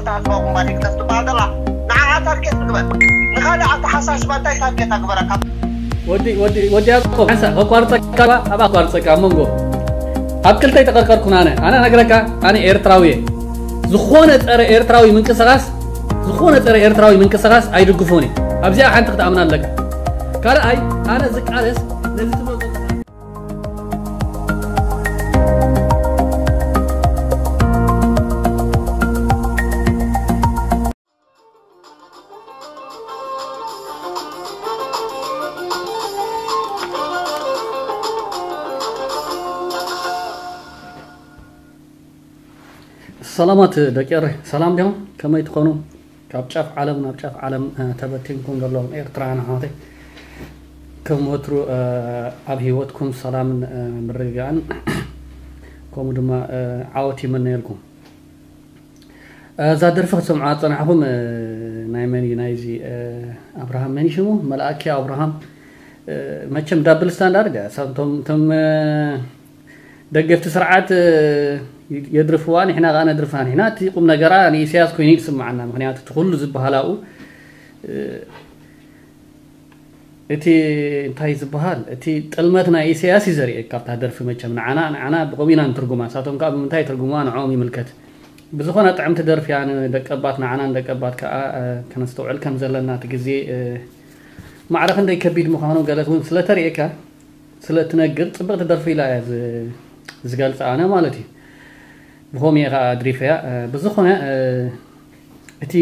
ተሃስባ ኩምባኒ ክትበሃል ዘላ ንዓኣ ታርጌት ትግበር። ንኻልእ ኣተሓሳስባ እንታይ ታርጌት ኣግበረካ? ወዲ ወዲ ወዲ ያቆብ ሓንሳ ከቋርፀካ፣ ኣብ ኣቋርፀካ ኣብ መንጎ ኣብ ክልተ ይተቐርቀርኩን። ኣነ ኣነ ነግረካ፣ ኣነ ኤርትራዊ እየ። ዝኾነ ፀረ ኤርትራዊ ምንቅስቃስ ዝኾነ ፀረ ኤርትራዊ ምንቅስቃስ ኣይድግፎን እየ። ኣብዚኣ ሓንቲ ክትኣምና ኣለካ። ካልኣይ፣ ኣነ ዝቃለስ ነዚ ትብሎ ዘለኻ ሰላማት ደቂ ኤረይ፣ ሰላም ዲኹም? ከመይ ትኾኑ? ካብ ጫፍ ዓለም ናብ ጫፍ ዓለም ተበቲንኩም ዘለኹም ኤርትራውያን ኣሕዋተይ፣ ከም ወትሩ ኣብ ሂወትኩም ሰላምን ምርግጋእን ከምኡ ድማ ዓወት ይምነየልኩም። እዛ ደርፊ ክትሰምዑ ዝፀናሕኹም ናይ መን እዩ? ናይዚ ኣብርሃም መን ሽሙ? መልኣኪ ኣብርሃም። መቸም ዳብል ስታንዳርድ እያ። እቶም ደገፍቲ ስርዓት የድርፍዋ፣ ንሕና ከዓ ነድርፋ። ንሕና እቲ ቁም ነገራ ንኢሳያስ ኮይኑ ይስምዓና። ምክንያቱ እቲ ኩሉ ዝበሃል ኣብኡ እቲ እንታይ ዝበሃል እቲ ጥልመት ናይ ኢሳያስ እዩ ዘርእየካ ኣብታ ደርፊ። መቸም ንዓና ንዓና ብኸምኡ ኢና ንትርጉማ፣ ንሳቶም ከዓ ብምንታይ ትርጉምዋ ንዕኦም ይምልከት። ብዝኾነ ጥዕምቲ ደርፊ እያ፣ ንደቀባት ንዓና ንደቀባት ከዓ ከነስተውዕል ከም ዘለና እቲ ግዜ ማዕረ ክንደይ ከቢድ ምዃኑ ገለት እውን ስለተርእየካ ስለትነግር ጽብቕቲ ደርፊ ኢላ እያ ዝገልጻ ኣነ ማለት እዩ። ብኸምኡ እየ ከዓ ድሪፈያ። ብዝኾነ እቲ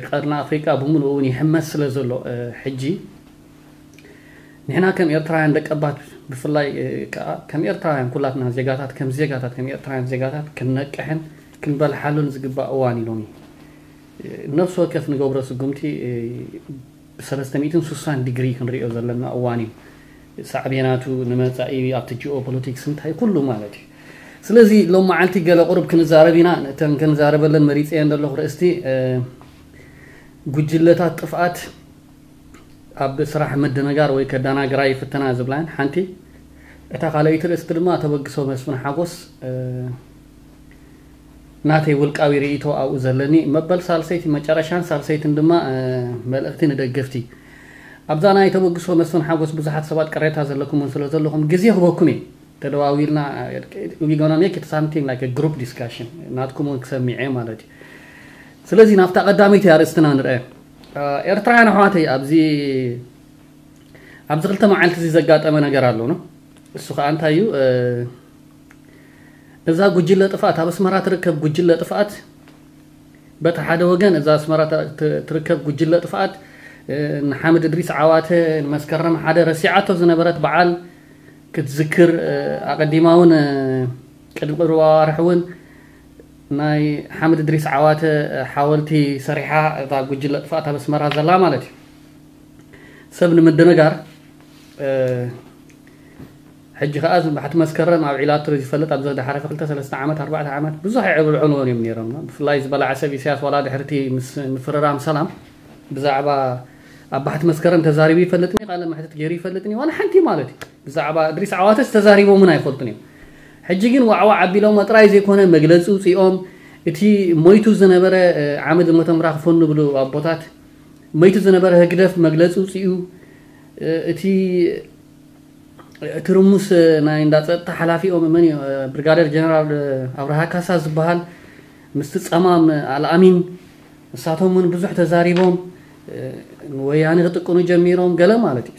ቀርኒ ኣፍሪቃ ብምሉኡ እውን ይሕመስ ስለ ዘሎ ሕጂ ንሕና ከም ኤርትራውያን ደቀባት ብፍላይ ከዓ ከም ኤርትራውያን ኩላትና ዜጋታት ከም ዜጋታት ከም ኤርትራውያን ዜጋታት ክንነቅሕን ክንበልሓሉን ዝግባእ እዋን እዩ ሎሚ። ነፍሲ ወከፍ ንገብሮ ስጉምቲ ብ ሰለስተ ሚእትን ስሳን ዲግሪ ክንሪኦ ዘለና እዋን እዩ። ሳዕቤናቱ ንመፃኢ ኣብቲ ጂኦ ፖለቲክስ እንታይ ኩሉ ማለት እዩ። ስለዚ ሎም መዓልቲ ገለ ቁሩብ ክንዛረብ ኢና። እተን ክንዛረበለን መሪፀየን ዘለኹ ርእስቲ ጉጅለታት ጥፍኣት ኣብ ስራሕ ምድንጋር ወይ ከደናግራ ይፍትና ዝብላን ሓንቲ። እታ ካልኣይቲ ርእስቲ ድማ ተበግሶ መስፍን ሓጎስ ናተይ ውልቃዊ ርእይቶ ኣብኡ ዘለኒ መበል ሳልሰይቲ መጨረሻን ሳልሰይትን ድማ መልእኽቲ ንደገፍቲ። ኣብዛ ናይ ተበግሶ መስፍን ሓጎስ ብዙሓት ሰባት ቅሬታ ዘለኩም እውን ስለ ዘለኹም ግዜ ክበኩም እየ። ተደዋዊልና we gonna make it something like a group discussion ናትኩም እውን ክሰሚዐ ማለት እዩ። ስለዚ ናብታ ቀዳመይቲ ኣርእስትና ንርአ። ኤርትራውያን ኣሕዋተይ ኣብዚ ኣብዚ ክልተ መዓልቲ እዚ ዘጋጠመ ነገር ኣሎ ነው። እሱ ከዓ እንታይ እዩ? እዛ ጉጅለ ጥፍኣት ኣብ ኣስመራ ትርከብ ጉጅለ ጥፍኣት በቲ ሓደ ወገን እዛ ኣስመራ ትርከብ ጉጅለ ጥፍኣት ንሓምድ እድሪስ ዓዋተ ንመስከረም ሓደ ረሲዓቶ ዝነበረት በዓል ክትዝክር ኣቐዲማ እውን ቅድሚ ቅርብ ኣዋርሕ እውን ናይ ሓምድ እድሪስ ዓዋተ ሓወልቲ ሰሪሓ እታ ጉጅለ ጥፍኣት ኣብ ኣስመራ ዘላ ማለት እዩ። ሰብ ንምድንጋር ሕጂ ከዓ ባሕቲ መስከረም ኣብ ዒላቶ ዝፈልጥ ኣብ ዝደሓለፈ ክልተ ሰለስተ ዓመት ኣርባዕተ ዓመት ብዙሕ የዕብልዕንዎን እዮም ነይሮም። ብፍላይ ዝበላዓ ሰብ ኢሳያስ ዋላ ድሕርቲ ምስ ምፍርራም ሰላም ብዛዕባ ኣብ ባሕቲ መስከረም ተዛሪቡ ይፈልጥኒ ቃለ መሕትት ገይሩ ይፈልጥኒ ዋላ ሓንቲ ማለት እዩ። ብዛዕባ እድሪስ ዓዋተስ ተዛሪቦምን ኣይፈልጡን እዮም። ሕጂ ግን ዋዕዋዕ ኣቢሎሞ ጥራይ ዘይኮነ መግለፂ ውፅኦም እቲ ሞይቱ ዝነበረ ዓመድ ሞቶም ራኽፎን ንብሉ ኣቦታት መይቱ ዝነበረ ህግደፍ መግለፂ ውፅኡ እቲ ትርሙስ ናይ እንዳ ፀጥታ ሓላፊኦም መን እዩ? ብርጋደር ጀነራል ኣብርሃ ካሳ ዝበሃል ምስቲ ፀማም ኣልኣሚን ንሳቶም እውን ብዙሕ ተዛሪቦም ወያነ ክጥቅኑ ጀሚሮም ገለ ማለት እዩ።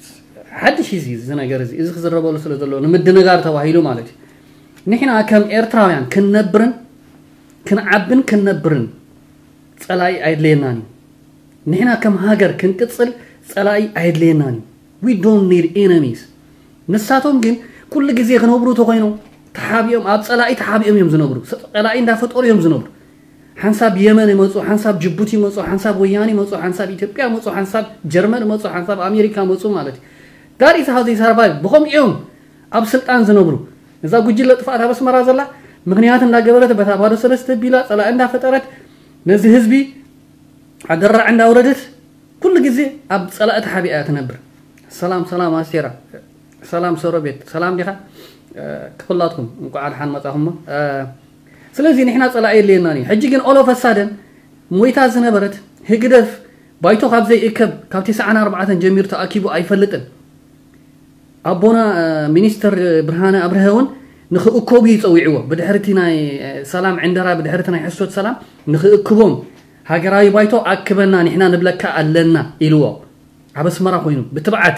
ሓድሽ እዚ እዚ ነገር እዚ እዚ ክዝረበሉ ስለ ዘለዎ ንምድንጋር ተባሂሉ ማለት እዩ። ንሕና ከም ኤርትራውያን ክንነብርን ክንዓብን ክንነብርን ፀላኢ ኣይድለየናን እዩ። ንሕና ከም ሃገር ክንቅፅል ፀላኢ ኣይድለየናን እዩ። We don't need enemies። ንሳቶም ግን ኩሉ ግዜ ክነብሩ ተኮይኖም ተሓቢኦም ኣብ ፀላኢ ተሓቢኦም እዮም ዝነብሩ። ፀላኢ እንዳፈጠሩ እዮም ዝነብሩ። ሓንሳብ የመን ይመፁ፣ ሓንሳብ ጅቡቲ ይመፁ፣ ሓንሳብ ወያኔ ይመፁ፣ ሓንሳብ ኢትዮጵያ ይመፁ፣ ሓንሳብ ጀርመን ይመፁ፣ ሓንሳብ ኣሜሪካ ይመፁ ማለት እዩ። That is how they survive። ብኸምኡ እዮም ኣብ ስልጣን ዝነብሩ። እዛ ጉጅለ ጥፍኣት ኣብ ኣስመራ ዘላ ምክንያት እንዳገበረት በታ ባዶ ሰለስተ ቢላ ፀላኢ እንዳፈጠረት ነዚ ህዝቢ ኣደራዕ እንዳውረደት ኩሉ ግዜ ኣብ ፀላኢ ተሓቢኣ እያ ትነብር። ሰላም ሰላም ኣስቴራ፣ ሰላም ሰሮቤት፣ ሰላም ዲኻ? ክፍላትኩም እንኳዕ ድሓን መጻኹሞ። ስለዚ ንሕና ፀላኢ የድልየናን እዩ። ሕጂ ግን ኦሎፈሳደን ሞይታ ዝነበረት ህግደፍ ባይቶ ካብ ዘይእከብ ካብ ተስዓን ኣርባዕተን ጀሚሩ ተኣኪቡ ኣይፈልጥን። ኣቦና ሚኒስተር ብርሃነ ኣብርሀ እውን ንክእከቡ ይፀዊዕዎ። ብድሕርቲ ናይ ሰላም ዕንደራ፣ ብድሕርቲ ናይ ሕሶት ሰላም ንክእክቦም ሃገራዊ ባይቶ ኣክበና፣ ንሕና ንብለካ ኣለና ኢልዎ። ኣብ ኣስመራ ኮይኑ ብትብዓት፣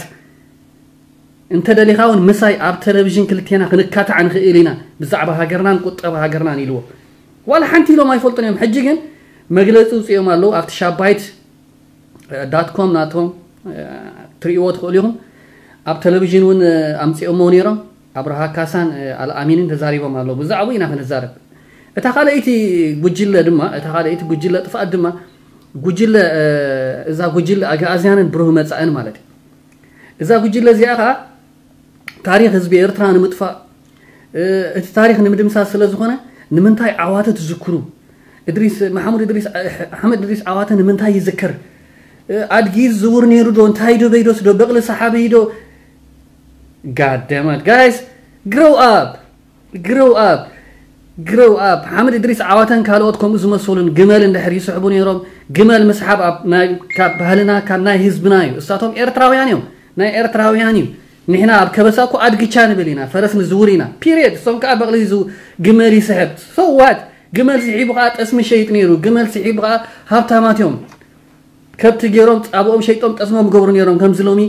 እንተ ደሊኻ እውን ምሳይ ኣብ ቴሌቪዥን ክልቴና ክንካታዕ ንኽእል ኢና ብዛዕባ ሃገርናን ቁጠባ ሃገርናን ኢልዎ። ዋላ ሓንቲ ኢሎም ኣይፈልጡን እዮም። ሕጂ ግን መግለፂ ውፅኦም ኣለዉ ኣብቲ ሻባይት ዳት ኮም ናቶም ትርእይዎ ትኽእሉ ኢኹም። ኣብ ቴሌቪዥን እውን ኣምፂኦሞ ነይሮም። ኣብርሃ ካሳን ኣልኣሚንን ተዛሪቦም ኣለዉ። ብዛዕባኡ ኢና ክንዛረብ። እታ ካልኣይቲ ጉጅለ ድማ፣ እታ ካልኣይቲ ጉጅለ ጥፍኣት ድማ ጉጅለ፣ እዛ ጉጅለ ኣግኣዝያንን ብሩህ መጻእን ማለት እዩ። እዛ ጉጅለ እዚኣ ኸዓ ታሪኽ ህዝቢ ኤርትራ ንምጥፋእ፣ እቲ ታሪኽ ንምድምሳስ ስለ ዝኾነ፣ ንምንታይ ዓዋተ ትዝክሩ? እድሪስ፣ መሓሙድ እድሪስ፣ ኣሕመድ እድሪስ ዓዋተ ንምንታይ ይዝከር? ኣድጊ ዝውር ነይሩ ዶ? እንታይ ዶ በይዶስ ዶ? በቕሊ ሰሓቢ ዶ? God damn it, guys, grow up, grow up, grow up. ሓምድ እድሪስ ዓዋተን ካልኦት ከምኡ ዝመሰሉን ግመል እንድሕር ይስሕቡ ነይሮም። ግመል ምስሓብ ኣብ ናይ፣ ካብ ባህልና፣ ካብ ናይ ህዝብና እዩ። እሳቶም ኤርትራውያን እዮም፣ ናይ ኤርትራውያን እዩ። ንሕና ኣብ ከበሳ እኮ ኣድግቻ ንብል ኢና፣ ፈረስ ንዝውር ኢና። ፒሪየድ። እሶም ከዓ በቕሊ ዝው-፣ ግመል ይስሕብ። So what? ግመል ስሒቡ ከዓ ጠስሚ ሸይጥ ነይሩ። ግመል ስሒቡ ከዓ ሃብታማት እዮም። ከብቲ ገይሮም ጻብኦም ሸይጦም ጠስሞም ገብሩ ነይሮም። ከምዚ ሎሚ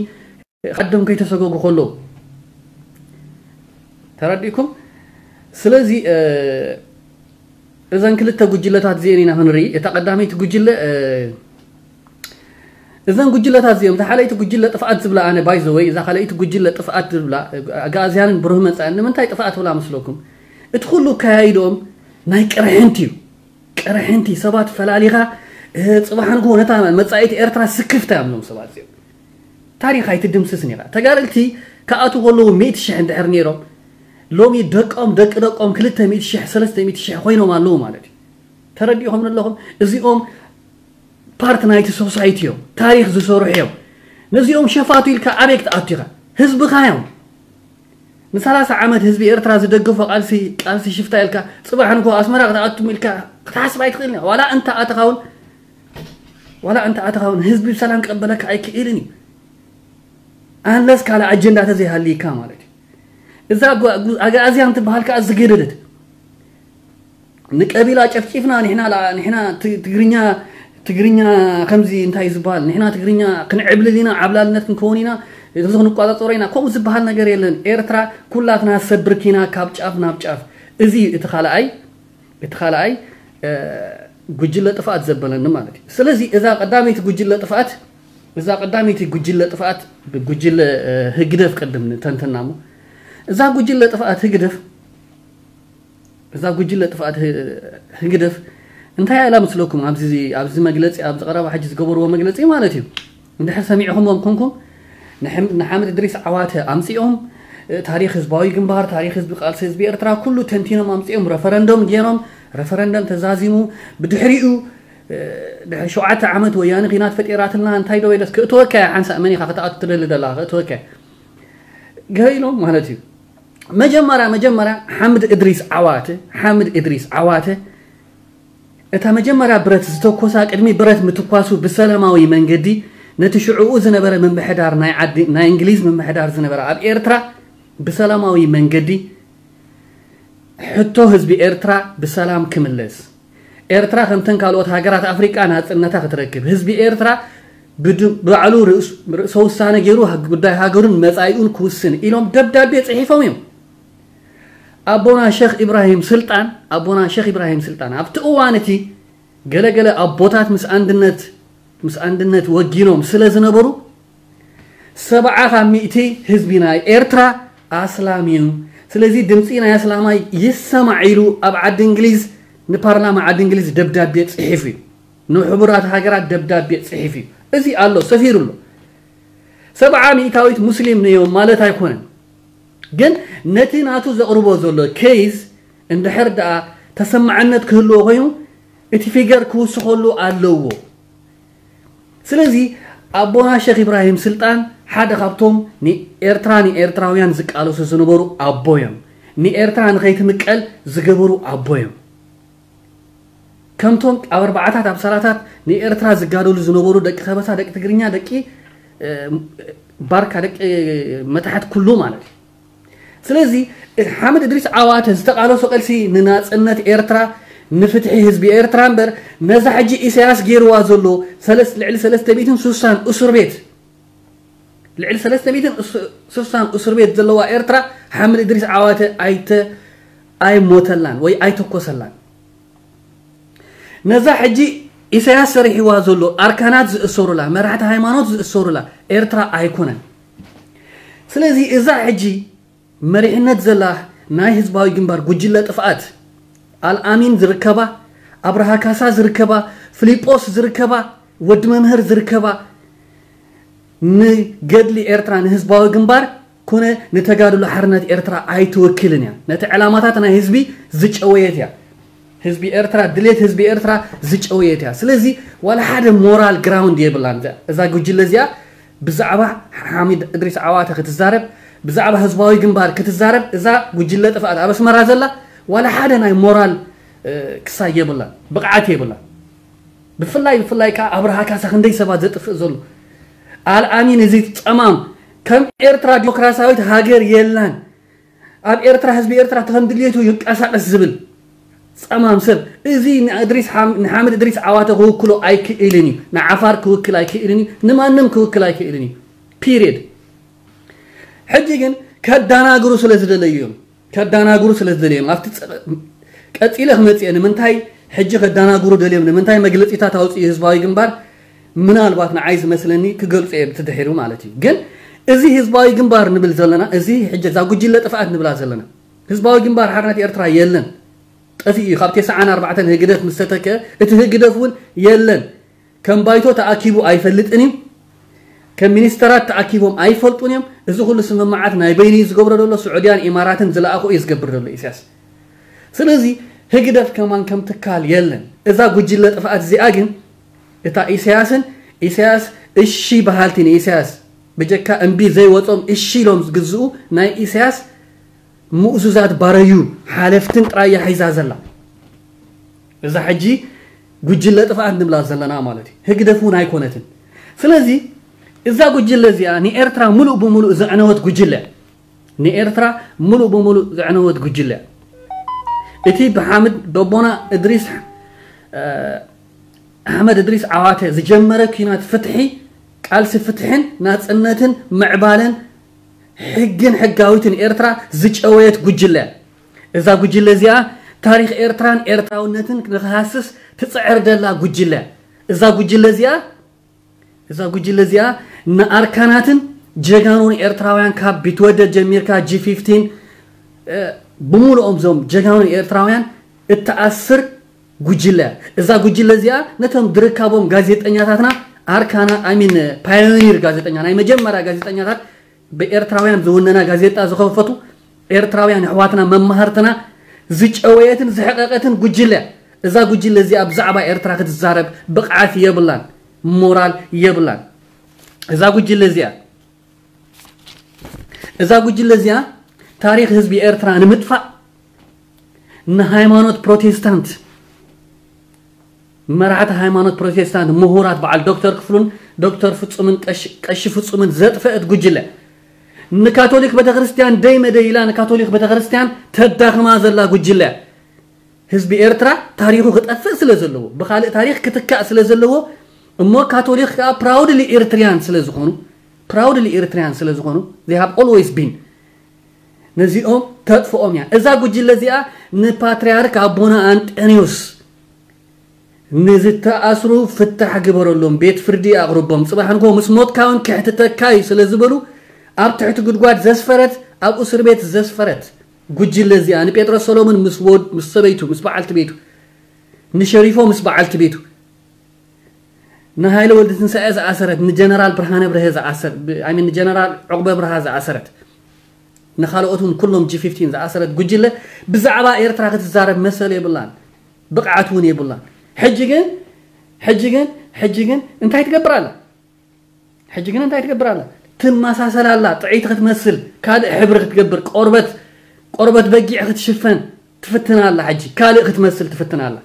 ዓዶም ከይተሰጎጉ ከለዉ። ተረዲእኩም? ስለዚ፣ እ፣ እዘን ክልተ ጉጅለታት እዚአን ኢና ክንርኢ። እታ ቀዳመይቲ ጉጅለ፣ እ፣ እዘን ጉጅለታት እዚኦም፣ እታ ካልኣይቲ ጉጅለ ጥፍኣት ዝብላ ኣነ፣ by the way፣ እዛ ካልኣይቲ ጉጅለ ጥፍኣት ዝብላ፣ እ፣ ኣግኣዝያንን ብሩህ መጻእን ንምንታይ ጥፍኣት ትብላ መስለኩም? እቲ ኩሉ ኣካያይድኦም ናይ ቅርሕንቲ እዩ። ቅርሕንቲ፣ ሰባት ፈላሊኻ፣ እ፣ ጽባሕ ንግሆ ነታ መጻኢት ኤርትራ ስክፍታ እዮም እዞም ሰባት እዚኦም። ታሪኽ ኣይትድምስስን ኢኻ። ተጋደልቲ ክኣትዉ ከለዉ ሚእቲ ሽሕ እንድሕር ነይሮም፣ ሎሚ ደቆም፣ ደቂ ደቆም ክልተ ሚእቲ ሽሕ፣ ሰለስተ ሚእቲ ሽሕ ኮይኖም ኣለዉ ማለት እዩ። ተረዲእኹም ኣለኹም? እዚኦም ፓርት ናይቲ ሶሳይቲ እዮም። ታሪኽ ዝሰርሑ እዮም። ነዚኦም ሸፋቱ ኢልካ ኣበይ ክትኣቱ ኢኻ? ህዝብኻ እዮም። ንሰላሳ ዓመት ህዝቢ ኤርትራ ዝደገፎ ቃልሲ፣ ቃልሲ ሽፍታ ኢልካ፣ ጽባሕ ንግሆ ኣስመራ ክትኣቱ ኢልካ ክትሓስብ ኣይትኽእልን ኢኻ። ዋላ እንተ ኣተኻ እውን፣ ዋላ እንተ ኣተኻ እውን ህዝቢ ብሰላም ክቕበለካ ኣይክእልን እዩ። ኣንለስ ካልእ ኣጀንዳ ተዘይሃልይካ ማለት እዩ። እዛ ጓ-፣ ጉ-፣ ኣግኣዝያን ትበሃል ከኣ ዝገደደት። ንቀቢላ ጨፍጪፍና፣ ንሕና ላ-፣ ንሕና ት-፣ ትግርኛ፣ ትግርኛ ከምዚ እንታይ ዝበሃል፣ ንሕና ትግርኛ ክንዕብልል ኢና፣ ዓብላልነት ክንከውን ኢና፣ እዚ ክንቋጻጸሮ ኢና፣ ከምኡ ዝበሃል ነገር የለን። ኤርትራ ኩላትና ሰብ ብርኪና ካብ ጫፍ ናብ ጫፍ። እዚ እቲ ካልኣይ፣ እቲ ካልኣይ፣ እ፣ ጉጅለ ጥፍኣት ዘበለኒ ማለት እዩ። ስለዚ እዛ ቀዳመይቲ ጉጅለ ጥፍኣት፣ እዛ ቀዳመይቲ ጉጅለ ጥፍኣት፣ ጉጅለ፣ እ፣ ህግደፍ ቅድም ንተንትና እሞ፣ እዛ ጉጅለ ጥፍኣት ህግደፍ፣ እዛ ጉጅለ ጥፍኣት ህ-፣ ህግደፍ እንታይ ኢላ መስለኩም? ኣብዚ፣ ኣብዚ መግለጺ፣ ኣብዚ ቀረባ ሕጂ ዝገበርዎ መግለጺ ማለት እዩ። እንድሕር ሰሚዕኹምዎም ኮንኩም፣ ንሐም-፣ ንሓምድ እድሪስ ዓዋተ ኣምጺኦም፣ እ፣ ታሪኽ ህዝባዊ ግንባር፣ ታሪኽ ህዝቢ ቃልሲ ህዝቢ ኤርትራ ኩሉ ተንቲኖም ኣምጺኦም፣ ረፈረንደም ገይሮም፣ ረፈረንደም ተዛዚሙ፣ ብድሕሪኡ፣ እ፣ ድሕሪ ሸውዓተ ዓመት ወያነ ኺናት ፈጢራትልና፣ እንታይ ዶ ኢለስ ክእትወካ እያ ሓንሳእ፣ መን ኢኻ ክትኣቱ ትደሊ ደላ ክእትወካ እያ። ገለ ኢሎም ማለት እዩ። መጀመርያ፣ መጀመርያ ሓምድ እድሪስ ዓዋተ፣ ሓምድ እድሪስ ዓዋተ፣ እታ መጀመርያ ብረት ዝተኮሳ፣ ቅድሚ ብረት ምትኳሱ ብሰላማዊ መንገዲ ነቲ ሽዕኡ ዝነበረ ምምሕዳር ናይ ዓዲ፣ ናይ እንግሊዝ ምምሕዳር ዝነበረ ኣብ ኤርትራ ብሰላማዊ መንገዲ ሕቶ ህዝቢ ኤርትራ ብሰላም ክምለስ፣ ኤርትራ ከምተን ካልኦት ሃገራት ኣፍሪቃ ናጽነታ ክትረክብ፣ ህዝቢ ኤርትራ ብድ-፣ ባዕሉ ርእስ-፣ ርእሰ ውሳነ ገይሩ ሃ-፣ ጉዳይ ሃገሩን መጻኢኡን ክውስን ኢሎም ደብዳቤ ጽሒፎም እዮም። ኣቦና ሸኽ ኢብራሂም ስልጣን፣ ኣቦና ሸኽ ኢብራሂም ስልጣን ኣብቲ እዋን እቲ ገለገለ ኣቦታት ምስ ኣንድነት፣ ምስ ኣንድነት ወጊኖም ስለ ዝነበሩ፣ ሰብዓ ካብ ሚእቲ ህዝቢ ናይ ኤርትራ ኣስላም እዩ። ስለዚ ድምጺ ናይ ኣስላማይ ይሰማዕ ኢሉ ኣብ ዓዲ እንግሊዝ፣ ንፓርላማ ዓዲ እንግሊዝ ደብዳቤ ጽሒፉ እዩ። ንሕቡራት ሃገራት ደብዳቤ ጽሒፉ እዩ። እዚ ኣሎ፣ ሰፊሩ ኣሎ። ሰብዓ ሚእታዊት ሙስሊም እዮም ማለት ኣይኮነን። ግን ነቲ ናቱ ዘቕርቦ ዘሎ ኬዝ እንድሕር ደኣ ተሰማዕነት ክህልዎ ኮይኑ፣ እቲ ፊገር ክውስኸሉ ኣለዎ። ስለዚ ኣቦና ሸኽ ኢብራሂም ስልጣን ሓደ ካብቶም ንኤርትራ፣ ንኤርትራውያን ዝቃለሱ ዝነበሩ ኣቦ እዮም። ንኤርትራ ንኸይትምቀል ዝገበሩ ኣቦ እዮም። ከምቶም ኣብ ኣርባዓታት ኣብ ሰላታት ንኤርትራ ዝጋደሉ ዝነበሩ ደቂ ከበሳ፣ ደቂ ትግርኛ፣ ደቂ ባርካ፣ ደቂ መታሕት ኩሉ ማለት እዩ። ስለዚ ሓምድ እድሪስ ዓዋተ ዝተቓለሶ ቃልሲ ንናጽነት ኤርትራ፣ ንፍትሒ ህዝቢ ኤርትራ እምበር፣ ነዛ ሕጂ ኢሳያስ ገይርዋ ዘሎ ልዕሊ ሰለስተ ሚእትን ስሳን እስር ቤት፣ ልዕሊ ሰለስተ ሚእትን ስሳን እስር ቤት ዘለዋ ኤርትራ ሓምድ እድሪስ ዓዋተ ኣይተ ኣይሞተላን ወይ ኣይተኮሰላን። ነዛ ሕጂ ኢሳያስ ሰሪሕዋ ዘሎ ኣርካናት ዝእሰሩላ፣ መራሕቲ ሃይማኖት ዝእሰሩላ ኤርትራ ኣይኮነን። ስለዚ እዛ ሕጂ መሪሕነት ዘላ ናይ ህዝባዊ ግንባር ጉጅለ ጥፍኣት፣ ኣልኣሚን ዝርከባ፣ ኣብርሃ ካሳ ዝርከባ፣ ፍሊጶስ ዝርከባ፣ ወዲ መምህር ዝርከባ፣ ንገድሊ ኤርትራ፣ ንህዝባዊ ግንባር ኮነ ንተጋድሎ ሓርነት ኤርትራ ኣይትወክልን እያ። ነቲ ዕላማታት ናይ ህዝቢ ዝጨወየት እያ። ህዝቢ ኤርትራ፣ ድሌት ህዝቢ ኤርትራ ዝጨወየት እያ። ስለዚ ዋላ ሓደ ሞራል ግራውንድ የብላን እዛ ጉጅለ እዚኣ። ብዛዕባ ሓሚድ እድሪስ ዓዋተ ክትዛረብ፣ ብዛዕባ ህዝባዊ ግንባር ክትዛረብ፣ እዛ ጉጅለ ጥፍኣት ኣብ ኣስመራ ዘላ ዋላ ሓደ ናይ ሞራል ክሳይ የብላን፣ ብቕዓት የብላን። ብፍላይ ብፍላይ ከዓ ኣብርሃ ካሳ ክንደይ ሰባት ዘጥፍእ ዘሎ፣ ኣልኣሚን እዚ ጸማም፣ ከም ኤርትራ ዲሞክራሲያዊት ሃገር የላን፣ ኣብ ኤርትራ ህዝቢ ኤርትራ ከም ድልየቱ ይንቀሳቀስ ዝብል ጸማም ሰብ፣ እዚ ንእድሪስ ንሓምድ እድሪስ ዓዋተ ክውክሎ ኣይክእልን እዩ። ንዓፋር ክውክል ኣይክእልን እዩ። ንማንም ክውክል ኣይክእልን እዩ። ፒሪየድ። ሕጂ ግን ከዳናግሩ ስለ ዝደለዩ እዮም። ከዳናግሩ ስለ ዝደለዩ እዮም። ኣብቲ ቀጺለ ክመጽእ፣ ንምንታይ ሕጂ ከዳናግሩ ደልዮም፣ ንምንታይ መግለጺታት ኣውጽኡ ህዝባዊ ግንባር፣ ምናልባት ንዓይ ዝመስለኒ ክገልጹ እየ ብቲ ድሒሩ ማለት እዩ። ግን እዚ ህዝባዊ ግንባር ንብል ዘለና፣ እዚ ሕጂ እዛ ጉጅለ ጥፍኣት ንብላ ዘለና፣ ህዝባዊ ግንባር ሓርነት ኤርትራ የለን፣ ጠፊኡ እዩ። ካብ ተስዓን ኣርባዕተን ህግደፍ ምስ ተተከ እቲ ህግደፍ እውን የለን። ከም ባይቶ ተኣኪቡ ኣይፈልጥን እዩ። ከም ሚኒስተራት ተኣኪቦም ኣይፈልጡን እዮም። እዚ ኩሉ ስምምዓት ናይ በይኑ እዩ ዝገብሮ ዘሎ። ስዑድያን ኢማራትን ዝለኣኹ እዩ ዝገብር ዘሎ ኢሳያስ። ስለዚ ህግደፍ ከማን ከም ትካል የለን። እዛ ጉጅለ ጥፍኣት እዚኣ ግን እታ ኢሳያስን ኢሳያስ እሺ በሃልቲ ንኢሳያስ ብጀካ እምቢ ዘይወጾም እሺ ኢሎም ዝግዝኡ ናይ ኢሳያስ ምእዙዛት ባረዩ ሓለፍትን ጥራይ እያ ሒዛ ዘላ። እዛ ሕጂ ጉጅለ ጥፍኣት ንብላ ዘለና ማለት እዩ። ህግደፍ እውን ኣይኮነትን። ስለዚ እዛ ጉጅለ እዚኣ ንኤርትራ ሙሉእ ብሙሉእ ዘዕነወት ጉጅለ፣ ንኤርትራ ሙሉእ ብሙሉእ ዘዕነወት ጉጅለ፣ እቲ ብሓምድ በቦና እድሪስ ኣሕመድ እድሪስ ዓዋተ ዝጀመረ ኲናት ፍትሒ፣ ቃልሲ ፍትሕን ናጽነትን ምዕባለን ሕግን ሕጋዊትን ኤርትራ ዝጨወየት ጉጅለ። እዛ ጉጅለ እዚኣ ታሪኽ ኤርትራን ኤርትራውነትን ንክሃስስ ትጽዕር ደላ ጉጅለ። እዛ ጉጅለ እዚኣ እዛ ጉጅለ እዚኣ ንኣርካናትን ጀጋኑን ኤርትራውያን ካብ ቢትወደድ ጀሚርካ ጂ ፊፍቲን ብሙሉኦም ዞም ጀጋኑን ኤርትራውያን እትኣስር ጉጅለ እያ። እዛ ጉጅለ እዚኣ ነቶም ድርካቦም ጋዜጠኛታትና ኣርካና ኣሚን ፓዮኒር ጋዜጠኛ ናይ መጀመርያ ጋዜጠኛታት ብኤርትራውያን ዝውነና ጋዜጣ ዝኸፈቱ ኤርትራውያን ኣሕዋትና መማህርትና ዝጨወየትን ዝሕቀቀትን ጉጅለ እያ። እዛ ጉጅለ እዚኣ ብዛዕባ ኤርትራ ክትዛረብ ብቕዓት የብላን፣ ሞራል የብላን። እዛ ጉጅለ እዚኣ እዛ ጉጅለ እዚኣ ታሪኽ ህዝቢ ኤርትራ ንምጥፋእ ንሃይማኖት ፕሮቴስታንት መራሕቲ ሃይማኖት ፕሮቴስታንት ምሁራት በዓል ዶክተር ክፍሉን ዶክተር ፍጹምን ቀሺ ፍጹምን ዘጥፈአት ጉጅለ ንካቶሊክ ቤተክርስትያን ደይ መደይ ኢላ ንካቶሊክ ቤተክርስትያን ተዳኽማ ዘላ ጉጅለ ህዝቢ ኤርትራ ታሪኹ ክጠፍእ ስለ ዘለዎ ብካልእ ታሪኽ ክትካእ ስለ ዘለዎ እሞ ካቶሊክ ከዓ ፕራውድሊ ኤርትሪያን ስለ ዝኾኑ ፕራውድሊ ኤርትሪያን ስለ ዝኾኑ they have always been ነዚኦም ተጥፍኦም እያ። እዛ ጉጅለ እዚኣ ንፓትርያርክ ኣቦና ኣንጠንዮስ ንዝተኣስሩ ፍታሕ ግበረሎም፣ ቤት ፍርዲ ኣቕርቦም፣ ጽባሕ ንግሆ ምስ ሞትካ እውን ክሕትተካ እዩ ስለ ዝበሉ ኣብ ትሕቲ ጉድጓድ ዘስፈረት ኣብ እስር ቤት ዘስፈረት ጉጅለ እዚኣ ንጴጥሮስ ሰሎሞን ምስ ወድ ምስ ሰበይቱ ምስ በዓልቲ ቤቱ ንሸሪፎ ምስ በዓልቲ ቤቱ ንሃይለ ወልደ ትንሳኤ ዝኣሰረት ንጀነራል ብርሃነ ብርሀ ዝኣሰር I mean ንጀነራል ዕቑበ ብርሃ ዝኣሰረት ንኻልኦት እውን ኩሎም ጂ ፊፍቲን ዝኣሰረት ጉጅለ ብዛዕባ ኤርትራ ክትዛረብ መሰል የብላን ብቕዓት እውን የብላን ሕጂ ግን ሕጂ ግን ሕጂ ግን እንታይ ትገብር ኣላ ሕጂ ግን እንታይ ትገብር ኣላ ትመሳሰል ኣላ ጥዕይቲ ክትመስል ካልእ ሕብሪ ክትገብር ቆርበት ቆርበት በጊዕ ክትሽፈን ትፍትን ኣላ ሕጂ ካልእ ክትመስል ትፍትን ኣላ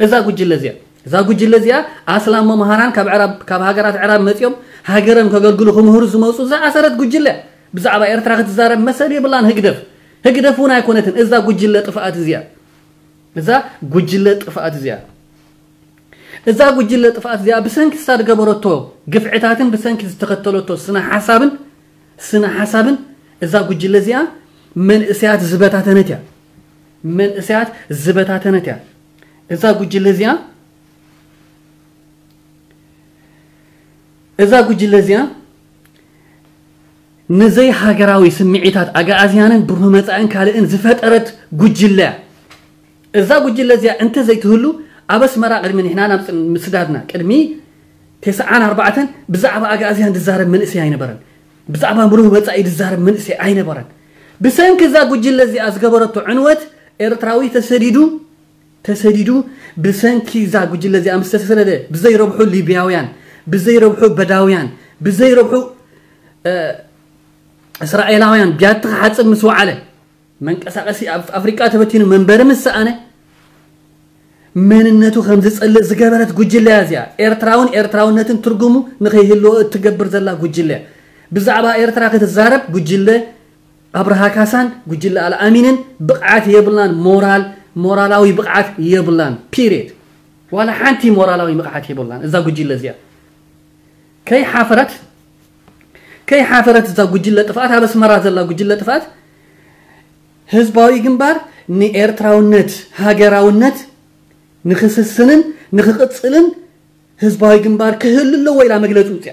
እዛ ጉጅለ እዚኣ እዛ ጉጅለ እዚኣ ኣስላም መምሃራን ካብ ዕራብ ካብ ሃገራት ዕራብ መጺኦም ሃገሮም ከገልግሉ ክምህሩ ዝመጹ ዝኣሰረት ጉጅለ። ብዛዕባ ኤርትራ ክትዛረብ መሰል የብላን። ህግደፍ ህግደፍ እውን ኣይኮነትን። እዛ ጉጅለ ጥፍኣት እዚኣ እዛ ጉጅለ ጥፍኣት እዚኣ እዛ ጉጅለ ጥፍኣት እዚኣ ብሰንኪ እሳ ዝገበረቶ ግፍዕታትን ብሰንኪ ዝተኸተለቶ ስነ ሓሳብን ስነ ሓሳብን እዛ ጉጅለ እዚኣ መንእሰያት ዝበታተነት እያ። መንእሰያት ዝበታተነት እያ። እዛ ጉጅለ እዚኣ እዛ ጉጅለ እዚኣ ንዘይ ሃገራዊ ስምዒታት ኣጋኣዝያንን ብሩህ መጻእን ካልእን ዝፈጠረት ጉጅለ እያ። እዛ ጉጅለ እዚኣ እንተ ዘይትህሉ ኣብ ኣስመራ ቅድሚ ንሕና ናብ ጽን- ምስዳድና ቅድሚ ተስዓን ኣርባዕተን ብዛዕባ ኣጋኣዝያን ዝዛረብ መንእሰይ ኣይነበረን። ብዛዕባ ብሩህ መጻኢ ዝዛረብ መንእሰይ ኣይነበረን። ብሰንኪ እዛ ጉጅለ እዚኣ ዝገበረቶ ዕንወት ኤርትራዊ ተሰዲዱ ተሰዲዱ ብሰንኪ እዛ ጉጅለ እዚኣ ምስ ተሰደደ ብዘይረብሑ ሊብያውያን ብዘይረብሑ በዳውያን ብዘይረብሑ እስራኤላውያን ቢያቲ ክሓፅብ ምስ ወዓለ መንቀሳቀሲ ኣብ ኣፍሪቃ ተበቲኑ መንበሪ ምስ ሰኣነ መንነቱ ከም ዝፀልእ ዝገበረት ጉጅለ እያ እዚኣ። ኤርትራውን ኤርትራውነትን ትርጉሙ ንኸይህልዎ እትገብር ዘላ ጉጅለ እያ። ብዛዕባ ኤርትራ ክትዛረብ ጉጅለ ኣብርሃ ካሳን ጉጅለ ኣልኣሚንን ብቕዓት የብላን። ሞራል ሞራላዊ ብቕዓት የብላን። ፒሪየድ። ዋላ ሓንቲ ሞራላዊ ብቕዓት የብላን እዛ ጉጅለ እዚኣ። ከይሓፈረት ከይሓፈረት እዛ ጉጅለ ጥፍኣት ኣብ ኣስመራ ዘላ ጉጅለ ጥፍኣት ህዝባዊ ግንባር ንኤርትራውነት ሃገራውነት ንክስስንን ንክቕፅልን ህዝባዊ ግንባር ክህሉ ኣለዎ ኢላ መግለፂ ውፅያ።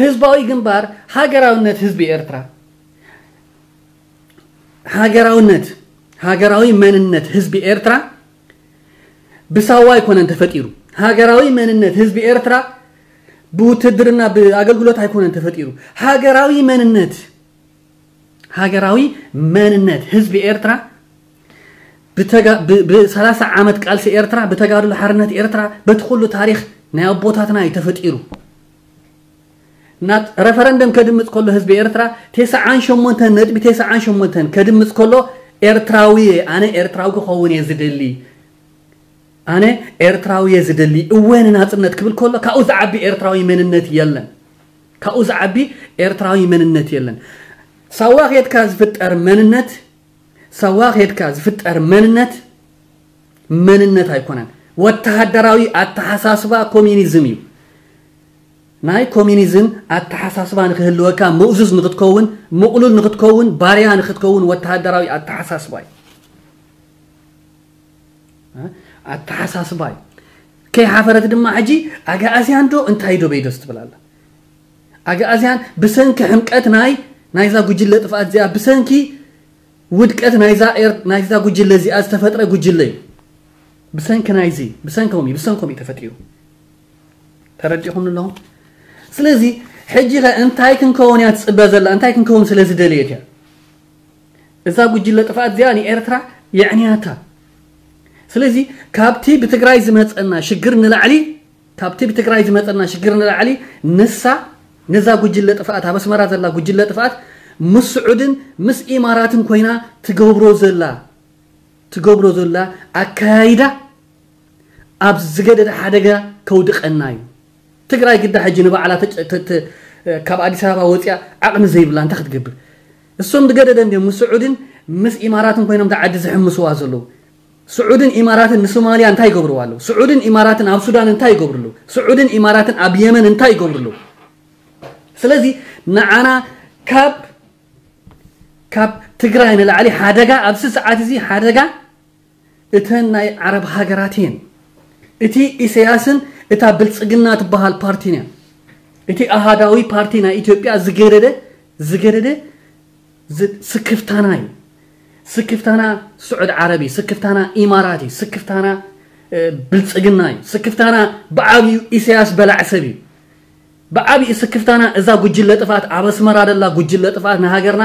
ህዝባዊ ግንባር ሃገራውነት ህዝቢ ኤርትራ ሃገራውነት ሃገራዊ መንነት ህዝቢ ኤርትራ ብሳዋ ኣይኮነን ተፈጢሩ። ሃገራዊ መንነት ህዝቢ ኤርትራ ብውትድርና ብኣገልግሎት ኣይኮነን ተፈጢሩ። ሃገራዊ መንነት ሃገራዊ መንነት ህዝቢ ኤርትራ ብተጋ- ብ- ብ30 ዓመት ቃልሲ ኤርትራ ብተጋድሎ ሓርነት ኤርትራ በቲ ኩሉ ታሪኽ ናይ ኣቦታትና እዩ ተፈጢሩ። ናብ ረፈረንደም ከድምፅ ከሎ ህዝቢ ኤርትራ ተስዓን ሸሞንተን ነጥቢ ተስዓን ሸሞንተን ከድምፅ ከሎ ኤርትራዊ እየ፣ ኣነ ኤርትራዊ ክኸውን እየ ዝደሊ፣ ኣነ ኤርትራዊ እየ ዝደሊ፣ እወ ንናፅነት ክብል ከሎ ካብኡ ዝዓቢ ኤርትራዊ መንነት የለን። ካብኡ ዝዓቢ ኤርትራዊ መንነት የለን። ሳዋ ኬድካ ዝፍጠር መንነት ሳዋ ኬድካ ዝፍጠር መንነት መንነት ኣይኮነን። ወተሃደራዊ ኣተሓሳስባ ኮሚኒዝም እዩ። ናይ ኮሚኒዝም ኣተሓሳስባ ንክህልወካ ምእዙዝ ንክትከውን ምቕሉል ንክትከውን ባርያ ንክትከውን ወተሃደራዊ ኣተሓሳስባ እዩ። ኣተሓሳስባ እዩ። ከይሓፈረት ድማ ሕጂ ኣጋኣዝያን ዶ እንታይ ዶ በይዶስ ትብል ኣላ። ኣጋኣዝያን ብሰንኪ ሕምቀት ናይ ናይዛ ጉጅለ ጥፍኣት እዚኣ ብሰንኪ ውድቀት ናይዛ ኤር ናይዛ ጉጅለ እዚኣ ዝተፈጥረ ጉጅለ እዩ። ብሰንኪ ናይዚ ብሰንኮም እዩ ብሰንኮም እዩ ተፈጢሩ። ተረዲኹም ኣለኹም። ስለዚ ሕጂ ኸ እንታይ ክንከውን እያ ትፅበ ዘላ? እንታይ ክንከውን ስለ ዝደለየት እያ? እዛ ጉጅለ ጥፍኣት እዚኣ ንኤርትራ የዕንያታ። ስለዚ ካብቲ ብትግራይ ዝመፀና ሽግር ንላዕሊ ካብቲ ብትግራይ ዝመፀና ሽግር ንላዕሊ ንሳ ነዛ ጉጅለ ጥፍኣት ኣብ ኣስመራ ዘላ ጉጅለ ጥፍኣት ምስ ስዑድን ምስ ኢማራትን ኮይና ትገብሮ ዘላ ትገብሮ ዘላ ኣካያይዳ ኣብ ዝገደደ ሓደጋ ከውድቀና እዩ። ትግራይ ግዳ ሕጂ ንባዕላ ተጨ- ተ- ተ- ካብ ኣዲስ ኣበባ ወፂኣ ዓቕሚ ዘይብላ እንታይ ክትገብር? እሶም ዝገደደ እንዲዮም ምስ ስዑድን ምስ ኢማራትን ኮይኖም እታ ዓዲ ዝሕምስዋ ዘለዉ። ስዑድን ኢማራትን ንሶማልያ እንታይ ይገብርዋ ኣለዉ? ስዑድን ኢማራትን ኣብ ሱዳን እንታይ ይገብሩ ኣለዉ? ስዑድን ኢማራትን ኣብ የመን እንታይ ይገብሩ ኣለዉ? ስለዚ ንዓና ካብ ካብ ትግራይ ንላዕሊ ሓደጋ ኣብዚ ሰዓት እዚ ሓደጋ እተን ናይ ዓረብ ሃገራት እየን። እቲ ኢሳያስን እታ ብልፅግና ትበሃል ፓርቲን እያ። እቲ ኣሃዳዊ ፓርቲ ናይ ኢትዮጵያ ዝገደደ ዝገደደ ዝ- ስክፍታና እዩ። ስክፍታና ስዑድ ዓረብ እዩ። ስክፍታና ኢማራት እዩ። ስክፍታና እ፣ ብልፅግና እዩ። ስክፍታና ብዓብዩ ኢሳያስ በላዕ ሰብ እዩ። ብዓብዩ ስክፍታና እዛ ጉጅለ ጥፍኣት ኣብ ኣስመራ ደላ ጉጅለ ጥፍኣት ንሃገርና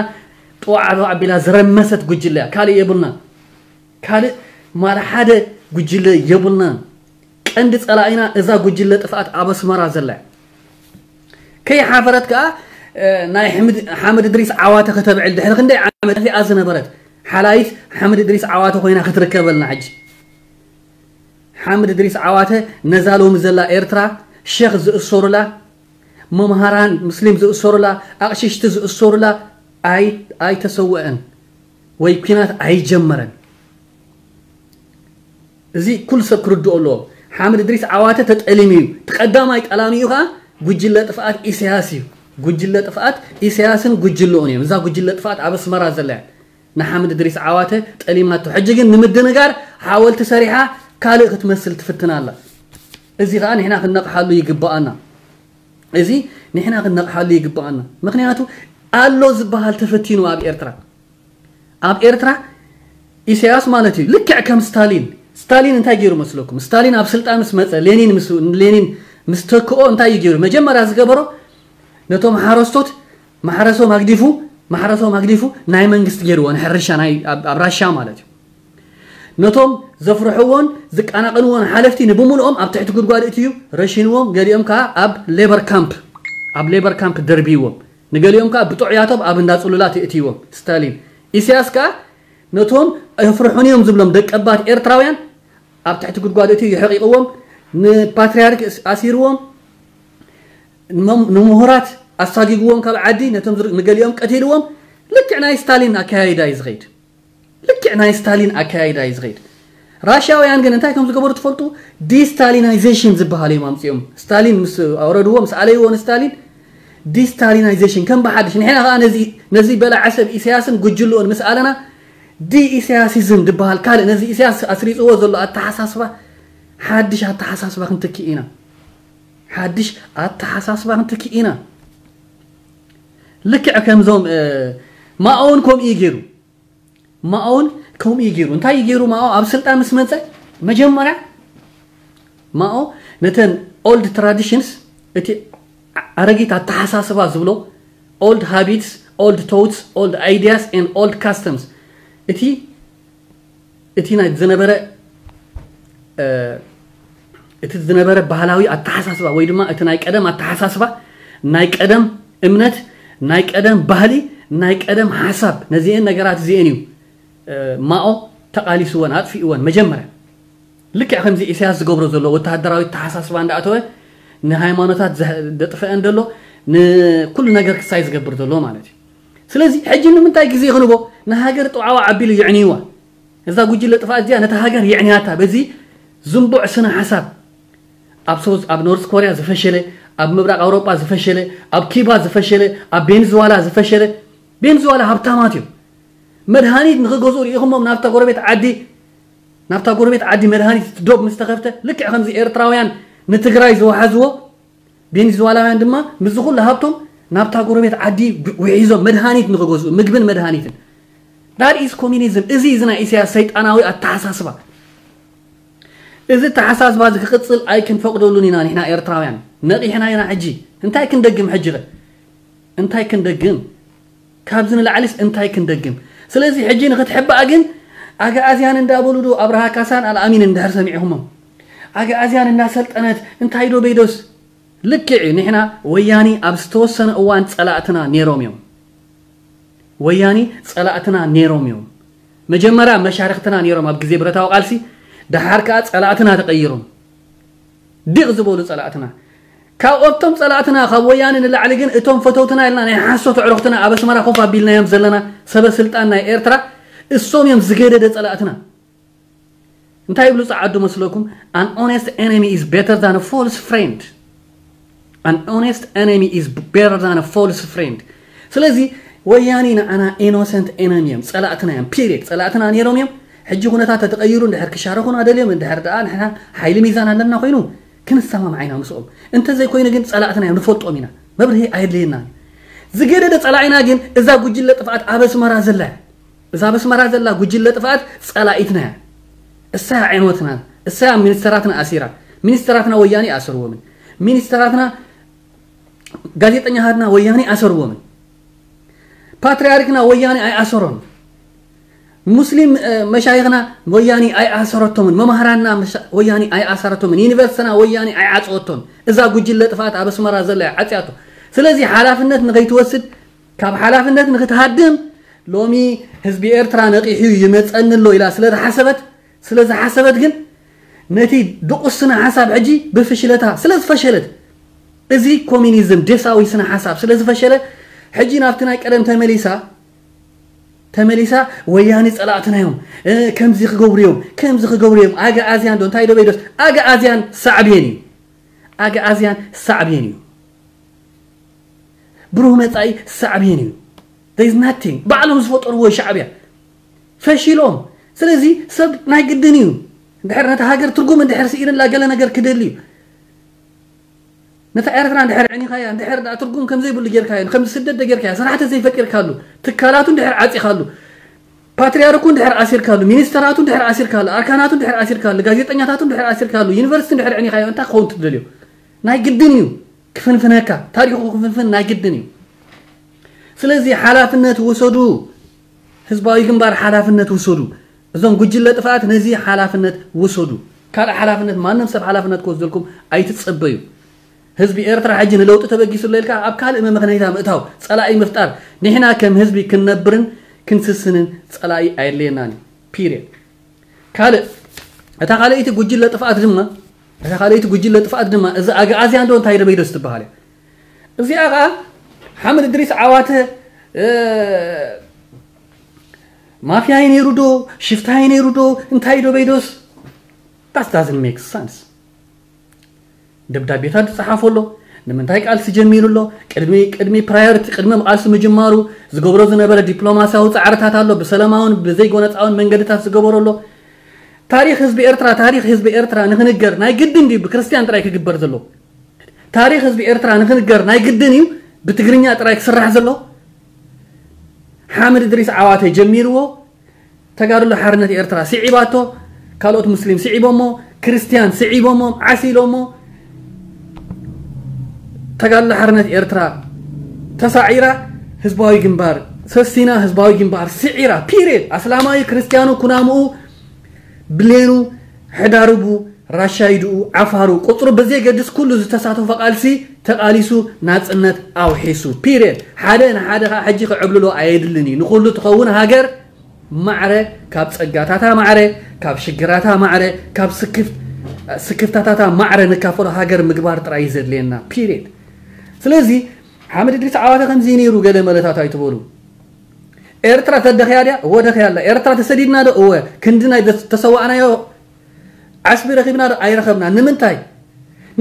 ጥዋዕ ኣቢላ ዝረመሰት ጉጅለ እያ። ካልእ የብልና። ካልእ ማል ሓደ ጉጅለ የብልና። ቀንዲ ጸላኢና እዛ ጉጅለ ጥፍኣት ኣብ ኣስመራ ዘላ እያ። ከይሓፈረት ከኣ እ፣ ናይ ሕምድ- ሓመድ እድሪስ ዓዋተ ከተብዕል ድሕሪ ክንደይ ዓመት እዚኣ ዝነበረት ሓላይት ሓመድ እድሪስ ዓዋተ ኮይና ክትርከበልና ሕጂ ሓምድ እድሪስ ዓዋተ ነዛ ሎሚ ዘላ ኤርትራ ሸኽ ዝእሰሩላ፣ መምሃራን ሙስሊም ዝእሰሩላ፣ ኣቕሽሽቲ ዝእሰሩላ ኣይ ኣይተሰውአን ወይ ኲናት ኣይጀመረን። እዚ ኩሉ ሰብ ክርድኦ ኣለዎ። ሓምድ እድሪስ ዓዋተ ተጠሊሙ እዩ። እቲ ቀዳማይ ጠላሚኡ ከዓ ጉጅለ ጥፍኣት ኢሳያስ እዩ። ጉጅለ ጥፍኣት ኢሳያስን ጉጅለኡን እዮም። እዛ ጉጅለ ጥፍኣት ኣብ ኣስመራ ዘላ እያ ንሓምድ እድሪስ ዓዋተ ጠሊማቶ። ሕጂ ግን ንምድንጋር ሓወልቲ ሰሪሓ ካልእ ክትመስል ትፍትን ኣላ። እዚ ከዓ ንሕና ክንነቕሓሉ ይግብኣና። እዚ ንሕና ክንነቕሓሉ ይግብኣና። ምክንያቱ ኣሎ ዝበሃል ተፈቲኑ ኣብ ኤርትራ። ኣብ ኤርትራ ኢሳያስ ማለት እዩ ልክዕ ከም ስታሊን። ስታሊን እንታይ ገይሩ መስለኩም? ስታሊን ኣብ ስልጣን ምስ መጸ፣ ሌኒን ምስ ሌኒን ምስ ተክኦ እንታይ እዩ ገይሩ? መጀመርያ ዝገበሮ ነቶም ሓረስቶት ማሕረሶም ኣግዲፉ ማሕረሶም ኣግዲፉ ናይ መንግስቲ ገይርዎ ንሕርሻ ናይ ኣብ ኣብ ራሻ ማለት እዩ። ነቶም ዘፍርሕዎን ዝቀናቀንዎን ሓለፍቲ ንብምልኦም ኣብ ትሕቲ ጉድጓድ እትዩ ረሽንዎም፣ ገሊኦም ከዓ ኣብ ሌበር ካምፕ ኣብ ሌበር ካምፕ ደርብይዎም፣ ንገሊኦም ከዓ ብጥዑያቶም ኣብ እንዳ ጽሉላት እትይዎም። ስታሊን ኢሳያስ ከዓ ነቶም የፍርሑን እዮም ዝብሎም ደቀባት ኤርትራውያን ኣብ ትሕቲ ጉድጓድ እትዩ የሕቂቕዎም፣ ንፓትርያርክ ኣሲርዎም፣ ንመም- ንምሁራት ኣሳጊግዎም ካብ ዓዲ፣ ነቶም ዝር- ንገሊኦም ቀቲልዎም። ልክዕ ናይ ስታሊን ኣካያይዳ እዩ ዝኸይድ። ልክዕ ናይ ስታሊን ኣካያይዳ እዩ ዝኸይድ። ራሽያውያን ግን እንታይ ከም ዝገበሩ ትፈልጡ? ዲስታሊናይዜሽን ዝበሃል እዮም ኣምፅኦም። ስታሊን ምስ ኣውረድዎ ምስ ኣለይዎ ንስታሊን ዲስታሊናይዜሽን ከም ብሓድሽ ንሕና ከዓ ነዚ ነዚ በላዓ ሰብ ኢሳያስን ጉጅልኡን ምስ ኣለና ዲ ኢሳያሲዝም ዝበሃል ካልእ ነዚ ኢሳያስ ኣስሪፅዎ ዘሎ ኣተሓሳስባ ሓድሽ ኣተሓሳስባ ክንትክእ ኢና። ሓድሽ ኣተሓሳስባ ክንትክእ ኢና። ልክዕ ከምዞም ማኦውን ከምኡ እዩ ገይሩ። ማኦውን ከምኡ እዩ ገይሩ። እንታይ እዩ ገይሩ? ማኦ ኣብ ስልጣን ምስ መፀ መጀመርያ ማኦ ነተን ኦልድ ትራዲሽንስ፣ እቲ ኣረጊት ኣተሓሳስባ ዝብሎ፣ ኦልድ ሃቢትስ፣ ኦልድ ቶትስ፣ ኦልድ ኣይዲያስ ኤንድ ኦልድ ካስተምስ፣ እቲ እቲ ናይ ዝነበረ እቲ ዝነበረ ባህላዊ ኣተሓሳስባ ወይ ድማ እቲ ናይ ቀደም ኣተሓሳስባ፣ ናይ ቀደም እምነት፣ ናይ ቀደም ባህሊ፣ ናይ ቀደም ሓሳብ፣ ነዚአን ነገራት እዚአን እዩ ማኦ ተቓሊስወን ኣጥፊእወን። መጀመርያ ልክዕ ከምዚ ኢሳያስ ዝገብሮ ዘሎ ወተሃደራዊ ኣተሓሳስባ እንዳኣተወ ንሃይማኖታት ዘጥፍአን ዘሎ፣ ንኩሉ ነገር ክሳይ ዝገብር ዘሎ ማለት እዩ። ስለዚ ሕጂ ንምንታይ ግዜ ክንቦ ንሃገር ጥዋዕዋ ኣቢሉ ይዕንይዋ? እዛ ጉጅለ ጥፋ እዚኣ ነታ ሃገር የዕንያታ። በዚ ዝንቡዕ ስነ ሓሳብ ኣብ ሶዝ ኣብ ኖርስ ኮርያ ዝፈሸለ፣ ኣብ ምብራቕ ኣውሮጳ ዝፈሸለ፣ ኣብ ኪባ ዝፈሸለ፣ ኣብ ቤንዝዋላ ዝፈሸለ። ቤንዝዋላ ሃብታማት እዮም። መድሃኒት ንክገዝኡ ርኢኹሞም ናብታ ጎረቤት ዓዲ ናብታ ጎረቤት ዓዲ መድሃኒት ዶብ ምስ ተኸፍተ ልክዕ ከምዚ ኤርትራውያን ንትግራይ ዝወሓዝዎ ቤንዝዋላውያን ድማ ምስዚ ኩሉ ሃብቶም ናብታ ጎረቤት ዓዲ ውሒዞም መድሃኒት ንክገዝኡ ምግብን መድሃኒትን። That is communism። እዚ እዚ ናይ ኢሳያስ ሰይጣናዊ ኣተሓሳስባ። እዚ ኣተሓሳስባ እዚ ክቕጽል ኣይክንፈቕደሉን ኢና። ንሕና ኤርትራውያን ነቒሕና ኢና። ሕጂ እንታይ ክንደግም? ሕጂ ኸ እንታይ ክንደግም? ካብዚ ንላዕሊስ እንታይ ክንደግም? ስለዚ ሕጂ ንክትሕባእ ግን ኣግኣዝያን እንዳበሉ ዶ ኣብርሃ ካሳን ኣልኣሚን እንድሕር ሰሚዕኹሞም ኣግኣዝያን እንዳሰልጠነት እንታይ ዶ በይዶስ? ልክዕ እዩ። ንሕና ወያኒ ኣብ ዝተወሰነ እዋን ጸላእትና ነይሮም እዮም። ወያኒ ጸላእትና ነይሮም እዮም። መጀመርያ መሻርክትና ነይሮም ኣብ ግዜ ብረታዊ ቃልሲ፣ ደሓር ከኣ ጸላእትና ተቐይሮም። ዲቕ ዝበሉ ጸላእትና። ካብ ኦቶም ጸላእትና ካብ ወያኒ ንላዕሊ ግን እቶም ፈተውትና ኢልና ናይ ሓሶት ኣዕሩኽትና ኣብ ኣስመራ ኮፍ ኣቢልናዮም ዘለና ሰበ ስልጣን ናይ ኤርትራ እሶም እዮም ዝገደደ ጸላእትና። እንታይ ይብሉ ጸዓዱ መስለኩም? An honest enemy is better than a false friend. An honest enemy is better than a false friend. ስለዚ ወያኒ ንዓና ኢኖሰንት ኤነሚ እዮም፣ ጸላእትና እዮም። ፒሪድ። ጸላእትና ነይሮም እዮም። ሕጂ ኩነታት ተተቐይሩ እንድሕር ክሻረኹና ደልዮም እንድሕር ደኣ ንሕና ሓይሊ ሚዛን ኣለና ኮይኑ ክንሰማማዕ ኢና ምስኦም። እንተዘይኮይኑ ግን ጸላእትና እዮም፣ ንፈልጦም ኢና። መብርሂ ኣየድልየናን እዩ። ዝገደደ ጸላኢና ግን እዛ ጉጅለ ጥፍኣት ኣብ ኣስመራ ዘላ እያ። እዛ ኣብ ኣስመራ ዘላ ጉጅለ ጥፍኣት ጸላኢትና እያ። እሳ እያ ዕንወትና፣ እሳ እያ ሚኒስተራትና ኣሲራ። ሚኒስተራትና ወያኔ ኣሰርዎምን፣ ሚኒስተራትና ጋዜጠኛታትና ወያኔ ኣሰርዎምን። ፓትርያርክና ወያኔ ኣይኣሰሮን። ሙስሊም መሻይኽና ወያኔ ኣይኣሰረቶምን። መማህራንና ወያኔ ኣይኣሰረቶምን። ዩኒቨርሲቲና ወያኔ ኣይዓፀወቶን። እዛ ጉጅለ ጥፍኣት ኣብ ኣስመራ ዘላ እያ ዓፅያቶ። ስለዚ ሓላፍነት ንኸይትወስድ ካብ ሓላፍነት ንክትሃድም ሎሚ ህዝቢ ኤርትራ ነቒሑ ይመጸኒ ኣሎ ኢላ ስለ ዝሓሰበት ስለ ዝሓሰበት ግን ነቲ ድቑስ ስነ ሓሳብ ሕጂ ብፍሽለታ ስለ ዝፈሸለት፣ እዚ ኮሚኒዝም ዴሳዊ ስነ ሓሳብ ስለ ዝፈሸለ፣ ሕጂ ናብቲ ናይ ቀደም ተመሊሳ ተመሊሳ፣ ወያኒ ጸላእትና እዮም፣ ከምዚ ክገብሩ እዮም፣ ከምዚ ክገብሩ እዮም። ኣግኣዝያን ዶ እንታይ ዶ በይዶስ፣ ኣግኣዝያን ሳዕቤን እዩ። ኣግኣዝያን ሳዕቤን እዩ። ብሩህ መጻኢ ሳዕቤን እዩ። There is nothing። ባዕሎም ዝፈጠርዎ ሻዕብያ ፈሺሎም። ስለዚ ሰብ ናይ ግድን እዩ፣ እንድሕር ነቲ ሃገር ትርጉም እንድሕር ስኢንላ ገለ ነገር ክደሊ እዩ። ነታ ኤርትራ እንድሕር ዕኒኻያ፣ እንድሕር ደኣ ትርጉም ከም ዘይብሉ ጌርካዮ፣ ከም ስደት ደ ጌርካያ፣ ስራሕቲ ዘይፈጢርካሉ፣ ትካላቱ እንድሕር ዓጺኻሉ፣ ፓትርያርኩ እንድሕር ኣሲርካሉ፣ ሚኒስተራቱ እንድሕር ኣሲርካሉ፣ ኣርካናቱ እንድሕር ኣሲርካሉ፣ ጋዜጠኛታቱ እንድሕር ኣሲርካሉ፣ ዩኒቨርሲቲ እንድሕር ዕኒኻዮ፣ እንታይ ክኸውን ትደልዮ? ናይ ግድን እዩ ክፍንፍነካ፣ ታሪኹ ክፍንፍን ናይ ግድን እዩ። ስለዚ ሓላፍነት ውሰዱ፣ ህዝባዊ ግንባር ሓላፍነት ውሰዱ። እዞም ጉጅለ ጥፍኣት ነዚ ሓላፍነት ውሰዱ። ካልእ ሓላፍነት ማንም ሰብ ሓላፍነት ክወስደልኩም ኣይትጸበዩ። ህዝቢ ኤርትራ ሕጂ ንለውጢ ተበጊሱ ኣሎ ኢልካ ኣብ ካልእ መመኽነይታ ምእታው፣ ጸላኢ ምፍጣር፣ ንሕና ከም ህዝቢ ክንነብርን ክንስስንን ጸላኢ ኣየድልየናን እዩ። ፒሪየድ። ካልእ፣ እታ ካልኣይቲ ጉጅለ ጥፍኣት ድማ እታ ካልኣይቲ ጉጅለ ጥፍኣት ድማ እዚ ኣግኣዝያን ዶ እንታይ ዶ በይዶስ ትበሃል እያ። እዚኣ ኸኣ ሓምድ እድሪስ ዓዋተ ማፍያ እዩ ነይሩ ዶ ሽፍታ እዩ ነይሩ ዶ እንታይ ዶ በይዶስ? That doesn't make sense። ደብዳቤታት ዝጸሓፎ ኣሎ። ንምንታይ ቃልሲ ጀሚሩ ኣሎ? ቅድሚ ቅድሚ ፕራዮሪቲ ቅድሚ ቃልሲ ምጅማሩ ዝገብሮ ዝነበረ ዲፕሎማሲያዊ ጻዕርታት ኣሎ። ብሰላማውን ብዘይጎነጻውን መንገድታት ዝገበሮ ኣሎ። ታሪኽ ህዝቢ ኤርትራ ታሪኽ ህዝቢ ኤርትራ ንክንገር ናይ ግድን ድዩ ብክርስትያን ጥራይ ክግበር ዘሎ? ታሪኽ ህዝቢ ኤርትራ ንክንገር ናይ ግድን እዩ ብትግርኛ ጥራይ ክስራሕ ዘሎ? ሓምድ እድሪስ ዓዋተ ጀሚርዎ። ተጋድሎ ሓርነት ኤርትራ ስዒባቶ፣ ካልኦት ሙስሊም ስዒቦሞ፣ ክርስትያን ስዒቦሞ፣ ዓሲሎሞ። ተጋድሎ ሓርነት ኤርትራ ተሳዒራ፣ ህዝባዊ ግንባር ሰሲና፣ ህዝባዊ ግንባር ስዒራ። ፒሪየድ። ኣስላማዊ ክርስትያኑ ኩናምኡ ብሌኑ ሕዳርቡ ራሻይድኡ ዓፋሩ ቁፅሩ ብዘየገድስ ኩሉ ዝተሳተፎ ቃልሲ ተቃሊሱ ናፅነት ኣውሒሱ። ፒሪየድ። ሓደ ንሓደ ከዓ ሕጂ ክዕብልሎ ኣየድልን እዩ። ንኩሉ ትኸውን ሃገር ማዕረ ካብ ፀጋታታ ማዕረ ካብ ሽግራታ ማዕረ ካብ ስክፍታታታ ማዕረ ንካፈሎ ሃገር ምግባር ጥራይ እዩ ዘድልየና። ፒሪየድ። ስለዚ ሓመድ እድሪስ ዓዋተ ከምዚ ነይሩ ገለ መለታት ኣይትበሉ። ኤርትራ ተደኽያ ድያ? እወ ደኽያ ኣላ። ኤርትራ ተሰዲድና ዶ? እወ። ክንዲ ናይ ተሰዋእናዮ ዓስቢ ረኺብና ዶ? ኣይረኸብና። ንምንታይ?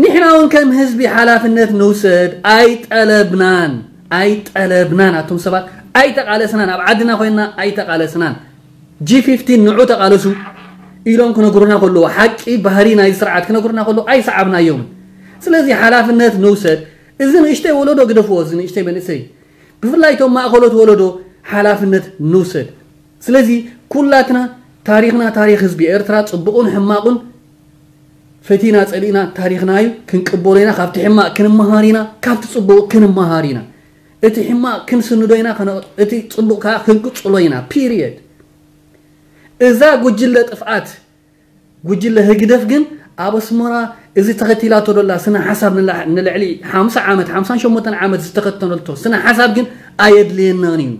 ንሕና እውን ከም ህዝቢ ሓላፍነት ንውሰድ። ኣይጠለብናን ኣይጠለብናን ኣቱም ሰባት ኣይተቃለስናን ኣብ ዓድና ኮይና ኣይተቃለስናን። ጂ ፊፍቲን ንዑ ተቃለሱ ኢሎም ክነግሩና ከለዉ ሓቂ ባህሪ ናይ ስርዓት ክነግሩና ከለዉ ኣይሰዓብናዮምን። ስለዚ ሓላፍነት ንውሰድ። እዚ ንእሽተይ ወለዶ ግደፍዎ። እዚ ንእሽተይ መንእሰይ ብፍላይ እቶም ማእኸሎት ወለዶ ሓላፍነት ንውሰድ። ስለዚ ኩላትና ታሪኽና ታሪኽ ህዝቢ ኤርትራ ጽቡቕን ሕማቑን ፈቲና ጸሊእና ታሪኽና እዩ። ክንቅበሎ ኢና። ካብቲ ሕማቕ ክንመሃር ኢና፣ ካብቲ ጽቡቕ ክንመሃር ኢና። እቲ ሕማቕ ክንስንዶ ኢና፣ እቲ ጽቡቕ ከዓ ክንቅጽሎ ኢና። ፒሪየድ። እዛ ጉጅለ ጥፍኣት ጉጅለ ህግደፍ ግን ኣብ ኣስመራ እዚ ተኸቲላቶ ደላ ስነ ሓሳብ ንልዕሊ ሓምሳ ዓመት ሓምሳን ሸሞንተን ዓመት ዝተኸተለቶ ስነ ሓሳብ ግን ኣየድልየናን እዩ።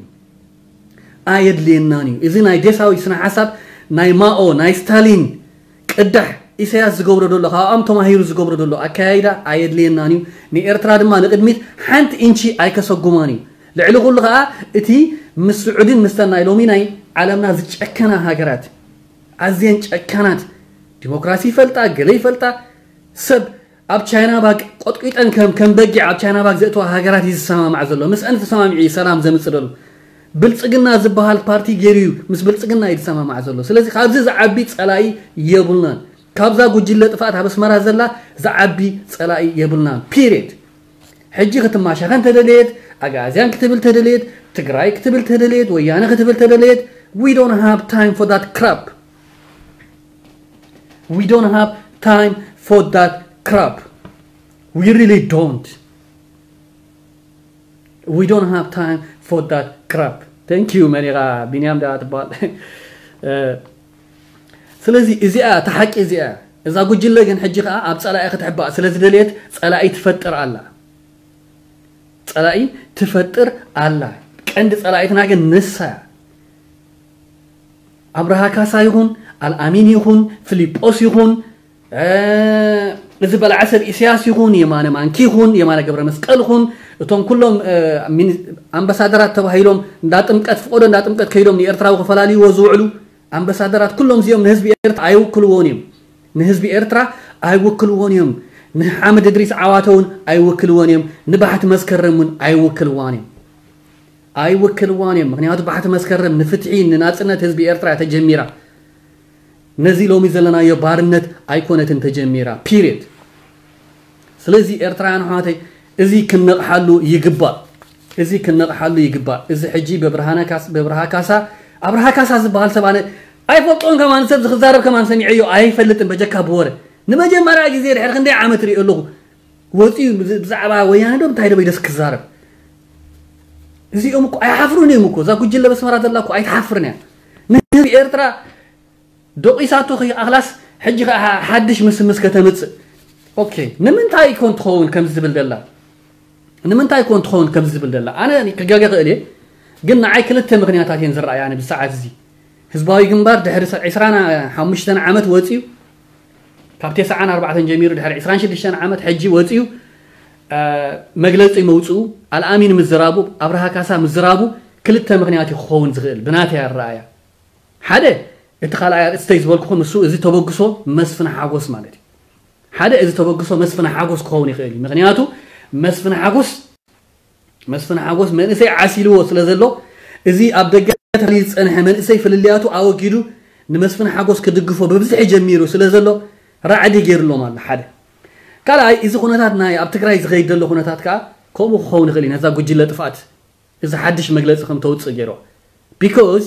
ኣየድልየናን እዩ። እዚ ናይ ዴሳዊ ስነ ሓሳብ ናይ ማኦ ናይ ስታሊን ቅዳሕ ኢሳያስ ዝገብሮ ደሎ ካብኣም ተማሂሩ ዝገብሮ ደሎ ኣካያይዳ ኣየድልየናን እዩ። ንኤርትራ ድማ ንቅድሚት ሓንቲ ኢንቺ ኣይከሰጉማን እዩ። ልዕሊ ኩሉ ከዓ እቲ ምስ ስዑድን ምስተን ናይ ሎሚ ናይ ዓለምና ዝጨከና ሃገራት ኣዝየን ጨካናት ዲሞክራሲ ይፈልጣ ገለ ይፈልጣ ሰብ ኣብ ቻይና ባግ ቆጥቂጠን ከም ከም በጊዕ ኣብ ቻይና ባግ ዘእተዋ ሃገራት እዩ ዝሰማማዕ ዘሎ። ምስአን ተሰማሚዑ እዩ ሰላም ዘምፅእ ዘሎ። ብልፅግና ዝበሃል ፓርቲ ገይሩ እዩ ምስ ብልፅግና እዩ ዝሰማማዕ ዘሎ። ስለዚ ካብዚ ዝዓቢ ፀላኢ የብልናን። ካብዛ ጉጅለ ጥፍኣት ኣብ ኣስመራ ዘላ ዝዓቢ ፀላኢ የብልናን። ፒሪድ። ሕጂ ክትማሸኸ እንተደለየት፣ ኣግኣዝያን ክትብል ተደለየት፣ ትግራይ ክትብል ተደለየት፣ ወያነ ክትብል ተደለየት፣ we don't have time for that crap. We don't have time for that crap. We really don't. We don't have time for that crap. Thank you መን ኢኻ ቢንያም ዳ ትበሃል። ስለዚ እዚኣ እታ ሓቂ እዚኣ እዛ ጉጅለ ግን ሕጂ ከዓ ኣብ ፀላኢ ክትሕባእ ስለ ዝደለየት ፀላኢ ትፈጥር ኣላ። ፀላኢ ትፈጥር ኣላ። ቀንዲ ፀላኢትና ግን ንሳ እያ። ኣብርሃ ካሳ ይኹን ኣልኣሚን ይኹን ፊሊጶስ ይኹን እዚ በላዓ ሰብ ኢሳያስ ይኹን፣ የማነ ማንኪ ይኹን፣ የማነ ገብረ መስቀል ይኹን፣ እቶም ኩሎም ኣምባሳደራት ተባሂሎም እንዳ ጥምቀት ፍቆዶ እንዳ ጥምቀት ከይዶም ንኤርትራዊ ክፈላልይዎ ዝውዕሉ ኣምባሳደራት ኩሎም እዚኦም ንህዝቢ ኤርትራ ኣይውክልዎን እዮም። ንህዝቢ ኤርትራ ኣይውክልዎን እዮም። ንሓምድ እድሪስ ዓዋተ እውን ኣይውክልዎን እዮም። ንባሕቲ መስከረም እውን ኣይውክልዋን እዮም። ኣይውክልዋን እዮም። ምክንያቱ ባሕቲ መስከረም ንፍትሒ ንናጽነት ህዝቢ ኤርትራ ተጀሚራ። ነዚ ሎሚ ዘለናዮ ባርነት ኣይኮነትን ተጀሚራ። ፒሪድ። ስለዚ ኤርትራውያን ኣሕዋተይ፣ እዚ ክንነቕሓሉ ይግባእ። እዚ ክንነቕሓሉ ይግባእ። እዚ ሕጂ በብርሃነ ካስ- በብርሃ ካሳ፣ ኣብርሃ ካሳ ዝበሃል ሰብ ኣነ ኣይፈልጦን፣ ከማን ሰብ ዝክዛረብ ከማን ሰሚዐዮ ኣይፈልጥን፣ በጀካ ብወረ። ንመጀመርያ ግዜ ድሕሪ ክንደይ ዓመት ሪኦ ኣለኹ። ወፂኡ ብዝ- ብዛዕባ ወያነ ዶ እንታይ ዶ በይደስ ክዛረብ። እዚኦም እኮ ኣይሓፍሩን እዮም እኮ። እዛ ጉጅለ በስመራ ዘላ እኮ ኣይትሓፍርን እያ። ንህዝቢ ኤርትራ ደቂሳቶ ከይኣኽላስ፣ ሕጂ ኸዓ ሓድሽ ምስምስ ከተምጽእ። ኦኬ፣ ንምንታይ ኮን ትኸውን ከምዚ ዝብል ደላ? ንምንታይ ኮን ትኸውን ከምዚ ዝብል ደላ? ኣነ ክጋገ ክእል እየ፣ ግን ንዓይ ክልተ ምክንያታት እየን ዝረኣያኒ ብሰዓት እዚ። ህዝባዊ ግንባር ድሕሪ ዒስራን ሓሙሽተን ዓመት ወጺኡ፣ ካብ ተስዓን ኣርባዕተን ጀሚሩ ድሕሪ ዒስራን ሽዱሽተን ዓመት ሕጂ ወጺኡ፣ እ፣ መግለጺ መውጽኡ፣ ኣልኣሚን ምዝራቡ፣ ኣብርሃ ካሳ ምዝራቡ፣ ክልተ ምክንያት እዩ ክኸውን ዝኽእል ብናተይ ኣረኣያ። ሓደ፣ እቲ ካልኣይ ኣርእስተይ ዝበልኩኹም እሱ፣ እዚ ተበግሶ መስፍን ሓጎስ ማለት እዩ። ሓደ፣ እዚ ተበግሶ መስፍን ሓጎስ ክኸውን ይኽእል እዩ። ምክንያቱ መስፍን ሓጎስ፣ መስፍን ሓጎስ መንእሰይ ዓሲልዎ ስለ ዘሎ፣ እዚ ኣብ ደገ ተታሊዩ ዝጸንሐ መንእሰይ ፍልልያቱ ኣወጊዱ ንመስፍን ሓጎስ ክድግፎ ብብዝሒ ጀሚሩ ስለ ዘሎ፣ ራዕዲ ገይርሎም ኣሎ። ሓደ። ካልኣይ፣ እዚ ኩነታት ናይ ኣብ ትግራይ ዝኸይድ ዘሎ ኩነታት ከኣ ከምኡ ክኸውን ይኽእል እዩ። ነዛ ጉጅለ ጥፍኣት እዚ ሓድሽ መግለጺ ከም ተውጽእ ገይሮ። ቢኮዝ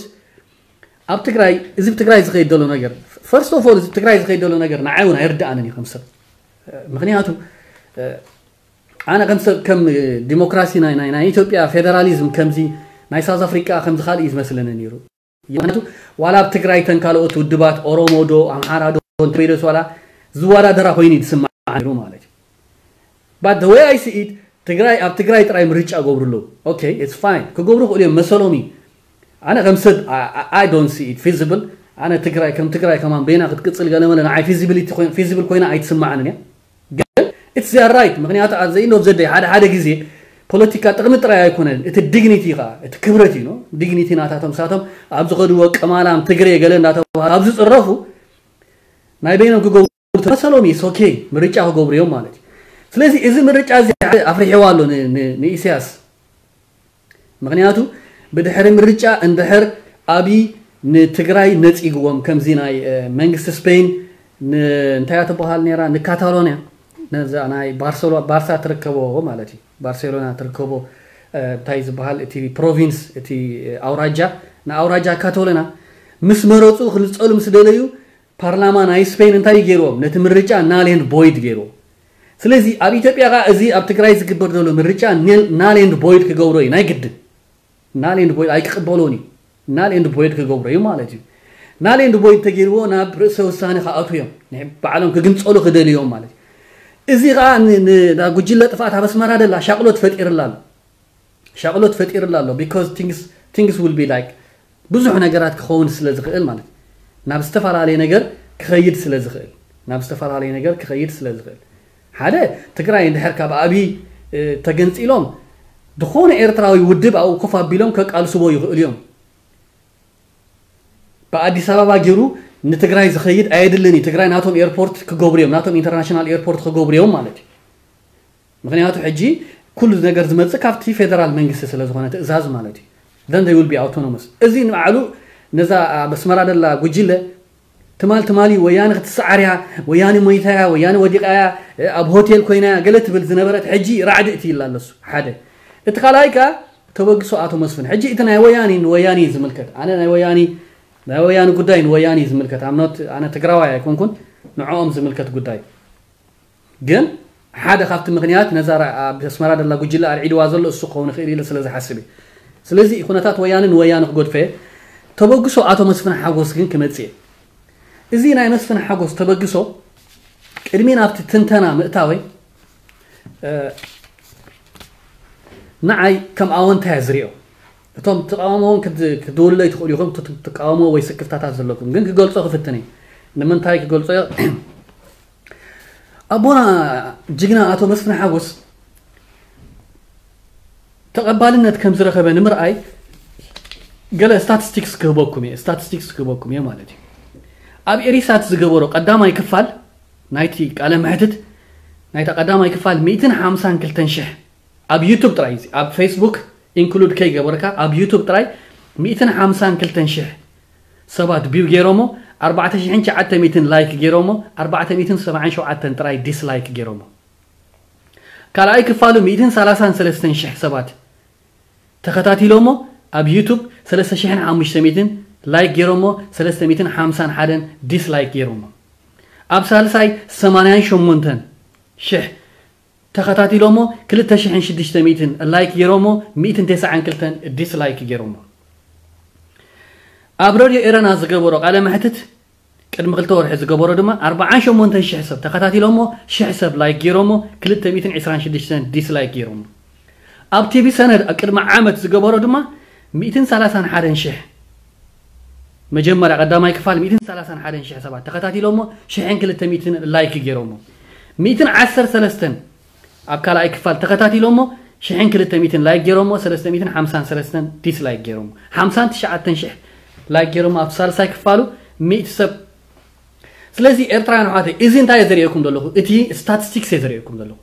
ኣብ ትግራይ፣ እዚ ኣብ ትግራይ ዝኸይድ ዘሎ ነገር፣ ፈርስት ኦፍ ኦል፣ እዚ ኣብ ትግራይ ዝኸይድ ዘሎ ነገር ንዓይ እውን ኣይርድኣንን እዩ ከም ሰብ። ምክንያቱ፣ እ፣ ኣነ ከም ሰብ፣ ከም ዲሞክራሲ ናይ፣ ናይ፣ ናይ ኢትዮጵያ ፌደራሊዝም ከምዚ ናይ ሳውዝ ኣፍሪቃ ከምዚ ካልእ እዩ ዝመስለኒ ነይሩ። ምክንያቱ ዋላ ኣብ ትግራይ ተን ካልኦት ውድባት ኦሮሞ ዶ ኣምሓራ ዶ እንተበይደስ ዋላ ዝወዳደራ ኮይኑ እዩ ዝስማዕ ነይሩ ማለት እዩ። But the way I see it፣ ትግራይ፣ ኣብ ትግራይ ጥራይ ምርጫ ገብሩ ኣለዉ። ኦኬ፣ it's fine። ክገብሩ ክእሉ እዮም፣ መሰሎም እዩ። ኣነ ከም ሰብ፣ I, I, I don't see it feasible። ኣነ ትግራይ ከም ትግራይ ከማን በይና ክትቅጽል ገለ መለ ንዓይ ፊዚቢሊቲ ኮይን፣ ፊዚብል ኮይና ኣይትስማዓንን እያ። ግን it's their right። ምክንያቱ ኣብ the end of the day ሓደ ሓደ ግዜ ፖለቲካ ጥቕሚ ጥራይ ኣይኮነን፣ እቲ ዲግኒቲ ኸዓ፣ እቲ ክብረት እዩ። ዲግኒቲ ናታቶም ሳቶም ኣብ ዝኸድዎ ቅማላም ትግሬ ገለ እንዳተባሃሉ ኣብ ዝጽረፉ ናይ በይኖም ክገብሩ ተመሰሎም እዩ። ኦኬ፣ ምርጫ ክገብሩ እዮም ማለት እዩ። ስለዚ እዚ ምርጫ እዚ ሓደ ኣፍሪሕዋ ኣሎ ን- ን- ንኢሳያስ። ምክንያቱ ብድሕሪ ምርጫ እንድሕር ኣብይ ንትግራይ ነፂግዎም፣ ከምዚ ናይ እ፣ መንግስቲ ስፔን ን- እንታይ እያ ትበሃል ነይራ፣ ንካታሎንያ፣ ነዛ ናይ ባርሰሎ- ባርሳ ትርከቦ ማለት እዩ፣ ባርሴሎና ትርከቦ እ፣ እንታይ ዝበሃል እቲ ፕሮቪንስ፣ እቲ እ፣ ኣውራጃ፣ ንኣውራጃ ካቶሎና ምስ መረፁ ክልፀሉ ምስ ደለዩ ፓርላማ ናይ ስፔን እንታይ ገይርዎም? ነቲ ምርጫ ናል ኤንድ ቦይድ ገይርዎ። ስለዚ ኣብ ኢትዮጵያ ኸዓ እዚ ኣብ ትግራይ ዝግበር ዘሎ ምርጫ ኔል- ናል ኤንድ ቦይድ ክገብሮ እዩ ናይ ግድን። ናል ኤንድ ቦይድ ኣይክቕበሎን እዩ። ናል ኤንድ ቦይድ ክገብሮ እዩ ማለት እዩ። ናል ኤንድ ቦይድ ተገይርዎ ናብ ርእሰ ውሳኔ ክኣትዉ እዮም። ንሕ- ባዕሎም ክግንጸሉ ክደልዩ እዮም ማለት እዩ። እዚ ኸዓ ን- ን- ንጉጅለ ጥፍኣት ኣብ ኣስመራ ደላ ሻቕሎት ፈጢርላ ኣሎ። ሻቕሎት ፈጢርላ ኣሎ። Because things, things will be like ብዙሕ ነገራት ክኸውን ስለ ዝኽእል ማለት እዩ። ናብ ዝተፈላለየ ነገር ክኸይድ ስለ ዝኽእል፣ ናብ ዝተፈላለየ ነገር ክኸይድ ስለ ዝኽእል፣ ሓደ ትግራይ እንድሕር ካብ ኣብይ እ፣ ተገንፂሎም ዝኾነ ኤርትራዊ ውድብ ኣብኡ ኮፍ ኣቢሎም ከቃልስዎ ይኽእሉ እዮም። ብኣዲስ ኣበባ ገይሩ ንትግራይ ዝኸይድ ኣየድልን እዩ። ትግራይ ናቶም ኤርፖርት ክገብሩ እዮም፣ ናቶም ኢንተርናሽናል ኤርፖርት ክገብሩ እዮም ማለት እዩ። ምክንያቱ ሕጂ ኩሉ ነገር ዝመጽእ ካብቲ ፌደራል መንግስቲ ስለ ዝኾነ ትእዛዝ ማለት እዩ። Then they will be autonomous። እዚ ንባዕሉ ነዛ ኣብ ኣስመራ ደላ ጉጅለ ትማል ትማሊ ወያነ ክትሰዓር እያ፣ ወያነ ሞይታ እያ፣ ወያነ ወዲቓ እያ፣ ኣብ ሆቴል ኮይና እያ ገለ ትብል ዝነበረት ሕጂ ራዕዲ እቲ ይላ ኣለሱ። ሓደ እቲ ካልኣይ ከኣ ተበግሶ ኣቶ መስፍን። ሕጂ እቲ ናይ ወያኒ ንወያኒ እዩ ዝምልከት። ኣነ ናይ ወያኒ ናይ ወያኒ ጉዳይ ንወያኒ እዩ ዝምልከት። ኣምኖት ኣነ ትግራዋይ ኣይኮንኩን፣ ንዕኦም ዝምልከት ጉዳይ። ግን ሓደ ካብቲ ምክንያት ነዛ ራ- ኣብ ኣስመራ ደላ ጉጅለ ኣርዒድዋ ዘሎ እሱ ክኸውን ይኽእል ኢለ ስለ ዝሓስብ እዩ። ስለዚ ኩነታት ወያነ ንወያነ ክገድፎ እየ። ተበግሶ ኣቶ መስፍን ሓጎስ ግን ክመጽእ እየ። እዚ ናይ መስፍን ሓጎስ ተበግሶ ቅድሚ ናብቲ ትንተና ምእታወይ እ፣ ንዓይ ከም ኣወንታ እየ ዝሪኦ። እቶም ትቃወምዎ እውን ክት- ክትድውልለይ ትኽእሉ ኢኹም፣ እቶ ትቃወምዎ ወይ ስክፍታታት ዘለኩም ግን ክገልጾ ክፍትን እየ። ንምንታይ ክገልጾ እየ? ኣቦና ጅግና ኣቶ መስፍን ሓጎስ ተቐባልነት ከም ዝረኸበ ንምርኣይ ገለ ስታቲስቲክስ ክህበኩም እየ። ስታቲስቲክስ ክህበኩም እየ ማለት እዩ። ኣብ ኤሪሳት ዝገበሮ ቀዳማይ ክፋል ናይቲ ቃለ መሕትት፣ ናይታ ቀዳማይ ክፋል ሚእትን ሓምሳን ክልተን ሽሕ፣ ኣብ ዩቱብ ጥራይ፣ እዚ ኣብ ፌስቡክ ኢንክሉድ ከይገበርካ፣ ኣብ ዩቱብ ጥራይ ሚእትን ሓምሳን ክልተን ሽሕ ሰባት ቪው ገይሮሞ፣ ኣርባዕተ ሽሕን ትሽዓተ ሚእትን ላይክ ገይሮሞ፣ ኣርባዕተ ሚእትን ሰብዓን ሸውዓተን ጥራይ ዲስላይክ ገይሮሞ። ካልኣይ ክፋሉ ሚእትን ሰላሳን ሰለስተን ሽሕ ሰባት ተኸታቲሎሞ፣ ኣብ ዩቱብ ሰለስተ ሽሕን ሓሙሽተ ሚእትን ላይክ ገይሮሞ፣ ሰለስተ ሚእትን ሓምሳን ሓደን ዲስላይክ ገይሮሞ። ኣብ ሳልሳይ ሰማንያን ሸሞንተን ሽሕ ተኸታቲሎሞ፣ ክልተ ሽሕን ሽዱሽተ ሚእትን ላይክ ገይሮሞ፣ ሚእትን ተስዓን ክልተን ዲስላይክ ገይሮሞ። ኣብ ረድዮ ኤረና ዝገበሮ ቃለ መሕትት ቅድሚ ክልተ ወርሒ ዝገበሮ ድማ ኣርባዓን ሸሞንተን ሽሕ ሰብ ተኸታቲሎሞ፣ ሽሕ ሰብ ላይክ ገይሮሞ፣ ክልተ ሚእትን ዕስራን ሽዱሽተን ዲስላይክ ገይሮሞ። ኣብ ቲቪ ሰነድ ኣብ ቅድሚ ዓመት ዝገበሮ ድማ ሚእትን ሰላሳን ሓደን ሽሕ፣ መጀመርያ ቀዳማይ ክፋል ሚእትን ሰላሳን ሓደን ሽሕ ሰባት ተኸታቲሎሞ፣ ሽሕን ክልተ ሚእትን ላይክ ገይሮሞ። ሚእትን ዓሰርተ ሰለስተን ኣብ ካልኣይ ክፋል ተኸታቲሎሞ፣ ሽሕን ክልተ ሚእትን ላይክ ገይሮሞ፣ ሰለስተ ሚእትን ሓምሳን ሰለስተን ዲስላይክ ገይሮሞ። ሓምሳን ትሽዓተን ሽሕ ላይክ ገይሮሞ ኣብ ሳልሳይ ክፋሉ ሚእቲ ሰብ። ስለዚ ኤርትራውያን ኣሕዋተይ፣ እዚ እንታይ እየ ዘርእየኩም ዘለኹ? እቲ ስታቲስቲክስ እየ ዘርእየኩም ዘለኹ።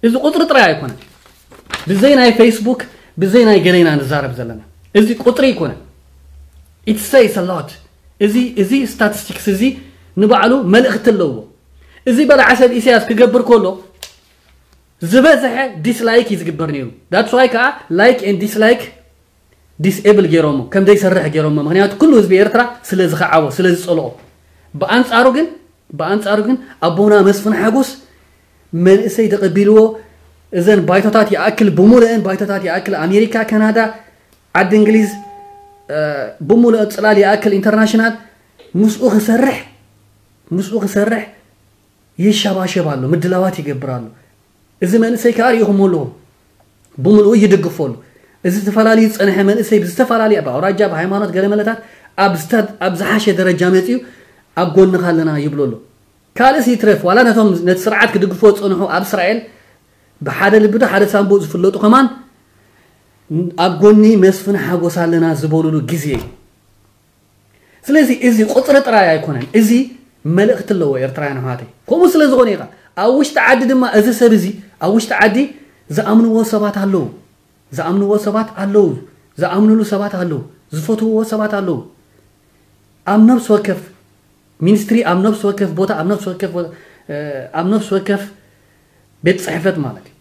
እዚ ቁጽሪ ጥራይ ኣይኮነን። ብዘይ ናይ ፌስቡክ፣ ብዘይ ናይ ገሌና ንዛረብ ዘለና። እዚ ቁጽሪ ኣይኮነን። It says a lot። እዚ፣ እዚ ስታቲስቲክስ እዚ ንባዕሉ መልእኽቲ ኣለዎ። እዚ በላዓ ሰብ ኢሳያስ ክገብር ከሎ ዝበዝሐ ዲስላይክ እዩ ዝግበር ነይሩ። That's why ከዓ ላይክ ኤንድ ዲስላይክ ዲስኤብል ገይሮሞ፣ ከም ዘይሰርሕ ገይሮሞ። ምክንያቱ ኩሉ ህዝቢ ኤርትራ ስለ ዝኸዓቦ፣ ስለ ዝጸልኦ። ብኣንጻሩ ግን፣ ብኣንጻሩ ግን ኣቦና መስፍን ሓጎስ መንእሰይ ተቐቢልዎ፣ እዘን ባይቶታት ይኣክል፣ ብሙሉአን ባይቶታት ይኣክል፣ ኣሜሪካ፣ ካናዳ፣ ዓዲ እንግሊዝ፣ እ፣ ብሙሉእ ጽላል ይኣክል ኢንተርናሽናል ምስኡ ክሰርሕ፣ ምስኡ ክሰርሕ ይሸባሸብ ኣሎ፣ ምድላዋት ይገብር ኣሎ። እዚ መንእሰይ ከኣ ርኢኹሞ ኣለኹም፣ ብምልኡ ይድግፎ ኣሎ። እዚ ተፈላለዩ ዝጸንሐ መንእሰይ ብዝተፈላለየ፣ ብኣውራጃ፣ ብሃይማኖት፣ ገለመለታት ኣብ ዝተ-፣ ኣብ ዝሓሸ ደረጃ መጺኡ ኣብ ጎንኻ ኣለና ይብሎ ኣሎ። ካልእስ ይትረፍ፣ ዋላ ነቶም ነቲ ስርዓት ክድግፎ ዝጸንሑ ኣብ እስራኤል ብሓደ ልቢ ዶ ሓደ ሳንቡእ ዝፍለጡ ከማን ኣብ ጎኒ መስፍን ሓጎስ ኣለና ዝበሉሉ ግዜ እዩ። ስለዚ እዚ ቁጽሪ ጥራይ ኣይኮነን፣ እዚ መልእኽቲ ኣለዎ ኤርትራውያን ኣሕዋተይ። ከምኡ ስለ ዝኾነ ኢኻ ኣብ ውሽጢ ዓዲ ድማ እዚ ሰብ እዚ ኣብ ውሽጢ ዓዲ ዝኣምንዎ ሰባት ኣለዉ፣ ዝኣምንዎ ሰባት ኣለዉ፣ ዝኣምንሉ ሰባት ኣለዉ፣ ዝፈትውዎ ሰባት ኣለዉ። ኣብ ነፍሲ ወከፍ ሚኒስትሪ፣ ኣብ ነፍሲ ወከፍ ቦታ፣ ኣብ ነፍሲ ወከፍ፣ እ፣ ኣብ ነፍሲ ወከፍ ቤት ጽሕፈት ማለት እዩ።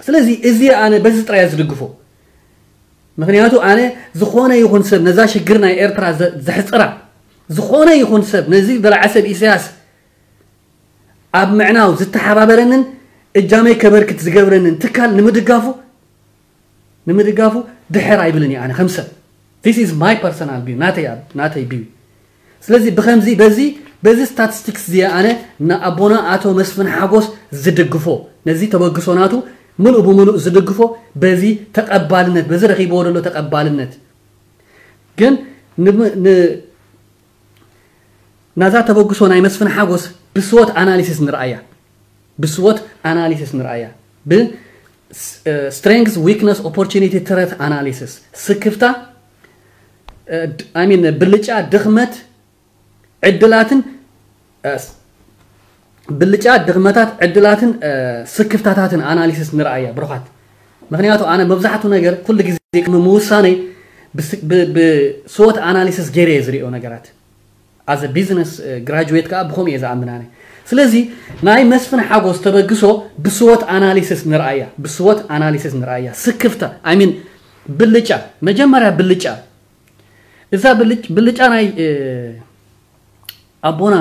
ስለዚ እዚ ኣነ በዚ ጥራይ እየ ዝድግፎ። ምክንያቱ ኣነ ዝኾነ ይኹን ሰብ ነዛ ሽግር ናይ ኤርትራ ዘ-፣ ዘሕጽራ፣ ዝኾነ ይኹን ሰብ ነዚ በላዓ ሰብ ኢሳያስ ኣብ ምዕናው ዝተሓባበረንን እጃመይ ከበርክት ዝገብረንን ትካል ንምድጋፉ፣ ንምድጋፉ ድሕር ኣይብልን እየ ኣነ ከም ሰብ። This is my personal view፣ ናተይ ኣብ-፣ ናተይ ቪው። ስለዚ ብኸምዚ በዚ፣ በዚ ስታቲስቲክስ እዚ ኣነ ንኣቦና ኣቶ መስፍን ሓጎስ ዝድግፎ፣ ነዚ ተበግሶ ናቱ ምሉእ ብምሉእ ዝድግፎ፣ በዚ ተቐባልነት፣ በዚ ረኺብዎ ዘሎ ተቐባልነት። ግን ን-፣ ን-፣ ናዛ ተበግሶ ናይ መስፍን ሓጎስ ብስወት ኣናሊሲስ ንርኣያ፣ ብስወት ኣናሊሲስ ንርኣያ፣ ብ ስ-፣ እ፣ ስትሬንግዝ፣ ዊክነስ፣ ኦፖርቹኒቲ፣ ትረት ኣናሊሲስ፣ ስክፍታ፣ እ፣ ድ-፣ I mean፣ ብልጫ፣ ድኽመት፣ ዕድላትን፣ እ፣ ስ-፣ ብልጫ፣ ድኽመታት፣ ዕድላትን፣ እ፣ ስክፍታታትን ኣናሊሲስ ንርኣያ ብሩኻት። ምክንያቱ ኣነ መብዛሕትኡ ነገር ኩሉ ግዜ ቅድሚ ምውሳነይ ብስ-፣ ብ-፣ ብስወት ኣናሊሲስ ገይረ እየ ዝሪኦ ነገራት። ኣዘ ቢዝነስ ግራጁዌት ከዓ ብኸምኡ እየ ዝኣምን ኣነ። ስለዚ ናይ መስፍን ሓጎስ ተበግሶ ብስወት ኣናሊሲስ ንርኣያ፣ ብስወት ኣናሊሲስ ንርኣያ። ስክፍታ፣ I mean፣ ብልጫ፣ መጀመርያ ብልጫ። እዛ ብልጭ-፣ ብልጫ ናይ፣ እ፣ ኣቦና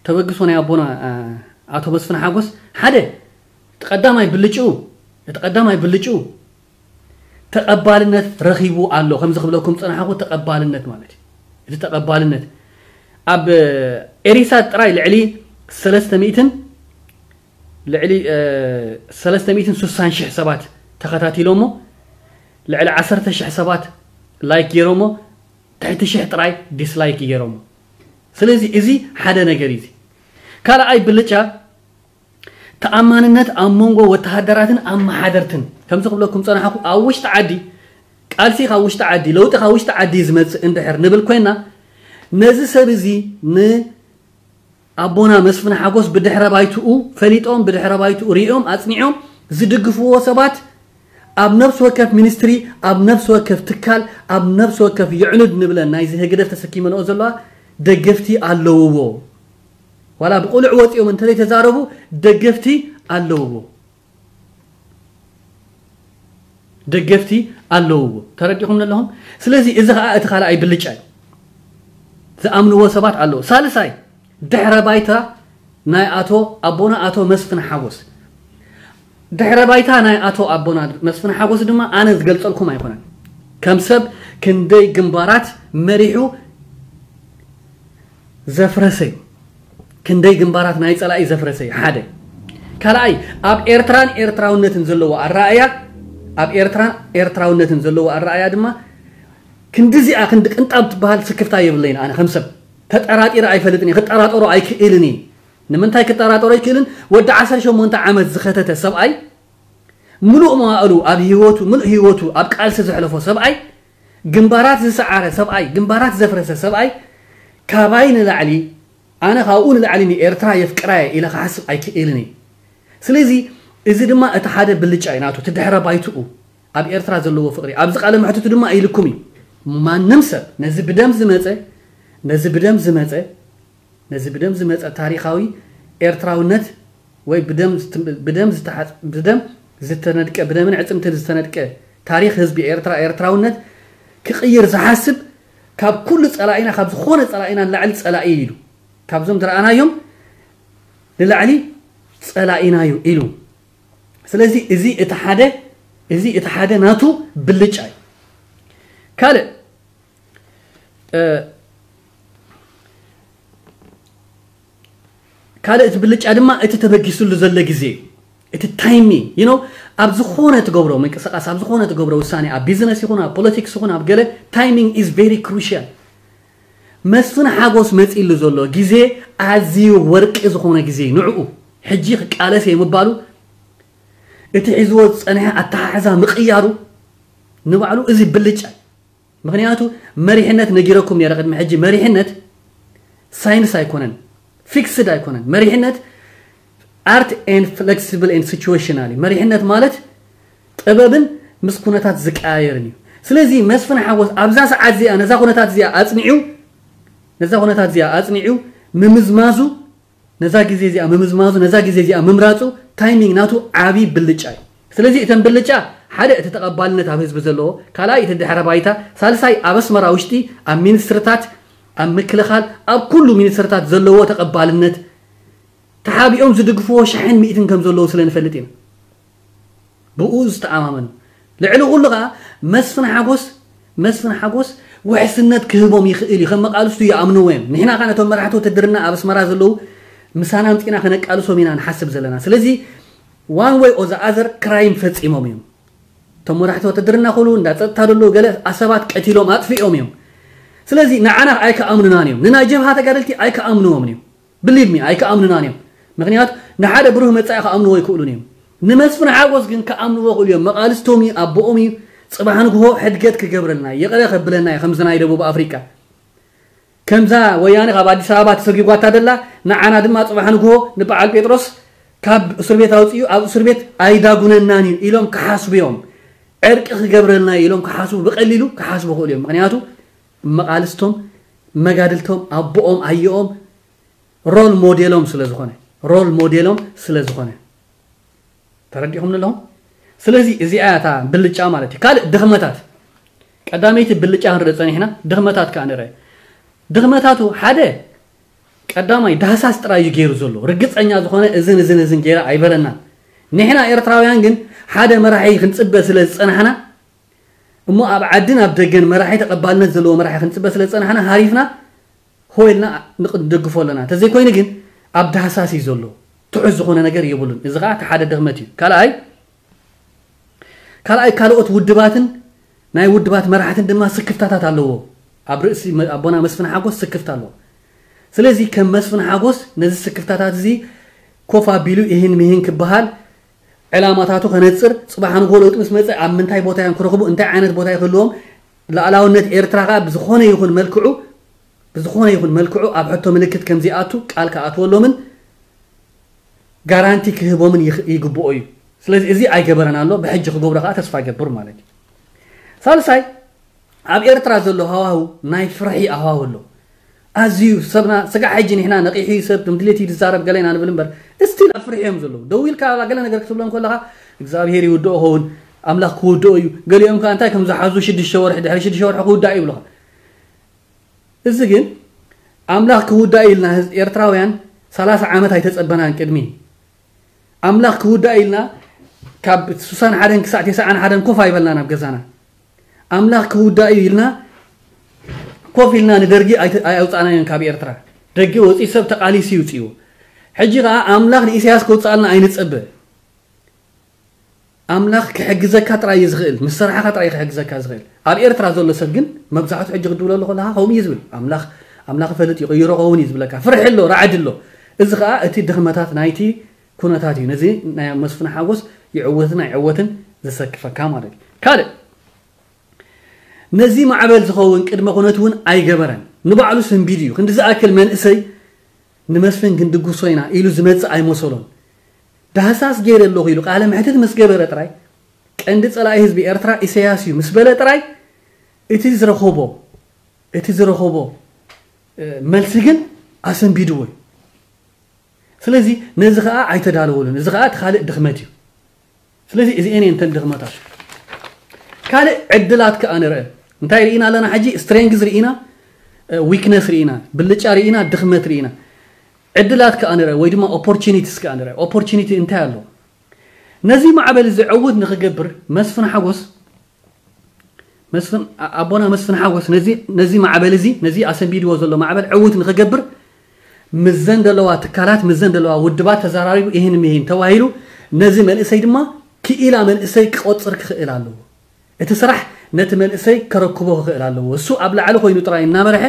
ተበግሶ ናይ ኣቦና፣ እ፣ ኣቶ መስፍን ሓጎስ ሓደ፣ እቲ ቀዳማይ ብልጭኡ፣ እቲ ቀዳማይ ብልጭኡ ተቐባልነት ረኺቡ ኣሎ። ከምዚ ክብለኩም ጸናሕኩ፣ ተቐባልነት ማለት እዩ። እቲ ተቐባልነት ኣብ ኤሪሳት ጥራይ ልዕሊ ሰለስተ ሚእትን፣ ልዕሊ፣ እ፣ ሰለስተ ሚእትን ስሳን ሽሕ ሰባት ተኸታቲሎሞ፣ ልዕሊ ዓሰርተ ሽሕ ሰባት ላይክ ገይሮሞ፣ ትሕቲ ሽሕ ጥራይ ዲስላይክ ገይሮሞ። ስለዚ እዚ ሓደ ነገር እዩ። እዚ ካልኣይ ብልጫ ተኣማንነት ኣብ መንጎ ወተሃደራትን ኣመሓደርትን፣ ከምዚ ክብለኩም ጸናሕኩ፣ ኣብ ውሽጢ ዓዲ፣ ቃልሲ ካብ ውሽጢ ዓዲ፣ ለውጢ ካብ ውሽጢ ዓዲ ዝመጽእ እንድሕር ንብል ኮይና፣ ነዚ ሰብ እዚ ንኣቦና መስፍን ሓጎስ ብድሕረ ባይትኡ ፈሊጦም፣ ብድሕረ ባይትኡ ሪኦም ኣጽኒዖም ዝድግፍዎ ሰባት ኣብ ነፍሲ ወከፍ ሚኒስትሪ፣ ኣብ ነፍሲ ወከፍ ትካል፣ ኣብ ነፍሲ ወከፍ ይዕኑድ ንብለን ናይዚ ህግደፍ ተሰኪመንኦ ዘለዋ ደገፍቲ ኣለውዎ። ዋላ ብቁሉዕ ወጺኦም እንተዘይተዛረቡ ደገፍቲ ኣለውዎ። ደገፍቲ ኣለውዎ። ተረዲኹም ኣለኹም? ስለዚ እዚ ኸኣ እቲ ካልኣይ ብልጫ እዩ። ዝኣምንዎ ሰባት ኣለዉ። ሳልሳይ፣ ድሕረ ባይታ ናይ ኣቶ ኣቦና ኣቶ መስፍን ሓጎስ። ድሕረ ባይታ ናይ ኣቶ ኣቦና መስፍን ሓጎስ ድማ ኣነ ዝገልጸልኩም ኣይኮነን። ከም ሰብ ክንደይ ግንባራት መሪሑ ዘፍረሰ እዩ። ክንደይ ግንባራት ናይ ጸላኢ ዘፍረሰ እዩ። ሓደ። ካልኣይ፣ ኣብ ኤርትራን ኤርትራውነትን ዘለዎ ኣረኣእያ፣ ኣብ ኤርትራን ኤርትራውነትን ዘለዎ ኣረኣእያ ድማ ክንዲዚኣ፣ ክንዲ ቅንጣብ ትበሃል ስክፍታ የብለይን። ኣነ ከም ሰብ ተጠራጢረ ኣይፈልጥን እየ፣ ክጠራጠሮ ኣይክእልን እየ። ንምንታይ ክጠራጠሮ ኣይክእልን? ወዲ ዓሰርተ ሸሞንተ ዓመት ዝኸተተ ሰብኣይ፣ ምሉእ መዋእሉ ኣብ ህይወቱ፣ ምሉእ ህይወቱ ኣብ ቃልሲ ዘሕለፎ ሰብኣይ፣ ግንባራት ዝሰዓረ ሰብኣይ፣ ግንባራት ዘፍረሰ ሰብኣይ፣ ካባይ ንላዕሊ፣ ኣነ ካብኡ ንላዕሊ ንኤርትራ የፍቅራ እየ ኢለ ክሓስብ ኣይክእልን እየ። ስለዚ እዚ ድማ እቲ ሓደ ብልጫ እዩ ናቱ፣ እቲ ድሕረ ባይትኡ ኣብ ኤርትራ ዘለዎ ፍቕሪ። ኣብዚ ቃለ መሕትቱ ድማ ኢልኩም እዩ። ማንም ሰብ ነዚ ብደም ዝመጸ፣ ነዚ ብደም ዝመጸ፣ ነዚ ብደም ዝመጸ ታሪኻዊ ኤርትራውነት ወይ ብደም ዝት-፣ ብደም ዝተሓጽ-፣ ብደም ዝተነድቀ፣ ብደምን ዕጽምትን ዝተነድቀ ታሪኽ ህዝቢ ኤርትራ፣ ኤርትራውነት ክቕይር ዝሓስብ ካብ ኩሉ ጸላኢና፣ ካብ ዝኾነ ጸላኢና ንላዕሊ ጸላኢ ኢሉ፣ ካብዞም ዝረኣናዮም ንላዕሊ ጸላኢናዩ ኢሉ። ስለዚ እዚ እቲ ሓደ፣ እዚ እቲ ሓደ ናቱ ብልጫ እዩ። ካልእ፣ እ፣ ካልእ እቲ ብልጫ ድማ እቲ ተበጊስሉ ዘሎ ግዜ እዩ። እቲ ታይሚንግ፣ you know፣ ኣብ ዝኾነ ትገብሮ ምንቅስቃስ፣ ኣብ ዝኾነ ትገብሮ ውሳኔ፣ ኣብ ቢዝነስ ይኹን፣ ኣብ ፖለቲክስ ይኹን፣ ኣብ ገለ፣ ታይሚንግ is very crucial። መስፍን ሓጎስ መጺሉ ዘሎ ግዜ ኣዝዩ ወርቂ ዝኾነ ግዜ እዩ። ንዕኡ ሕጂ ክቃለስ እየ ምባሉ፣ እቲ ሒዝዎ ዝጸንሐ ኣተሓሕዛ ምቕያሩ ንባዕሉ እዚ ብልጫ እዩ። ምኽንያቱ መሪሕነት ነጊረኩም ነይረ ቅድሚ ሕጂ፣ መሪሕነት ሳይንስ ኣይኮነን፣ ፊክስድ ኣይኮነን። መሪሕነት art and flexible and situational እዩ። መሪሕነት ማለት ጥበብን ምስ ኩነታት ዝቀያየርን እዩ። ስለዚ መስፍን ሓጎስ ኣብዛ ሰዓት እዚኣ ነዛ ኩነታት እዚኣ ኣጽኒዑ፣ ነዛ ኩነታት እዚኣ ኣጽኒዑ ምምዝማዙ፣ ነዛ ግዜ እዚኣ ምምዝማዙ፣ ነዛ ግዜ እዚኣ ምምራጹ፣ ታይሚንግ ናቱ ዓቢ ብልጫ እዩ። ስለዚ እተን ብልጫ፣ ሓደ እቲ ተቐባልነት ኣብ ህዝቢ ዘለዎ፣ ካልኣይ እቲ ድሕረ ባይታ፣ ሳልሳይ ኣብ ኣስመራ ውሽጢ ኣብ ሚኒስትርታት፣ ኣብ ምክልኻል፣ ኣብ ኩሉ ሚኒስትርታት ዘለዎ ተቐባልነት፣ ተሓቢኦም ዝድግፍዎ ሸሕን ሚእትን ከም ዘለዉ ስለ ንፈልጥ ኢና። ብኡ ዝተኣማመኑ። ልዕሊ ኩሉ ኸኣ መስፍን ሓጎስ፣ መስፍን ሓጎስ ውሕስነት ክህቦም ይኽእል እዩ። ከም መቃልስቱ ይኣምንዎ እዮም። ንሕና ኸኣ ነቶም መራሕቲ ውትድርና ኣብ ኣስመራ ዘለዉ ምሳና ኣምጺእና ከነቃልሶም ኢና ንሓስብ ዘለና። ስለዚ ዋን ወይ ኦዛ ኣዘር ክራይም ፈጺሞም እዮም። እቶም መራሕቲ ውትድርና ኮኑ እንዳ ጸጥታ ዘለዉ ገለ ኣሰባት ቀቲሎም ኣጥፊኦም እዮም። ስለዚ ንዓና ኣይከኣምኑናን እዮም። ንናይ ጀብሃ ተጋደልቲ ኣይከኣምንዎምን እዮም። ብሊቭ ሚ ኣይከኣምኑናን እዮም። ምኽንያቱ ንሓደ ብሩህ መጻኢ ክኣምንዎ ኣይክእሉን እዮም። ንመስፍን ሓጎስ ግን ክኣምንዎ ክእሉ እዮም። መቓልስቶም እዩ፣ ኣቦኦም እዩ። ጽባሕ ንግሆ ሕድገት ክገብረልና እዩ፣ ይቕረ ከብለና እዩ፣ ከምዚ ናይ ደቡብ ኣፍሪቃ። ከምዛ ወያነ ካብ ኣዲስ ኣበባ ተሰጊጓታ ደላ፣ ንዓና ድማ ጽባሕ ንግሆ ንበዓል ጴጥሮስ ካብ እስር ቤት ኣውጽኡ፣ ኣብ እስር ቤት ኣይዳጉነናን እዩ ኢሎም ክሓስቡ እዮም። ዕርቂ ክገብረልና እዩ ኢሎም ክሓስቡ፣ ብቐሊሉ ክሓስቡ ክእሉ እዮም። ምኽንያቱ መቓልስቶም፣ መጋድልቶም፣ ኣቦኦም፣ ኣየኦም ሮል ሞዴሎም ስለ ዝኾነ፣ ሮል ሞዴሎም ስለ ዝኾነ። ተረዲኹም ኣለኹም? ስለዚ እዚኣ እታ ብልጫ ማለት እዩ። ካልእ ድኽመታት፣ ቀዳመይቲ ብልጫ ክንርኢ ጸኒሕና፣ ድኽመታት ከኣ ንርአ። ድኽመታቱ ሓደ፣ ቀዳማይ ዳህሳስ ጥራይ እዩ ገይሩ ዘሎ። ርግጸኛ ዝኾነ እዝን እዝን እዝን ገይረ ኣይበለናን። ንሕና ኤርትራውያን ግን ሓደ መራሒ ክንጽበ ስለ ዝጸናሕና፣ እሞ ኣብ ዓድን ኣብ ደገን መራሒ ተቐባልነት ዘለዎ መራሒ ክንጽበ ስለ ዝጸናሕና፣ ሃሪፍና ሆ ኢልና ንቅ-፣ ንደግፎ ኣለና። እንተዘይኮይኑ ግን ኣብ ዳህሳስ እዩ ዘሎ። ትሑዝ ዝኾነ ነገር የብሉን። እዚ ኸኣ እቲ ሓደ ድኽመት እዩ። ካልኣይ፣ ካልኣይ ካልኦት ውድባትን ናይ ውድባት መራሕትን ድማ ስክፍታታት ኣለዎ። ኣብ ርእሲ መ-፣ ኣቦና መስፍን ሓጎስ ስክፍታ ኣለዎ። ስለዚ ከም መስፍን ሓጎስ ነዚ ስክፍታታት እዚ ኮፍ ኣቢሉ ይህን ምሂን ክበሃል፣ ዕላማታቱ ከነፅር፣ ፅባሕ ንጎ ለውጢ ምስ መፀ ኣብ ምንታይ ቦታ እዮም ክረኽቡ፣ እንታይ ዓይነት ቦታ ይክልዎም፣ ላዕላውነት ኤርትራ ከዓ ብዝኾነ ይኹን መልክዑ ብዝኾነ ይኹን መልክዑ ኣብ ሕቶ ምልክት ከምዚኣቱ ቃል ክኣትወሎምን ጋራንቲ ክህቦምን ይግብኦ እዩ። ስለዚ እዚ ኣይገበረን ኣሎ፣ ብሕጂ ክገብሮ ከዓ ተስፋ ገብር ማለት እዩ። ሳልሳይ፣ ኣብ ኤርትራ ዘሎ ሃዋሁ ናይ ፍርሒ ኣሃዋሁ ኣሎ። ኣዝዩ ሰብና ስጋዕ ሕጂ ንሕና ነቂሑ እዩ ሰብ፣ ከም ድሌት እዩ ዝዛረብ ገለ ኢና ንብል እምበር፣ እስቲል ኣብ ፍርሒ እዮም ዘለዉ። ደው ኢልካ ገለ ነገር ክትብሎም ከለኻ እግዚኣብሄር ይውድኦ ኸውን፣ ኣምላኽ ክውድኦ እዩ። ገሊኦም ከዓ እንታይ ከም ዝሓዙ ሽዱሽተ ወርሒ፣ ድሕሪ ሽዱሽተ ወርሒ ክውዳእ ይብሉኻ። እዚ ግን ኣምላኽ ክውዳእ ኢልና፣ ህዝ- ኤርትራውያን ሰላሳ ዓመት ኣይተጸበናን። ቅድሚ ኣምላኽ ክውዳእ ኢልና ካብ ስሳን ሓደን ክሳዕ ተስዓን ሓደን ኮፍ ኣይበልናን ኣብ ገዛና። ኣምላኽ ክውዳእ እዩ ኢልና ኮፍ ኢልና ንደርጊ ኣይተ- ኣይ ኣውጻእናዮን ካብ ኤርትራ። ደጊ ወጺኡ ሰብ ተቓሊሱ ይውጽእዎ። ሕጂ ከኣ ኣምላኽ ንኢሳያስ ክውጻኣልና ኣይንጸበ። ኣምላኽ ክሕግዘካ ጥራይ እዩ ዝኽእል፣ ምስ ሰራሕኻ ጥራይ እዩ ክሕግዘካ ዝኽእል። ኣብ ኤርትራ ዘሎ ሰብ ግን መብዛሕቱ ሕጂ ክድውለሉ ከለኻ ከምኡ እዩ ዝብል። ኣምላኽ ኣምላኽ ይፈልጥ ይቕይሮ ኸውን እዩ ዝብለካ። ፍርሒ ኣሎ፣ ራዕዲ ኣሎ። እዚ ኸኣ እቲ ድኽመታት ናይቲ ኩነታት እዩ። ነዚ ናይ መስፍን ሓጎስ ይዕወትን ኣይዕወትን ዘሰክፈካ ማለት እዩ። ካልእ ነዚ ማዕበል ዝኸውን ቅድመ ኩነት እውን ኣይገበረን። ንባዕሉ ስንቢድ እዩ። ክንዲ ዝኣክል መንእሰይ ንመስፍን ክንድግሶ ኢና ኢሉ ዝመጽእ ኣይመሰሎን። ዳህሳስ ገይረ ኣለኹ ኢሉ ቃለ መሕትት ምስ ገበረ ጥራይ፣ ቀንዲ ጸላኢ ህዝቢ ኤርትራ ኢሳያስ እዩ ምስ በለ ጥራይ፣ እቲ ዝረኸቦ እቲ ዝረኸቦ እ፣ መልሲ ግን ኣሰንቢድዎ እዩ። ስለዚ ነዚ ኸኣ ኣይተዳለወሉን። እዚ ኸኣ እቲ ካልእ ድኽመት እዩ። ስለዚ እዚኤን እየን እተን ድኽመታት። ካልእ ዕድላት ከኣ ንርአ። እንታይ ርኢና ኣለና ሕጂ? ስትሬንግዝ ርኢና፣ ዊክነስ ርኢና፣ ብልጫ ርኢና፣ ድኽመት ርኢና። ዕድላት ከኣ ንርአ ወይ ድማ ኦፖርቹኒቲስ ከኣ ንርአ። ኦፖርቹኒቲ እንታይ ኣሎ? ነዚ ማዕበል እዚ ዕውት ንኽገብር መስፍን ሓጎስ መስፍን ኣቦና መስፍን ሓጎስ ነዚ ነዚ ማዕበል እዚ ነዚ ኣሰንቢድዎ ዘሎ ማዕበል ዕውት ንኽገብር ምዘን ዘለዋ ትካላት ምዘን ዘለዋ ውድባት ተዘራሪቡ ይህን ምሂን ተባሂሉ ነዚ መንእሰይ ድማ ክኢላ መንእሰይ ክቆፅር ክኽእል ኣለዎ። እቲ ስራሕ ነቲ መንእሰይ ከረክቦ ክኽእል ኣለዎ። እሱ ኣብ ላዕሊ ኮይኑ ጥራይ እናመርሐ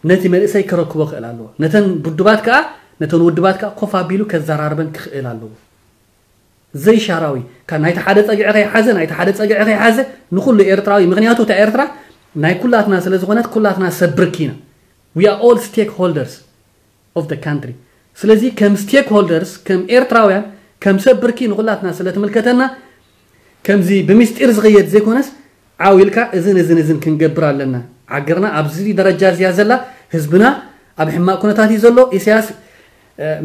ነቲ መንእሰይ ከረክቦ ክኽእል ኣለዎ። ነተን ውድባት ከዓ ነተን ውድባት ከዓ ኮፍ ኣቢሉ ከዘራርበን ክኽእል ኣለዎ። ዘይሻራዊ ካብ ናይቲ ሓደ ፀግዒ ከይሓዘ ናይቲ ሓደ ፀግዒ ከይሓዘ ንኩሉ ኤርትራዊ ምክንያቱ እታ ኤርትራ ናይ ኩላትና ስለ ዝኾነት ኩላትና ሰብ ብርኪ ኢና። We are all stakeholders of the country። ስለዚ ከም stakeholders ከም ኤርትራውያን ከም ሰብ ብርኪ ንኩላትና ስለ ትምልከተና ከምዚ ብምስጢር ዝኸየድ ዘይኮነስ ዓው ኢልካ እዝን እዝን እዝን ክንገብር ኣለና። ዓገርና ኣብዚ ደረጃ እዚያ ዘላ ህዝብና ኣብ ሕማቅ ኩነታት እዩ ዘሎ። ኢሳያስ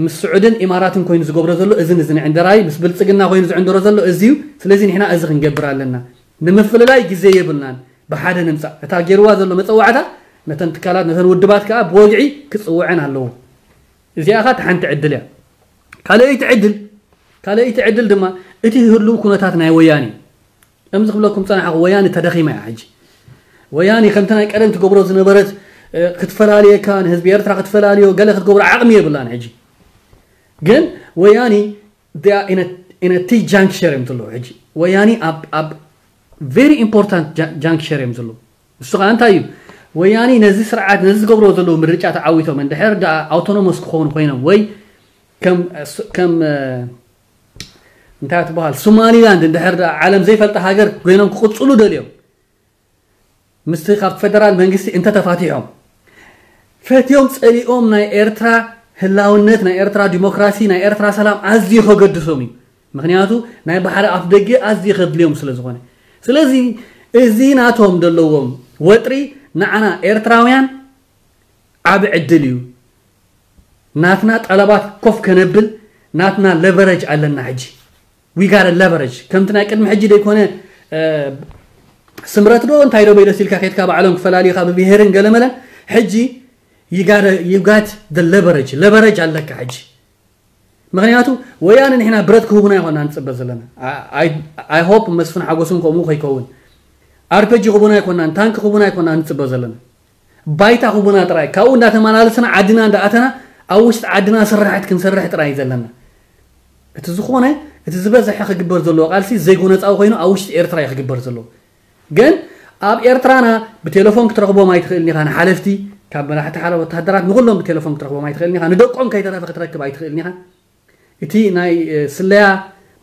ምስ ስዑድን ኢማራትን ኮይኑ ዝገብሮ ዘሎ እዝን እዝን ዕንደራይ ምስ ብልጽግና ኮይኑ ዝዕንደሮ ዘሎ እዚ እዩ። ስለዚ ንሕና እዚ ክንገብር ኣለና። ንምፍልላይ ግዜ የብልናን። ብሓደ ንምጻእ እታ ገይርዋ ዘሎ መጸዋዕታ ነተን ትካላት ነተን ውድባት ከኣ ብወግዒ ክጽውዐን ኣለዎ። እዚኣ ኸኣ ሓንቲ ዕድል እያ። ካልኣይቲ ዕድል ካልኣይቲ ዕድል ድማ እቲ ህሉው ኩነታት ናይ ወያኔ ከምዚ ክብለኩም ጸናሕኩ ወያኔ ተደኺማ እያ ሕጂ። ወያኔ ከምቲ ናይ ቀደም ትገብሮ ዝነበረት ክትፈላልየካ ንህዝቢ ኤርትራ ክትፈላልዮ ገለ ክትገብሮ ዓቕሚ የብላን ሕጂ። ግን ወያኔ ኢነቲ ጃንክሸር እዮም ዘለዉ ሕጂ። ወያኔ ኣብ very important juncture እዮም ዘለዉ። ንሱ ከዓ እንታይ እዩ? ወያኔ ነዚ ስርዓት ነዚ ዝገብርዎ ዘለዉ ምርጫ ተዓዊቶም እንድሕር ደኣ ኣውቶኖሞስ ክኾኑ ኮይኖም ወይ ከም እንታይ ትበሃል ሶማሊላንድ እንድሕር ደኣ ዓለም ዘይፈልጣ ሃገር ኮይኖም ክቕፅሉ ደልዮም ምስቲ ካብ ፈደራል መንግስቲ እንተተፋቲሖም ፈትዮም ፀሊኦም ናይ ኤርትራ ህላውነት ናይ ኤርትራ ዲሞክራሲ ናይ ኤርትራ ሰላም ኣዝዩ ከገድሶም እዩ። ምክንያቱ ናይ ባሕሪ ኣፍ ደገ ኣዝዩ ከድልዮም ስለ ዝኾነ። ስለዚ እዚ ናቶም ዘለዎም ወጥሪ ንዓና ኤርትራውያን ዓቢ ዕድል እዩ። ናትና ጠለባት ኮፍ ከነብል ናትና ለቨረጅ ኣለና ሕጂ። We got a leverage ከምቲ ናይ ቅድሚ ሕጂ ደይኮነ ስምረት ዶ እንታይ ዶ በይደስ ኢልካ ከድካ ባዕሎም ክፈላልዩካ ብብሄርን ገለመለን። ሕጂ you got the leverage leverage ኣለካ ሕጂ። ምክንያቱ ወያነ ንሕና ብረት ክህቡና ይኮና ንፅበ ዘለና። I hope መስፍን ሓጎስን ከምኡ ከይከውን። ኣርፔጂ ክቡና ኣይኮናን ታንክ ክቡና ኣይኮና ንፅበ ዘለና። ባይታ ክቡና ጥራይ ካብኡ እንዳተመላለስና ዓድና እንዳኣተና ኣብ ውሽጢ ዓድና ስራሕት ክንሰርሕ ጥራይ እዩ ዘለና። እቲ ዝኾነ እቲ ዝበዝሐ ክግበር ዘለዎ ቃልሲ ዘይጎነፃዊ ኮይኑ ኣብ ውሽጢ ኤርትራ እዩ ክግበር ዘለዎ። ግን ኣብ ኤርትራና ብቴሌፎን ክትረኽቦም ኣይትኽእልን ኢኻ ንሓለፍቲ ካብ መራሕቲ ሓደ ወታደራት ንኩሎም ብቴሌፎን ክትረኽቦም ኣይትኽእልን ኢኻ ንደቆም ከይተረፈ ክትረክብ ኣይትኽእልን ኢኻ። እቲ ናይ ስለያ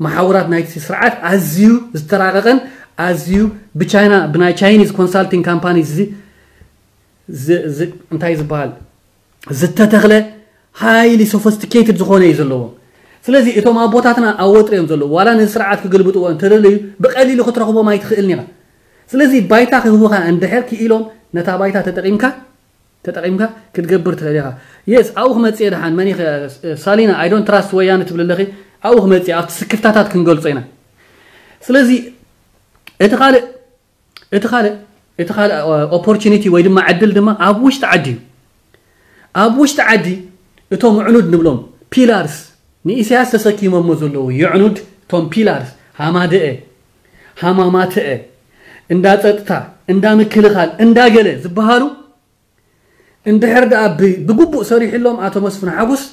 መሓውራት ናይቲ ስርዓት ኣዝዩ ዝተራቐቐን ኣዝዩ ብቻይና ብናይ ቻይኒዝ ኮንሳልቲንግ ካምፓኒ እንታይ ዝበሃል ዝተተኽለ ሃይሊ ሶፊስቲኬትድ ዝኾነ እዩ ዘለዎ። ስለዚ እቶም ኣቦታትና ኣብ ወጥሪ እዮም ዘለዉ። ዋላ ነዚ ስርዓት ክግልብጥዎ እንተደለዩ ብቐሊሉ ክትረኽቦም ኣይትኽእልን ኢኻ። ስለዚ ባይታ ክህቡኻ እንድሕር ክኢሎም ነታ ባይታ ተጠቒምካ ተጠቒምካ ክትገብር ትኽእል ኢኻ። የስ ኣብኡ ክመፅእ እየ ደሓን መን ኢኸ ሳሊና I don't trust ወያነ ትብል ኣለኺ። ኣብኡ ክመፅእ ኣብቲ ስክፍታታት ክንገልፆ ኢና። ስለዚ እቲ ካልእ እቲ ካልእ እቲ ካልእ ኦፖርቹኒቲ ወይ ድማ ዕድል ድማ ኣብ ውሽጢ ዓዲ እዩ። ኣብ ውሽጢ ዓዲ እቶም ዕኑድ ንብሎም ፒላርስ ንኢሳያስ ተሰኪሞሞ ዘለዉ የዕኑድ እቶም ፒላርስ ሃማደአ ሃማማተአ እንዳ ፀጥታ እንዳ ምክልኻል እንዳ ገለ ዝበሃሉ እንድሕር ደኣ ብግቡእ ሰሪሕሎም ኣቶ መስፍን ሓጎስ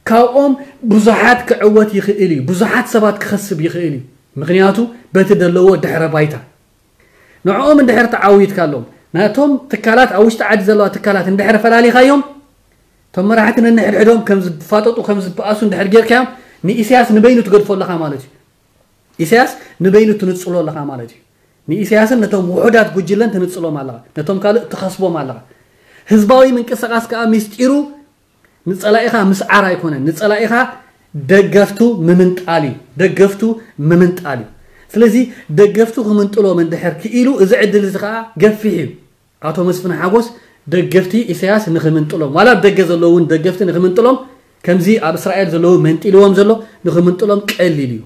ካብኦም ብዙሓት ክዕወት ይኽእል እዩ። ብዙሓት ሰባት ክኸስብ ይኽእል እዩ። ምክንያቱ በቲ ዘለዎ ድሕረ ባይታ ንዕኦም እንድሕር ተዓዊትካሎም ናቶም ትካላት ኣብ ውሽጢ ዓዲ ዘለዋ ትካላት እንድሕር ፈላሊኻዮም እቶም መራሕቲ ነንሕድሕዶም ከም ዝፋጠጡ ከም ዝበኣሱ እንድሕር ጌርካዮም ንኢሳያስ ንበይኑ ትገድፎ ኣለኻ ማለት እዩ። ኢሳያስ ንበይኑ ትንጽሎ ኣለኻ ማለት እዩ። ንኢሳያስን ነቶም ውሑዳት ጉጅለን ትንጽሎም ኣለኻ። ነቶም ካልእ ትኸስቦም ኣለኻ። ህዝባዊ ምንቅስቃስ ከኣ ምስጢሩ ንጸላኢኻ ምስዓር ኣይኮነን። ንጸላኢኻ ደገፍቱ ምምንጣል እዩ። ደገፍቱ ምምንጣል እዩ። ስለዚ ደገፍቱ ክምንጥሎም እንድሕር ክኢሉ እዚ ዕድል እዚ ከኣ ገፊሕ እዩ። ኣቶ መስፍን ሓጎስ ደገፍቲ ኢሳያስ ንኽምንጥሎም ዋላ ኣብ ደገ ዘለዉ እውን ደገፍቲ ንኽምንጥሎም ከምዚ ኣብ እስራኤል ዘለዉ መንጢልዎም ዘሎ ንኽምንጥሎም ቀሊል እዩ።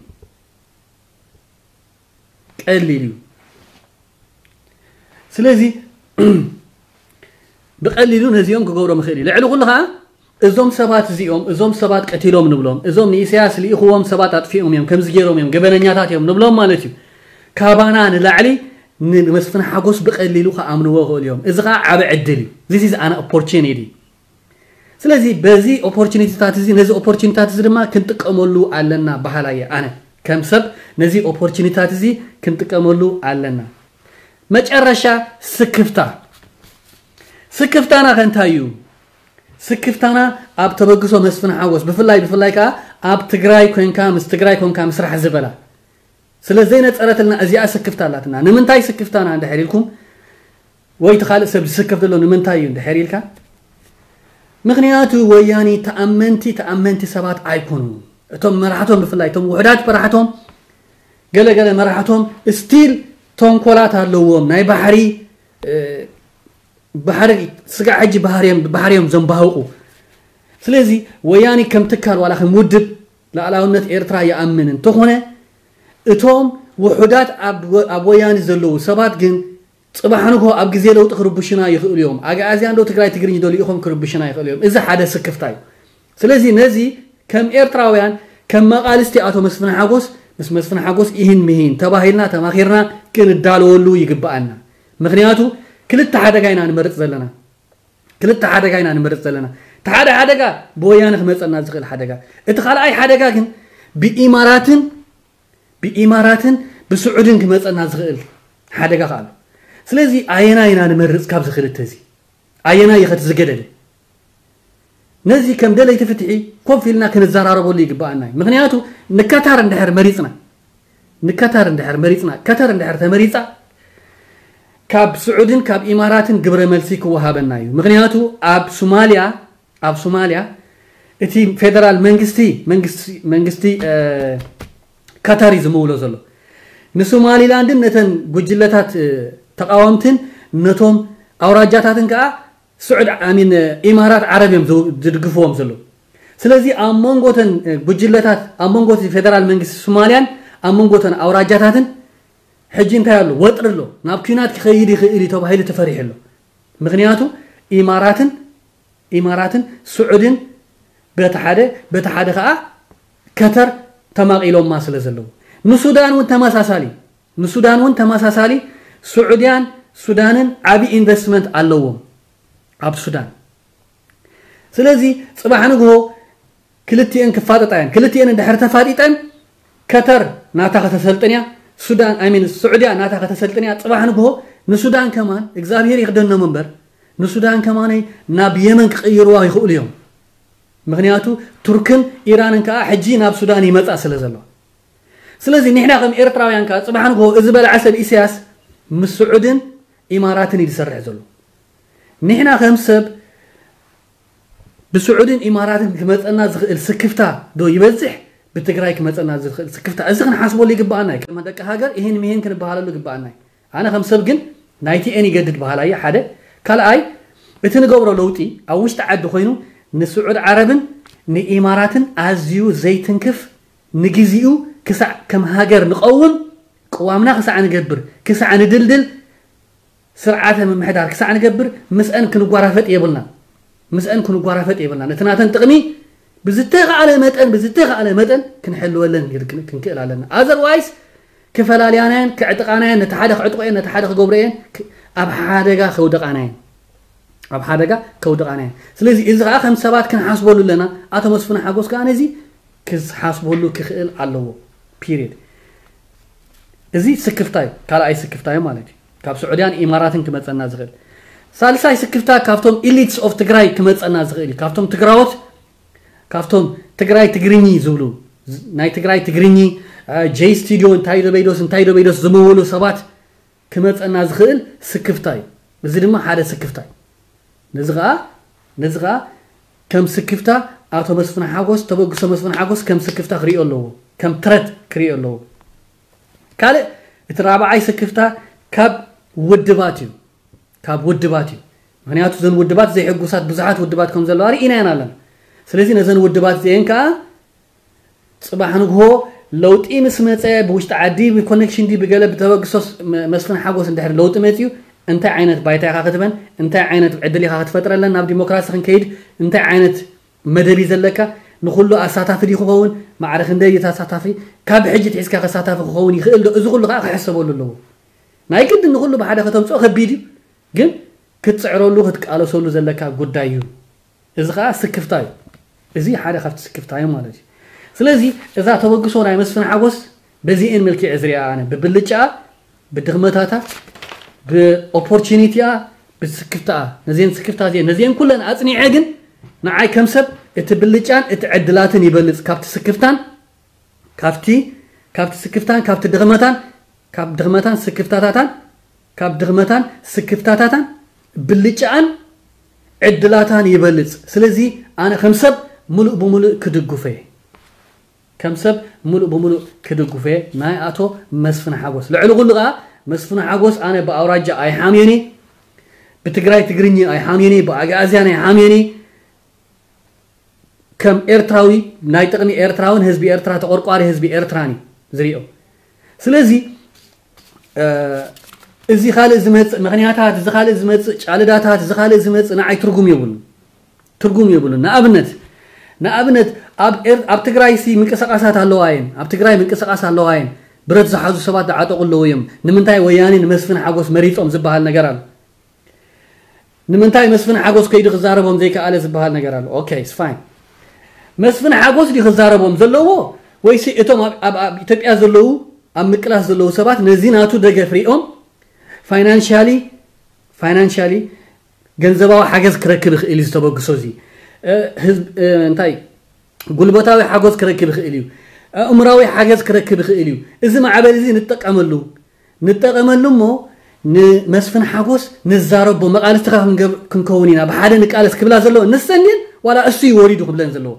ቀሊል እዩ። ስለዚ ብቐሊሉ ነዚኦም ክገብሮም ይኽእል እዩ። ልዕሊ ኩሉ ከዓ እዞም ሰባት እዚኦም እዞም ሰባት ቀቲሎም ንብሎም እዞም ንኢሳያስ ልኢኽዎም ሰባት ኣጥፊኦም እዮም ከምዚ ገይሮም እዮም ገበነኛታት እዮም ንብሎም ማለት እዩ። ካባና ንላዕሊ ንመስፍን ሓጎስ ብቐሊሉ ክኣምንዎ ይኽእሉ እዮም። እዚ ከዓ ዓብ ዕድል እዩ። This is an opportunity። ስለዚ በዚ ኦፖርቹኒቲታት እዚ ነዚ ኦፖርቹኒታት እዚ ድማ ክንጥቀመሉ ኣለና በሃላይ እየ ኣነ ከም ሰብ ነዚ ኦፖርቹኒታት እዚ ክንጥቀመሉ ኣለና። መጨረሻ ስክፍታ ስክፍታና ከ እንታይ እዩ? ስክፍታና ኣብ ተበግሶ መስፍን ሓጎስ ብፍላይ ብፍላይ ከዓ ኣብ ትግራይ ኮንካ ምስ ትግራይ ኮንካ ምስራሕ ዝበላ ስለ ዘይነፀረትልና እዚኣ ስክፍታ ኣላትና። ንምንታይ ስክፍታና እንድሕር ኢልኩም ወይ እቲ ካልእ ሰብ ዝስከፍ ዘሎ ንምንታይ እዩ እንድሕር ኢልካ ምኽንያቱ ወያኒ ተኣመንቲ ተኣመንቲ ሰባት ኣይኮኑ። እቶም መራሕቶም ብፍላይ እቶም ውሕዳት መራሕቶም ገለገለ መራሕቶም ስቲል ተንኮላት ኣለዎም ናይ ባሕሪ ባሕሪ ስጋዕ ሕጂ ባህርዮም ዘንባህቑ። ስለዚ ወያኒ ከም ትካል ዋላ ከም ውድብ ላዕላውነት ኤርትራ ይኣምን እንተኾነ እቶም ውሑዳት ኣብ ወያኒ ዘለዉ ሰባት ግን ፅባሕ ንግሆ ኣብ ግዜ ለውጢ ክርብሹና ይኽእሉ እዮም። ኣግኣዝያ እንዶ ትግራይ ትግርኝ ዶ ልኢኾም ክርብሹና ይኽእሉ እዮም። እዚ ሓደ ስክፍታ እዩ። ስለዚ ነዚ ከም ኤርትራውያን ከም መቓልስቲ ኣቶ መስፍን ሓጎስ ምስ መስፍን ሓጎስ ኢህን ምሂን ተባሂልና ተማኺርና ክንዳለወሉ ይግብኣና። ምክንያቱ ክልተ ሓደጋ ኢና ንመርፅ ዘለና። ክልተ ሓደጋ ኢና ንመርፅ ዘለና። እቲ ሓደ ሓደጋ ብወያነ ክመፀና ዝኽእል ሓደጋ። እቲ ካልኣይ ሓደጋ ግን ብኢማራትን ብኢማራትን ብስዑድን ክመፀና ዝኽእል ሓደጋ ከኣ ኣሎ። ስለዚ ኣየናይ ኢና ንመርፅ ካብዚ ክልተ እዚ? ኣየናይ እዩ ከቲ ዝገደደ? ነዚ ከም ደለይቲ ፍትሒ ኮፍ ኢልና ክንዘራረበሉ ይግብኣና እዩ። ምክንያቱ ንከታር እንድሕር መሪፅና ንከታር እንድሕር መሪፅና ከተር እንድሕር ተመሪፃ ካብ ስዑድን ካብ ኢማራትን ግብረ መልሲ ክወሃበና እዩ። ምክንያቱ ኣብ ሶማልያ ኣብ ሶማልያ እቲ ፌደራል መንግስቲ መንግስቲ መንግስቲ ከተር እዩ ዝምውሎ ዘሎ ንሶማሊላንድን ነተን ጉጅለታት ተቃወምትን ነቶም ኣውራጃታትን ከዓ ስዑድ ኣሚን ኢማራት ዓረብ እዮም ዝድግፍዎም ዘለዉ። ስለዚ ኣብ መንጎተን ጉጅለታት ኣብ መንጎ ፌደራል መንግስቲ ሶማልያን ኣብ መንጎተን ኣውራጃታትን ሕጂ እንታይ ኣሎ? ወጥሪ ኣሎ። ናብ ኲናት ክኸይድ ይኽእል እዩ ተባሂሉ ተፈሪሑ ኣሎ። ምክንያቱ ኢማራትን ኢማራትን ስዑድን በቲ ሓደ በቲ ሓደ ከዓ ከተር ተማቒሎማ ስለ ዘለዉ ንሱዳን እውን ተመሳሳሊ ንሱዳን እውን ተመሳሳሊ ስዑድያን ሱዳንን ዓብዪ ኢንቨስትመንት ኣለዎም ኣብ ሱዳን። ስለዚ ፅባሕ ንግሆ ክልቲኤን ክፋጠጣ እየን። ክልቲኤን እንድሕር ተፋጢጠን ከተር ናታ ከተሰልጥን እያ። ሱዳን ኣይ ሚን ስዑድያ ናታ ከተሰልጥን እያ። ፅባሕ ንግሆ ንሱዳን ከማን እግዚኣብሄር ይኽደኖም እምበር ንሱዳን ከማነይ ናብ የመን ክቕይርዋ ይኽእሉ እዮም። ምኽንያቱ ቱርክን ኢራንን ከዓ ሕጂ ናብ ሱዳን ይመፃ ስለ ዘሎ። ስለዚ ንሕና ከም ኤርትራውያን ከዓ ፅባሕ ንግሆ እዚ በላዓ ሰብ ኢሳያስ ምስ ስዑድን ኢማራትን እዩ ዝሰርሕ ዘሎ። ንሕና ከም ሰብ ብስዑድን ኢማራትን ክመፀና ዝኽእል ስክፍታ ዶ ይበዝሕ፣ ብትግራይ ክመፀና ዝኽእል ስክፍታ? እዚ ክንሓስበሉ ይግባኣና እዩ። ከም ደቂ ሃገር ይሄን ሚሄን ክንበሃለሉ ይግባኣና እዩ። ኣነ ከም ሰብ ግን ናይቲኤን ይገድድ በሃላይ እየ፣ ሓደ። ካልኣይ፣ እቲ ንገብሮ ለውጢ ኣብ ውሽጢ ዓዲ ኮይኑ ንስዑድ ዓረብን ንኢማራትን ኣዝዩ ዘይትንክፍ፣ ንግዚኡ ክሳዕ ከም ሃገር ንቐውም፣ ቅዋምና ክሳዕ ንገብር፣ ክሳዕ ንድልድል፣ ስርዓተ ምምሕዳር ክሳዕ ንገብር ምስአን ክንጓራፈጥ የብልና። ምስአን ክንጓራፈጥ የብልና። ነቲ ናተን ጥቕሚ ብዝተኻእለ መጠን፣ ብዝተኻእለ መጠን ክንሕልወለን ይር-፣ ክን-፣ ክንክእል ኣለና። ኣዘርዋይስ ክፈላልያናየን፣ ክዕጥቓናየን፣ ነቲ ሓደ ክዕጥቑ እየን፣ ነቲ ሓደ ክገብሩ እየን፣ ክ-፣ ኣብ ሓደጋ ከውደቓናየን። ኣብ ሓደጋ ከውደቓናየን። ስለዚ እዚ ኸዓ ከም ሰባት ክንሓስበሉ ኣለና። ኣቶ መስፍን ሓጎስ ከኣ ነዚ ክሓስበሉ ክኽእል ኣለዎ። ፒሪድ። እዚ ስክፍታ እዩ፣ ካልኣይ ስክፍታ እዩ ማለት እዩ። ካብ ስዑድያን ኢማራትን ክመፀና ዝኽእል። ሳልሳይ ስክፍታ ካብቶም ኢሊትስ ኦፍ ትግራይ ክመፀና ዝኽእል እዩ። ካብቶም ትግራዎት፣ ካብቶም ትግራይ ትግርኚ ዝብሉ፣ ናይ ትግራይ ትግርኚ፣ እ፣ ጄይ ስቱዲዮ እንታይ ዶ በይዶስ፣ እንታይ ዶ በይዶስ ዝምውሉ ሰባት ክመፀና ዝኽእል ስክፍታ እዩ። እዚ ድማ ሓደ ስክፍታ እዩ። ነዚ ኸዓ፣ ነዚ ኸዓ ከም ስክፍታ ኣቶ መስፍን ሓጎስ፣ ተበግሶ መስፍን ሓጎስ ከም ስክፍታ ክሪኦ ኣለዎ፣ ከም ትረት ክሪኦ ኣለዎ። ካልእ፣ እቲ ራብዓይ ስክፍታ ካብ ውድባት እዩ። ካብ ውድባት እዩ። ምኽንያቱ እዘን ውድባት ዘይሕጉሳት ብዙሓት ውድባት ከም ዘለዋ ርኢናየን ኣለና። ስለዚ ነዘን ውድባት እዚአን ከኣ ጽባሕ ንግሆ ለውጢ ምስ መጸ፣ ብውሽጢ ዓዲ ብኮኔክሽን ድዩ ብገለ ብተበግሶ ስ-፣ መ-፣ መስፍን ሓጎስ እንድሕር ለውጢ መጺኡ፣ እንታይ ዓይነት ባይታ ኢኻ ክትበን፣ እንታይ ዓይነት ዕድል ኢኻ ክትፈጥረለን፣ ናብ ዲሞክራሲ ክንከይድ እንታይ ዓይነት መደብ እዩ ዘለካ፣ ንኹሉ ኣሳታፊ ድዩ ክኸውን፣ ማዕረ ክንደይ እዩ ተሳታፊ፣ ካብ ሕጂ ትሒዝካ ከሳታፊ ክኸውን ይኽእል ዶ? እዚ ኩሉ ከኣ ክሕሰበሉ ኣለዎ። ናይ ግድን ንኹሉ ብሓደ ከተምጽኦ ከቢድ እዩ፣ ግን ክትጽዕረሉ ክትቃለሰሉ ዘለካ ጉዳይ እዩ። እዚ ኸዓ ስክፍታ እዩ። እዚ ሓደ ካብቲ ስክፍታ እዩ ማለት እዩ። ስለዚ እዛ ተበግሶ ናይ መስፍን ሓጎስ በዚኤን መልክዕ ዝሪኣ ኣነ፣ ብብልጫኣ፣ ብድኽመታታ፣ ብኦፖርቹኒቲኣ፣ ብስክፍታኣ፣ ነዚአን ስክፍታ እዚአን፣ ነዚአን ኩለን ኣጽኒዐ ግን ንዓይ ከም ሰብ እቲ ብልጫን እቲ ዕድላትን ይበልጽ ካብቲ ስክፍታን፣ ካብቲ፣ ካብቲ ስክፍታን፣ ካብቲ ድኽመታን፣ ካብ ድኽመታን ስክፍታታታን፣ ካብ ድኽመታን ስክፍታታታን ብልጫኣን ዕድላታን ይበልጽ። ስለዚ ኣነ ከም ሰብ ምሉእ ብምሉእ ክድግፎ እየ። ከም ሰብ ምሉእ ብምሉእ ክድግፎ እየ ናይ ኣቶ መስፍን ሓጎስ። ልዕሊ ኩሉ ከኣ መስፍን ሓጎስ ኣነ ብኣውራጃ ኣይሓምዮን እየ፣ ብትግራይ ትግርኛ ኣይሓምዮን እየ፣ ብኣግኣዝያን ኣይሓምዮን እየ። ከም ኤርትራዊ ናይ ጥቕሚ ኤርትራውን ህዝቢ ኤርትራ ተቆርቋሪ ህዝቢ ኤርትራን እዩ ዝሪኦ። ስለዚ፣ እ፣ እዚ ካልእ ዝመጽእ ምኽንያታት፣ እዚ ካልእ ዝመጽእ ጫልዳታት፣ እዚ ካልእ ዝመጽእ ንዓይ ትርጉም የብሉን። ትርጉም የብሉን። ንኣብነት፣ ንኣብነት ኣብ ኤር-፣ ኣብ ትግራይ ሲ ምንቅስቃሳት ኣለዋ እየን። ኣብ ትግራይ ምንቅስቃስ ኣለዋ እየን። ብረት ዝሓዙ ሰባት ዝዓጠቑ ኣለዉ እዮም። ንምንታይ ወያኔ ንመስፍን ሓጎስ መሪጾም ዝበሃል ነገር ኣሎ። ንምንታይ መስፍን ሓጎስ ከይዱ ክዛረቦም ዘይከኣለ ዝበሃል ነገር ኣሎ። ኦኬ፣ it's fine። መስፍን ሓጎስ ድዩ ክዛረቦም ዘለዎ? ወይሲ እቶም ኣብ፣ ኣብ፣ ኣብ ኢትዮጵያ ዘለዉ፣ ኣብ ምቅላስ ዘለዉ ሰባት ነዚ ናቱ ደገፍ ሪኦም ፋይናንሻሊ፣ ፋይናንሻሊ ገንዘባዊ ሓገዝ ክረክብ ይኽእል እዩ ዝተበግሶ እዚ? እ፣ ህዝብ፣ እ፣ እንታይ ጉልበታዊ ሓጎስ ክረክብ ይኽእል እዩ? ኣእምራዊ ሓገዝ ክረክብ ይኽእል እዩ? እዚ ማዕበል እዚ ንጠቀመሉ፣ ንጠቀመሉ እሞ ንመስፍን ሓጎስ ንዛረቦ፣ መቃልስቲ ከኣ ክንገብ-፣ ክንከውን ኢና፣ ብሓደ ንቃለስ ክብላ ዘለዎ ንሰን ድየን ዋላ እሱ እዩ ወሪዱ ክብለን ዘለዎ?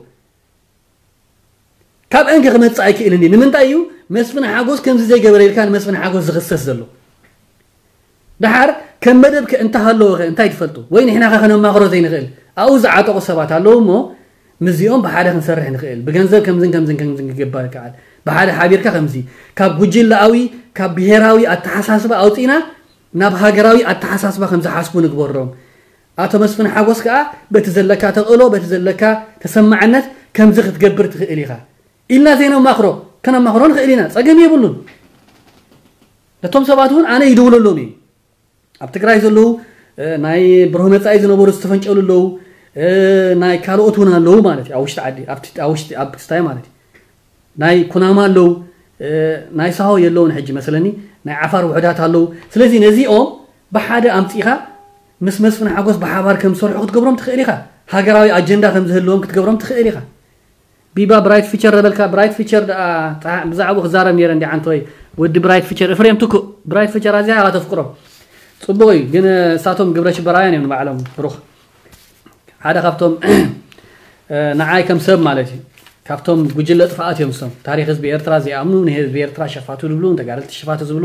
ካብ እንከ ክመጽእ ኣይክእልን እዩ። ንምንታይ እዩ መስፍን ሓጎስ ከምዚ ዘይገበረ ኢልካ ንመስፍን ሓጎስ ዝኽሰስ ዘሎ? ደሓር ከም መደብ ከ እንተሃለወ ከ እንታይ ትፈልጡ? ወይ ንሕና ከ ከነማኽሮ ዘይንኽእል? ኣብኡ ዝዓጠቑ ሰባት ኣለዉ እሞ ምስዚኦም ብሓደ ክንሰርሕ ንኽእል። ብገንዘብ ከምዝን ከምዝን ከምዝን ክግበር ይከኣል። ብሓደ ሓቢርካ ከምዚ ካብ ጉጅለኣዊ፣ ካብ ብሄራዊ ኣተሓሳስባ ኣውጺእና ናብ ሃገራዊ ኣተሓሳስባ ከም ዝሓስቡ ንግበሮም። ኣቶ መስፍን ሓጎስ ከኣ በቲ ዘለካ ተኽእሎ፣ በቲ ዘለካ ተሰማዕነት ከምዚ ክትገብር ትኽእል ኢኻ ኢልና ዘይነማኽሮ፣ ከነማኽሮ ንኽእል ኢና። ጸገም የብሉን። ነቶም ሰባት እውን ኣነ ይድውለሎም እየ። ኣብ ትግራይ ዘለዉ፣ እ፣ ናይ ብሩህ መጻኢ ዝነበሩ ዝተፈንጨሉ ኣለዉ፣ እ፣ ናይ ካልኦት እውን ኣለዉ ማለት እዩ። ኣብ ውሽጢ ዓዲ፣ ኣብቲ፣ ኣብ ውሽጢ፣ ኣብ ክስታይ ማለት እዩ። ናይ ኩናማ ኣለዉ፣ እ፣ ናይ ሳሆ የለውን ሕጂ መስለኒ፣ ናይ ዓፋር ውሑዳት ኣለዉ። ስለዚ ነዚኦም ብሓደ ኣምጺኻ ምስ መስፍን ሓጎስ ብሓባር ከም ዝሰርሑ ክትገብሮም ትኽእል ኢኻ። ሃገራዊ ኣጀንዳ ከም ዝህልዎም ክትገብሮም ትኽእል ኢኻ። ቢባ ብራይት ፊቸር ረበልካ ብራይት ፊቸር ደኣ ብዛዕባኡ ክዛረብ ነይረ እንዲ ዓንተወይ። ወዲ ብራይት ፊቸር እፍሬም ትኩእ ብራይት ፊቸር ኣዚያ ኢኻ ተፍቅሮ። ጽቡቕ እዩ ግን እሳቶም ግብረ ሽበራውያን እዮም ንባዕሎም። ብሩኽ ሓደ ካብቶም ንዓይ ከም ሰብ ማለት እዩ ካብቶም ጉጅለ ጥፍኣት እዮም እሶም። ታሪክ ህዝቢ ኤርትራ ዘይኣምኑ ንህዝቢ ኤርትራ ሸፋቱ ዝብሉ ንተጋደልቲ ሸፋቱ ዝብሉ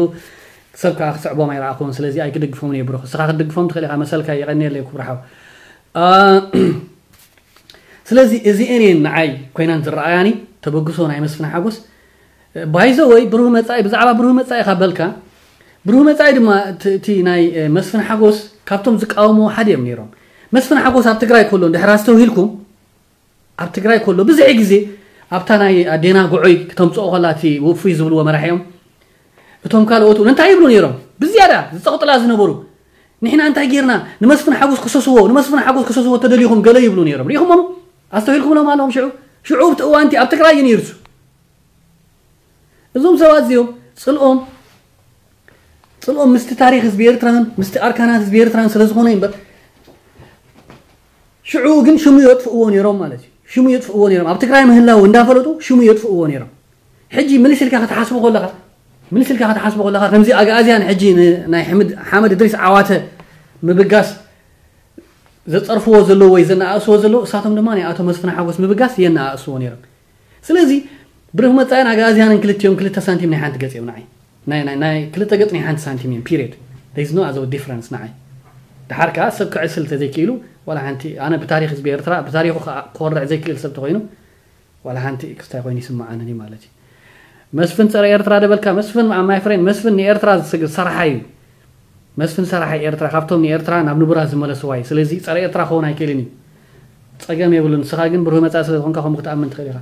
ሰብ ከዓ ክስዕቦም ኣይረኣኹን። ስለዚ ኣይክድግፎም እየ ብሩኽ። እስኻ ክትድግፎም ትኽእል ኢኻ። መሰልካ የቐንየለይ ክቡር ሓው። ስለዚ እዚኤን እየን ንዓይ ኮይናን ዝረኣያኒ። ተበግሶ ናይ መስፍን ሓጎስ ባይዘ ወይ ብሩህ መጻኢ ብዛዕባ ብሩህ መጻኢ ካብ በልካ ብሩህ መጻኢ ድማ እቲ ናይ መስፍን ሓጎስ ካብቶም ዝቃወምዎ ሓደ እዮም ነይሮም። መስፍን ሓጎስ ኣብ ትግራይ ከሎ እንድሕር ኣስተውሂልኩም ኣብ ትግራይ ከሎ ብዙሕ ግዜ ኣብታ ናይ ኣዴና ጉዑይ ክተምፅኦ ከላ እቲ ውፉይ ዝብልዎ መራሒኦም እቶም ካልኦት እውን እንታይ ይብሉ ነይሮም? ብዝያዳ ዝፀቕጥላ ዝነበሩ ንሕና እንታይ ጌርና ንመስፍን ሓጎስ ክሰስዎ ንመስፍን ሓጎስ ክሰስዎ ተደሊኹም ገለ ይብሉ ነይሮም። ሪኢኹሞም ኣስተውሂልኩምሎም ኣለኹም። ሽዑ ሽዑ ኣብቲ እዋንቲ ኣብ ትግራይ እዩ ነይሩ እሱ። እዞም ሰባት እዚኦም ፅልኦም ፅልኦም ምስቲ ታሪክ ህዝቢ ኤርትራን ምስቲ ኣርካናት ህዝቢ ኤርትራን ስለ ዝኾነ እምበር ሽዑ ግን ሽሙ የጥፍእዎ ነይሮም ማለት እዩ። ሽሙ የጥፍእዎ ነይሮም ኣብ ትግራይ ምህላው እንዳፈለጡ ሽሙ የጥፍእዎ ነይሮም። ሕጂ ምልስ ኢልካ ክትሓስቦ ከለኻ ምልስ ኢልካ ክትሓስቦ ከለኻ ከምዚ ኣግኣዝያን ሕጂ ናይ ሓመድ እድሪስ ዓዋተ ምብጋስ ዘፀርፍዎ ዘለዉ ወይ ዘነኣእስዎ ዘለዉ እሳቶም ድማ ናይ ኣቶ መስፍን ሓጎስ ምብጋስ የነኣእስዎ ነይሮም። ስለዚ ብርህ መፃኢን ኣግኣዝያንን ክልቲኦም ክልተ ሳንቲም ናይ ሓንቲ ገፅ እዮም ንዓይ ናይ ናይ ናይ ክልተ ገፅ ናይ ሓንቲ ሳንቲም እዮም period. There is no other difference ንዓይ። ድሓር ከዓ ሰብ ክዕስል ተዘይክኢሉ ዋላ ሓንቲ ኣነ ብታሪክ ህዝቢ ኤርትራ ብታሪኩ ክኮርዕ ዘይክእል ሰብ ተኮይኑ ዋላ ሓንቲ ክስታይ ኮይኑ ይስምዓኒ ማለት እዩ። መስፍን ፀረ ኤርትራ ደበልካ መስፍን my friend መስፍን ንኤርትራ ዝሰርሓ እዩ። መስፍን ሰራሒ ኤርትራ ካብቶም ንኤርትራ ናብ ንቡራ ዝመለስዋ እዩ። ስለዚ ፀረ ኤርትራ ክኸውን ኣይክእልን እዩ። ፀገም የብሉን። ንስኻ ግን ብሩህ መፃኢ ስለ ዝኾንካ ከምኡ ክትኣምን ትኽእል ኢኻ።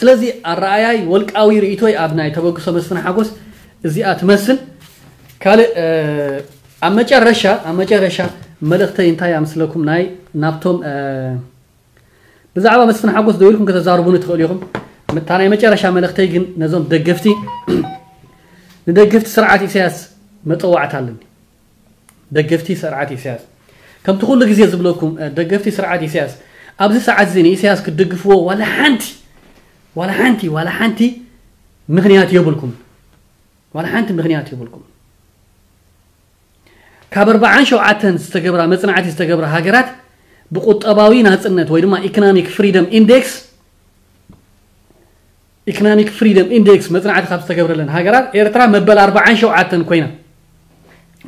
ስለዚ ኣረኣያይ ወልቃዊ ርእይቶይ ኣብ ናይ ተበግሶ መስፍን ሓጎስ እዚኣ ትመስል። ካልእ ኣብ መጨረሻ ኣብ መጨረሻ መልእኽተይ እንታይ ኣምስለኩም ናይ ናብቶም ብዛዕባ መስፍን ሓጎስ ደው ኢልኩም ከተዛርቡኒ ትኽእሉ ኢኹም። እታ ናይ መጨረሻ መልእኽተይ ግን ነዞም ደገፍቲ ንደገፍቲ ስርዓት ኢሳያስ መፀዋዕታ ኣለኒ። ደገፍቲ ስርዓት ኢሳያስ ከምቲ ኩሉ ግዜ ዝብለኩም ደገፍቲ ስርዓት ኢሳያስ ኣብዚ ሰዓት እዚ ንኢሳያስ ክትድግፍዎ ዋላ ሓንቲ ዋላ ሓንቲ ዋላ ሓንቲ ምኽንያት የብልኩም። ዋላ ሓንቲ ምኽንያት የብልኩም። ካብ ኣርባዓን ሸውዓተን ዝተገብራ መፅናዕቲ ዝተገብራ ሃገራት ብቁጠባዊ ናፅነት ወይ ድማ economic freedom index economic freedom index መፅናዕቲ ካብ ዝተገብረለን ሃገራት ኤርትራ መበል ኣርባዓን ሸውዓተን ኮይና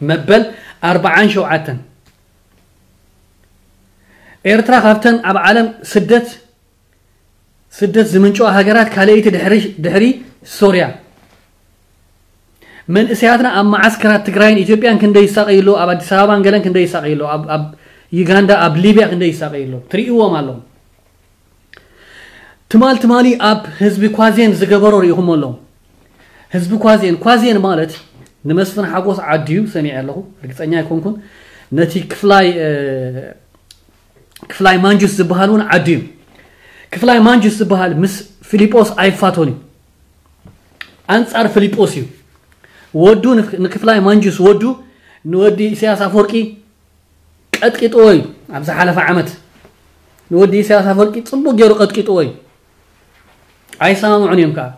መበል ኣርባዓን ሸውዓተን ኤርትራ ካብተን ኣብ ዓለም ስደት ስደት ዝምንጭዋ ሃገራት ካልኣይቲ ድሕሪ ድሕሪ ሶርያ። መንእሰያትና ኣብ መዓስከራት ትግራይን ኢትዮጵያን ክንደይ ይሳቀዩ ኣለዉ። ኣብ ኣዲስ ኣበባን ገለን ክንደይ ይሳቀዩ ኣለዉ። ኣብ ኣብ ዩጋንዳ ኣብ ሊብያ ክንደይ ይሳቀዩ ኣለዉ። ትርእይዎም ኣለኹም። ትማል ትማሊ ኣብ ህዝቢ ኳዜን ዝገበሮ ርኢኹሞ ኣለኹም። ህዝቢ ኳዜን ኳዜን ማለት ንመስፍን ሓጎስ ዓድዩ ሰሚዐ ኣለኹ። ርግፀኛ ኣይኮንኩን። ነቲ ክፍላይ ክፍላይ ማንጁስ ዝበሃል እውን ዓዱ እዩ። ክፍላይ ማንጁስ ዝበሃል ምስ ፊሊጶስ ኣይፋቶን እዩ። ኣንጻር ፊሊጶስ እዩ። ወዱ ንክፍላይ ማንጁስ ወዱ ንወዲ ኢሳያስ ኣፈወርቂ ቀጥቂጥዎ እዩ። ኣብ ዝሓለፈ ዓመት ንወዲ ኢሳያስ ኣፈወርቂ ጽቡቅ ገይሩ ቀጥቂጥዎ እዩ። ኣይሰማምዑን እዮም ከዓ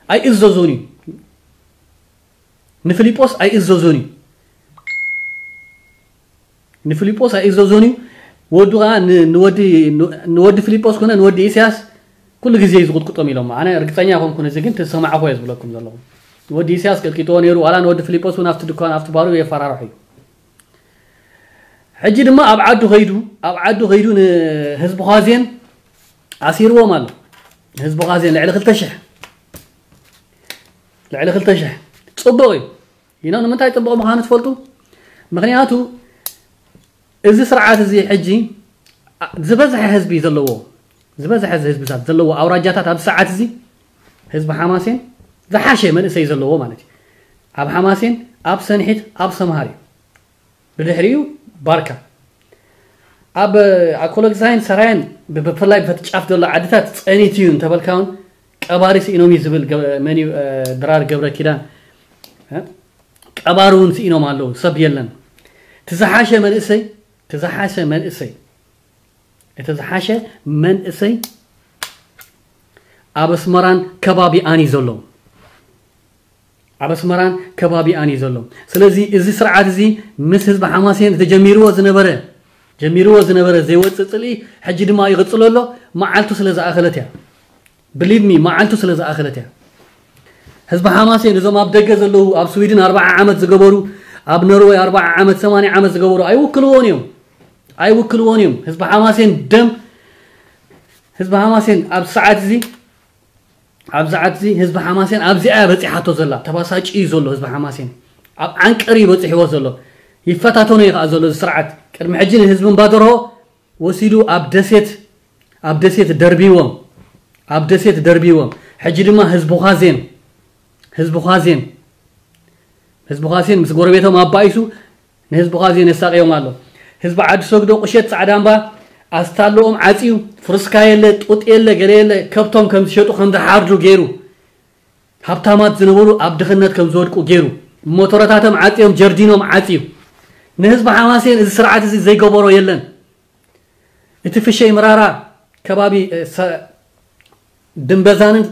ኣይእዘዙን እዩ። ንፊሊጶስ ኣይእዘዞን እዩ። ንፊሊጶስ ኣይእዘዞን እዩ። ወዱ ከዓ ንወዲ ንወዲ ፊሊጶስ ኮነ ንወዲ ኢሳያስ ኩሉ ግዜ እዩ ዝቁጥቁጦም ኢሎም። ኣነ ርግፀኛ ኮንኩን እዚ ግን ተሰማዕኮ እየ ዝብለኩም ዘለኹ። ንወዲ ኢሳያስ ቀጥቂጥዎ ነይሩ ዋላ ንወዲ ፊሊጶስ እውን ኣብቲ ድኳን ኣብቲ ባሩ የፈራርሑ እዩ። ሕጂ ድማ ኣብ ዓዱ ከይዱ ኣብ ዓዱ ከይዱ ንህዝቢ ኳዜን ኣሲርዎም ኣሎ። ህዝቢ ኳዜን ልዕሊ ክልተ ሽሕ ልዕሊ ክልተ ሽሕ ጽቡቕ እዩ። ይነው ንምንታይ ጽቡቕ ምዃኑ ትፈልጡ? ምኽንያቱ እዚ ስርዓት እዚ ሕጂ ዝበዝሐ ህዝቢ ዘለዎ ዝበዝሐ ህዝብታት ዘለዎ ኣውራጃታት ኣብ ሰዓት እዚ ህዝቢ ሓማሴን ዝሓሸ መንእሰይ ዘለዎ ማለት እዩ። ኣብ ሓማሴን ኣብ ሰንሒት ኣብ ሰምሃር እዩ። ብድሕሪኡ ባርካ ኣብ ኣኮሎግዛይን ሰራየን ብፍላይ በቲ ጫፍ ዘሎ ዓድታት ጸኒት እዩ እንተበልካ እውን ቀባሪ ስኢኖም እዩ ዝብል መን እዩ ድራር ገብረ ኪዳን ቀባሪ እውን ስኢኖም ኣለዉ ሰብ የለን። ትዝሓሸ መንእሰይ ዝሓሸ መንእሰይ እቲ ዝሓሸ መንእሰይ ኣብ ኣስመራን ከባቢኣን እዩ ዘሎ። ኣብ ኣስመራን ከባቢኣን እዩ ዘሎ። ስለዚ እዚ ስርዓት እዚ ምስ ህዝቢ ሓማሴን ተጀሚርዎ ዝነበረ ጀሚርዎ ዝነበረ ዘይወፅእ ፅልኢ ሕጂ ድማ ይቕፅሎ ኣሎ። መዓልቱ ስለ ዝኣኸለት እያ። ብሊቭ ሚ፣ መዓልቱ ስለ ዝኣኸለት እያ። ህዝቢ ሓማሴን እዞም ኣብ ደገ ዘለዉ ኣብ ስዊድን ኣርባዓ ዓመት ዝገበሩ ኣብ ኖርወይ ኣርባዓ ዓመት ሰማንያ ዓመት ዝገበሩ ኣይውክልዎን እዮም። ኣይውክልዎን እዮም። ህዝቢ ሓማሴን ደም ህዝቢ ሓማሴን ኣብ ሰዓት እዚ ኣብ ሰዓት እዚ ህዝቢ ሓማሴን ኣብዚኣ እያ በፂሓቶ ዘላ። ተባሳጭ እዩ ዘሎ ህዝቢ ሓማሴን። ኣብ ዓንቀር እዩ በፂሕዎ ዘሎ። ይፈታተኖ እዩ ከዓ ዘሎ እዚ ስርዓት። ቅድሚ ሕጂ ንህዝቢ እምባደርሆ ወሲዱ ኣብ ደሴት ኣብ ደሴት ደርቢዎም ኣብ ደሴት ደርቢዎም። ሕጂ ድማ ህዝቢ ዃዜን ህዝቢ ዃዜን ህዝቢ ዃዜን ምስ ጎረቤቶም ኣባኢሱ ንህዝቢ ዃዜን የሳቅዮም ኣሎ። ህዝቢ ዓዲ ሰግዶ ቁሸት ፃዕዳ እምባ ኣስታለኦም ዓፅዩ ፍርስካ የለ ጡጥ የለ ገለ የለ ከብቶም ከም ዝሸጡ ከም ዝሓርዱ ገይሩ ሃብታማት ዝነበሩ ኣብ ድኽነት ከም ዝወድቁ ገይሩ ሞቶረታቶም ዓፅዮም ጀርዲኖም ዓፅዩ ንህዝቢ ሓማሴን እዚ ስርዓት እዚ ዘይገበሮ የለን። እቲ ፍሸይ ምራራ ከባቢ ድንበዛንን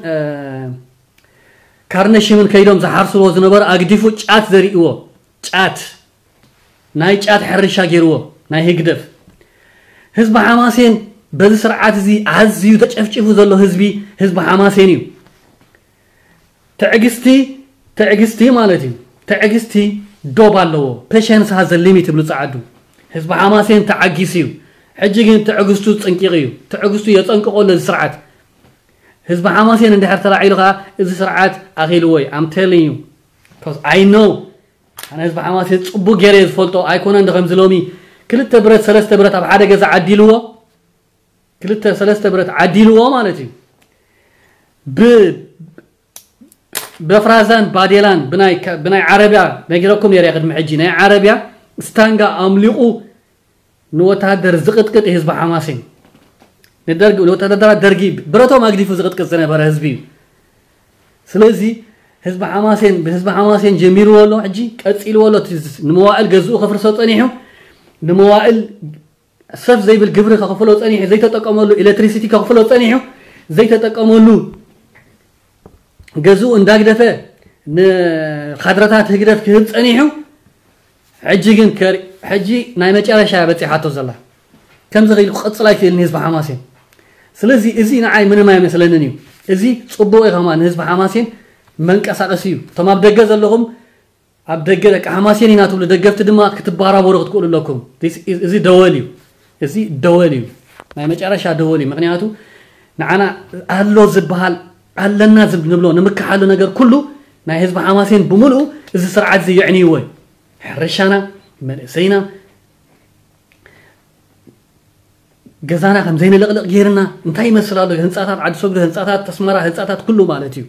ካርነሽምን ከይዶም ዝሓርስዎ ዝነበሩ ኣግዲፉ ጫት ዘርእዎ ጫት ናይ ጫት ሕርሻ ገይርዎ ናይ ህግደፍ ህዝቢ ሓማሴን በዚ ስርዓት እዚ ኣዝዩ ተጨፍጭፉ ዘሎ ህዝቢ ህዝቢ ሓማሴን እዩ። ትዕግስቲ ትዕግስቲ ማለት እዩ። ትዕግስቲ ዶብ ኣለዎ። ፔሸንስ ሃዘ ሊሚት ይብሉ ጸዓዱ። ህዝቢ ሓማሴን ተዓጊስ እዩ። ሕጂ ግን ትዕግስቱ ጽንቂቕ እዩ። ትዕግስቱ የጸንቅቆ ኣሎ እዚ ስርዓት። ህዝቢ ሓማሴን እንድሕር ተላዒሉ ከዓ እዚ ስርዓት ኣኺልዎ እዩ። I'm telling you. Because I know ኣነ ህዝቢ ሓማሴን ጽቡቅ ገይረ እየ ዝፈልጦ ኣይኮነን ዶ ከምዚ ሎሚ ክልተ ብረት ሰለስተ ብረት ኣብ ሓደ ገዛ ዓዲልዎ ክልተ ሰለስተ ብረት ዓዲልዎ ማለት እዩ ብ በፍራዛን ባዴላን ብናይ ብናይ ዓረብያ ነጊረኩም ነይረ ቅድሚ ሕጂ ናይ ዓረብያ ስታንጋ ኣምሊቑ ንወታደር ዝቕጥቅጥ ህዝቢ ሓማሴን ንደርጊ ንወታደራት ደርጊ ብረቶም ኣግዲፉ ዝቕጥቅጥ ዝነበረ ህዝቢ እዩ። ስለዚ ህዝቢ ሓማሴን ብህዝቢ ሓማሴን ጀሚርዎ ኣሎ ሕጂ ቀፂልዎ ኣሎ። እቲ ንመዋእል ገዝኡ ከፍርሶ ፀኒሑ ንመዋእል ሰፍ ዘይብል ግብሪ ከኽፍሎ ፀኒሑ ዘይተጠቀመሉ ኤሌክትሪሲቲ ከኽፍሎ ፀኒሑ ዘይተጠቀመሉ ገዝኡ እንዳግደፈ ንካድረታት ህግደፍ ክህብ ፀኒሑ ሕጂ ግን ከር- ሕጂ ናይ መጨረሻ በፂሓቶ ዘላ ከምዚ ኽኢሉ ክቕፅል ኣይክእልን ህዝቢ ሓማሴን። ስለዚ እዚ ንዓይ ምንም ኣይመስለንን እዩ። እዚ ፅቡቕ እዩ ከማ ንህዝቢ ሓማሴን መንቀሳቐሲ እዩ። እቶም ኣብ ደገ ዘለኹም ኣብ ደገ ደቂ ሓማሴን ኢና ትብሉ ደገፍቲ ድማ ክትባራበሩ ክትክእሉ ኣለኩም። This is- እዚ ደወል እዩ። እዚ ደወል እዩ። ናይ መጨረሻ ደወል እዩ። ምክንያቱ ንዓና ኣሎ ዝበሃል ኣለና ዝብ- ንብሎ ንምክሓሉ ነገር ኩሉ ናይ ህዝቢ ሓማሴን ብምልኡ እዚ ስርዓት እዚ የዕንይዎ እዩ። ሕርሻና መንእሰይና ገዛና ከም ዘይንልቕልቕ ገይርና እንታይ ይመስል ኣሎ ህንፃታት ዓዲ ሰግዶ ህንፃታት ኣስመራ ህንፃታት ኩሉ ማለት እዩ።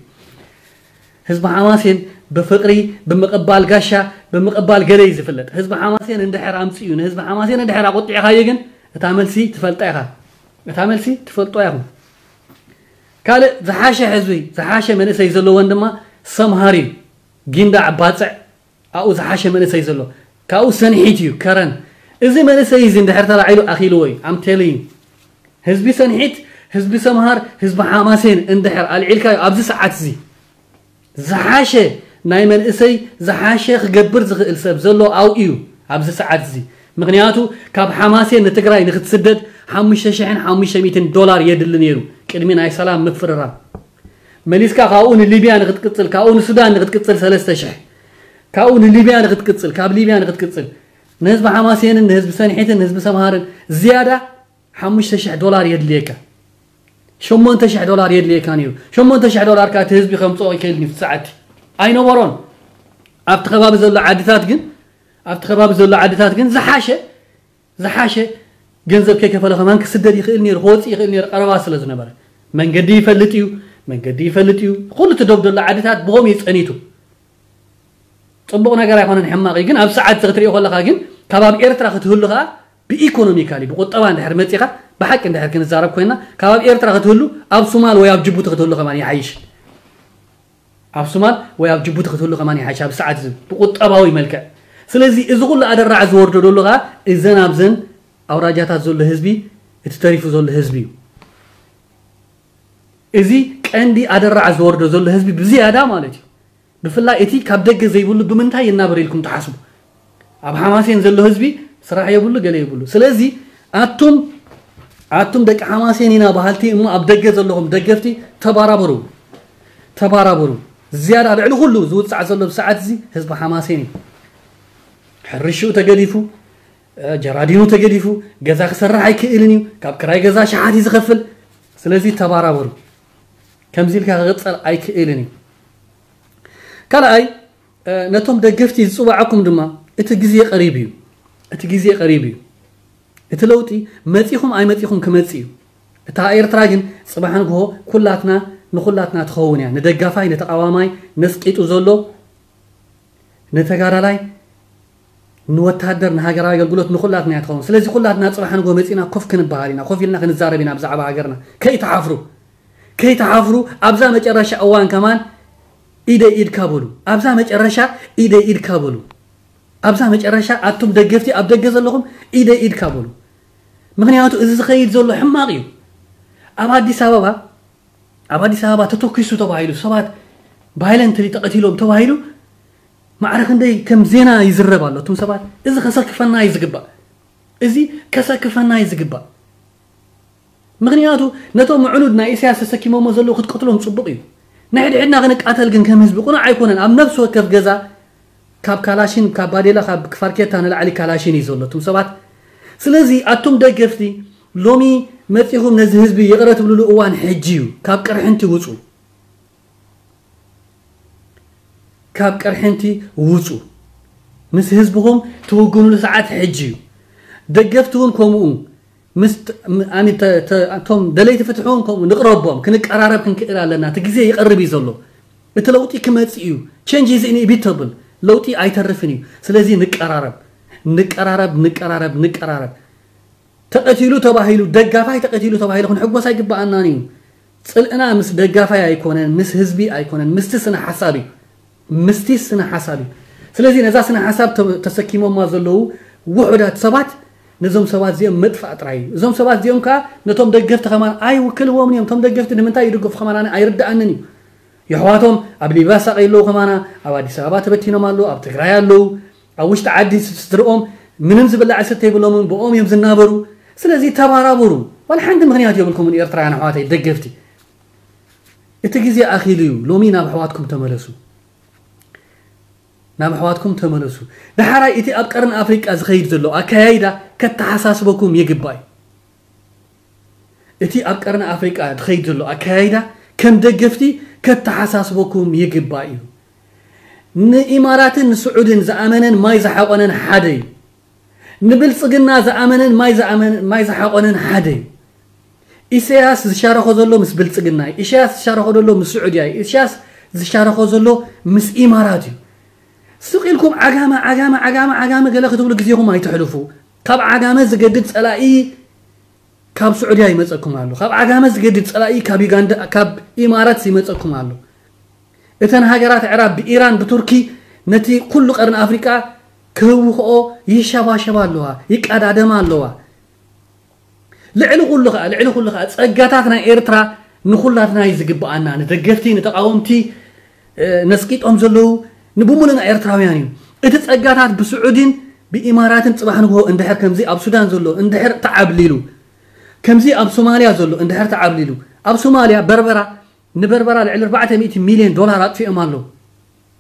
ህዝቢ ሓማሴን ብፍቅሪ ብምቕባል ጋሻ ብምቕባል ገለ እዩ ዝፍለጥ። ህዝቢ ሓማሴን እንድሕር ኣምፅኡ ንህዝቢ ሓማሴን እንድሕር ኣቆጢዕካዮ ግን እታ መልሲ ትፈልጣ ኢኻ። እታ መልሲ ትፈልጦ ኢኹም። ካልእ ዝሓሸ ህዝቢ ዝሓሸ መንእሰይ ዘለዎን ድማ ሰምሃር እዩ። ጊንዳዕ ባፅዕ ኣብኡ ዝሓሸ መንእሰይ ዘሎ ካብኡ ሰንሒት እዩ ከረን። እዚ መንእሰይ እዚ እንድሕር ተላዒሉ ኣኺልዎ እዩ። I'm telling you ህዝቢ ሰንሒት ህዝቢ ሰምሃር ህዝቢ ሓማሴን እንድሕር ኣልዒልካዮ ኣብዚ ሰዓት እዚ ዝሓሸ ናይ መንእሰይ ዝሓሸ ክገብር ዝኽእል ሰብ ዘሎ ኣብኡ እዩ ኣብዚ ሰዓት እዚ። ምክንያቱ ካብ ሓማሴን ንትግራይ ንክትስደድ ሓሙሽተ ሽሕን ሓሙሽተ ሚእትን ዶላር የድሊ ነይሩ ቅድሚ ናይ ሰላም ምፍርራም። መሊስካ ካብኡ ንሊብያ ንክትቅፅል ካብኡ ንሱዳን ንክትቅፅል ሰለስተ ሽሕ ካብኡ ንሊብያ ንክትቅፅል ካብ ሊብያ ንክትቅፅል ንህዝቢ ሓማሴንን ንህዝቢ ሰንሒትን ንህዝቢ ሰምሃርን ዝያዳ ሓሙሽተ ሽሕ ዶላር የድልየካ። ሸሞንተ ሽሕ ዶላር የድልየካ ነይሩ። ሸሞንተ ሽሕ ዶላር ከዓ እቲ ህዝቢ ከምፅኦ ይክእል እዩ ሰዓቲ ኣይነበሮን። ኣብቲ ከባቢ ዘሎ ዓድታት ግን ኣብቲ ከባቢ ዘሎ ዓድታት ግን ዝሓሸ ዝሓሸ ገንዘብ ከይከፈለ ከማን ክስደድ ይኽእል ነይሩ ክወፅእ ይኽእል ነይሩ ቀረባ ስለ ዝነበረ መንገዲ ይፈልጥ እዩ። መንገዲ ይፈልጥ እዩ። ኩሉ እቲ ዶብ ዘሎ ዓድታት ብኸምኡ እዩ ፀኒቱ። ፅቡቕ ነገር ኣይኮነን ሕማቕ እዩ ግን ኣብ ሰዓት እዚ ክትሪኦ ከለካ ግን ካብ ኣብ ኤርትራ ክትህሉ ከዓ ብኢኮኖሚካሊ ብቁጠባ እንድሕር መፂኻ ብሓቂ እንድሕር ክንዛረብ ኮይና ካብ ኣብ ኤርትራ ክትህሉ ኣብ ሱማል ወይ ኣብ ጅቡቲ ክትህሉ ከማን ይሓይሽ። ኣብ ሱማል ወይ ኣብ ጅቡቲ ክትህሉ ከማን ይሓይሽ ኣብ ሰዓት እዚ ብቁጠባዊ መልክዕ። ስለዚ እዚ ኩሉ ኣደራዕ ዝወርዶ ደሎ ከዓ እዘን ኣብዘን ኣውራጃታት ዘሎ ህዝቢ፣ እቲ ተሪፉ ዘሎ ህዝቢ እዩ። እዚ ቀንዲ ኣደራዕ ዝወርዶ ዘሎ ህዝቢ ብዝያዳ ማለት እዩ። ብፍላይ እቲ ካብ ደገ ዘይብሉ ብምንታይ ይናበር ኢልኩም ትሓስቡ? ኣብ ሓማሴን ዘሎ ህዝቢ ስራሕ የብሉ፣ ገለ የብሉ። ስለዚ ኣቱም ኣቱም ደቂ ሓማሴን ኢና በሃልቲ እሞ ኣብ ደገ ዘለኹም ደገፍቲ፣ ተባራበሩ፣ ተባራበሩ። ዝያዳ ልዕሊ ኩሉ ዝውፃዕ ዘሎ ብሰዓት እዚ ህዝቢ ሓማሴን እዩ። ሕርሽኡ ተገዲፉ፣ ጀራዲኑ ተገዲፉ፣ ገዛ ክሰርሕ ኣይክእልን እዩ። ካብ ክራይ ገዛ ሸሓት እዩ ዝኸፍል። ስለዚ ተባራበሩ። ከምዚ ኢልካ ክቕፀል ኣይክእልን እዩ። ካልኣይ፣ ነቶም ደገፍቲ ዝፅዋዓኩም ድማ እቲ ግዜ ቀሪቡ እዩ። እቲ ግዜ ቀሪቡ እዩ። እቲ ለውጢ መፂኹም ኣይመፂኹም ክመፅእ እዩ። እታ ኤርትራ ግን ፅባሕ ንግሆ ኩላትና ንኩላትና ትኸውን እያ። ንደጋፋይ፣ ንተቃዋማይ፣ ነስቂጡ ዘሎ፣ ንተጋዳላይ፣ ንወታደር፣ ንሃገራዊ ኣገልግሎት ንኩላትና እያ ትኸውን። ስለዚ ኩላትና ፅባሕ ንግሆ መፂና ኮፍ ክንበሃል ኢና፣ ኮፍ ኢልና ክንዛረብ ኢና ብዛዕባ ሃገርና። ከይትሓፍሩ፣ ከይትሓፍሩ። ኣብዛ መጨረሻ እዋን ከማን ኢደይ ኢድካ በሉ። ኣብዛ መጨረሻ ኢደይ ኢድካ በሉ። ኣብዛ መጨረሻ ኣቱም ደገፍቲ ኣብ ደገ ዘለኹም ኢደይ ኢድካ በሉ። ምክንያቱ እዚ ዝኸይድ ዘሎ ሕማቕ እዩ። ኣብ ኣዲስ ኣበባ ኣብ ኣዲስ ኣበባ ተተኪሱ ተባሂሉ ሰባት ቫይለንትሊ ተቐቲሎም ተባሂሉ ማዕረ ክንደይ ከም ዜና ይዝረብ ኣሎ። እቱም ሰባት እዚ ከሰክፈና እዩ ዝግባእ። እዚ ከሰክፈና እዩ ዝግባእ። ምክንያቱ ነቶም ምዕኑድ ናይ ኢሳያስ ተሰኪሞሞ ዘለዉ ክትቀትሎም ጽቡቕ እዩ። ንሕድሕድና ክንቃተል ግን ከም ህዝቢ ቁኑዕ ኣይኮነን። ኣብ ነፍሲ ወከፍ ገዛ ካብ ካላሽን፣ ካብ ባዴላ፣ ካብ ክፋርኬታ ንላዕሊ ካላሽን እዩ ዘሎ እቱም ሰባት። ስለዚ ኣቱም ደገፍቲ ሎሚ መጺኹም ነዚ ህዝቢ ይቕረ ትብልሉ እዋን ሕጂ እዩ። ካብ ቅርሕንቲ ውጹ። ካብ ቅርሕንቲ ውጹ። ምስ ህዝብኹም ትውግኑሉ ሰዓት ሕጂ እዩ። ደገፍቲ እውን ከምኡ ምስ ት- ም- ኣሚ- ተ- ተ- እቶም ደለይቲ ፍትሒ እውን ከምኡ ንቕረቦም፣ ክንቀራረብ ክንክእል ኣለና። እቲ ግዜ ይቐርብ እዩ ዘሎ። እቲ ለውጢ ክመጽእ እዩ። Change is inevitable። ለውጢ ኣይተርፍን እዩ። ስለዚ ንቀራረብ፣ ንቀራረብ፣ ንቀራረብ፣ ንቀራረብ። ተቐቲሉ ተባሂሉ፣ ደጋፋይ ተቐቲሉ ተባሂሉ ክንሕጎስ ኣይግበኣናን እዩ። ጽልእና ምስ ደጋፋይ ኣይኮነን፣ ምስ ህዝቢ ኣይኮነን፣ ምስቲ ስነ ሓሳብ እዩ። ምስቲ ስነ ሓሳብ እዩ። ስለዚ ነዛ ስነ ሓሳብ ተ- ተሰኪሞማ ዘለዉ ውሑዳት ሰባት ነዞም ሰባት እዚኦም መጥፋእ ጥራይ እዩ። እዞም ሰባት እዚኦም ከዓ ነቶም ደገፍቲ ከማን ኣይውክልዎምን እዮም። እቶም ደገፍቲ ንምንታይ ይድግፉ ከማን ኣነ ኣይርድኣንን እዩ። የሕዋቶም ኣብ ሊብያ ሳቐይ ኣለዉ ከማና፣ ኣብ ኣዲስ ኣበባ ተበቲኖም ኣለዉ፣ ኣብ ትግራይ ኣለዉ፣ ኣብ ውሽጢ ዓዲ ስድርኦም ምንም ዝብላዕ ዝስተ የብሎምን፣ ብኦም እዮም ዝናበሩ። ስለዚ ተባራበሩ። ዋላ ሓንቲ ምኽንያት የብልኩምን ኤርትራውያን ኣሕዋተይ ደገፍቲ። እቲ ግዜ ኣኺሉ እዩ። ሎሚ ናብ ኣሕዋትኩም ተመለሱ። ናብ ኣሕዋትኩም ተመለሱ። ዳሕራይ እቲ ኣብ ቀርኒ ኣፍሪቃ ዝኸይድ ዘሎ ኣካያይዳ ከተሓሳስበኩም ይግባእ እዩ። እቲ ኣብ ቀርኒ ኣፍሪቃ ዝኸይድ ዘሎ ኣካያይዳ ከም ደገፍቲ ከተሓሳስበኩም ይግባእ እዩ። ንኢማራትን ንስዑድን ዝኣመነን ማይ ዝሓቆነን ሓደ እዩ። ንብልጽግና ዝኣመነን ማይ ዝኣመን- ማይ ዝሓቆነን ሓደ እዩ። ኢሳያስ ዝሻረኾ ዘሎ ምስ ብልጽግና እዩ። ኢሳያስ ዝሻረኾ ዘሎ ምስ ስዑድያ እዩ። ኢሳያስ ዝሻረኾ ዘሎ ምስ ኢማራት እዩ። ስቕ ኢልኩም ዓጋመ ዓጋመ ዓጋመ ዓጋመ ገለ ክትብሉ ግዜኹም ኣይትሕልፉ። ካብ ዓጋመ ዝገድድ ጸላኢ ካብ ስዑድያ ይመጸኩም ኣሎ። ካብ ዓጋመ ዝገድድ ጸላኢ ካብ ዩጋንዳ ካብ ኢማራት ይመጸኩም ኣሎ። እተን ሃገራት ኣዕራብ ብኢራን ብቱርኪ ነቲ ኩሉ ቀርኒ ኣፍሪቃ ክህውኽኦ ይሸባሸባ ኣለዋ፣ ይቀዳደማ ኣለዋ። ልዕሊ ኩሉ ኸዓ ልዕሊ ኩሉ ኸዓ ጸጋታት ናይ ኤርትራ ንኹላትና እዩ ዝግብኣና፣ ንደገፍቲ ንተቓወምቲ ነስቂጦም ዘለዉ ንብሙሉና ኤርትራውያን እዩ። እቲ ጸጋታት ብስዑዲን ብኢማራትን ጽባሕ ንግሆ እንድሕር ከምዚ ኣብ ሱዳን ዘሎ እንድሕር ተዓብሊሉ ከምዚ ኣብ ሶማልያ ዘሎ እንድሕር ተዓብሊሉ ኣብ ሶማልያ በርበራ ንበርበራ ልዕሊ ኣርባዕተ ሚእቲ ሚልዮን ዶላር ኣጥፊኦም ኣለዉ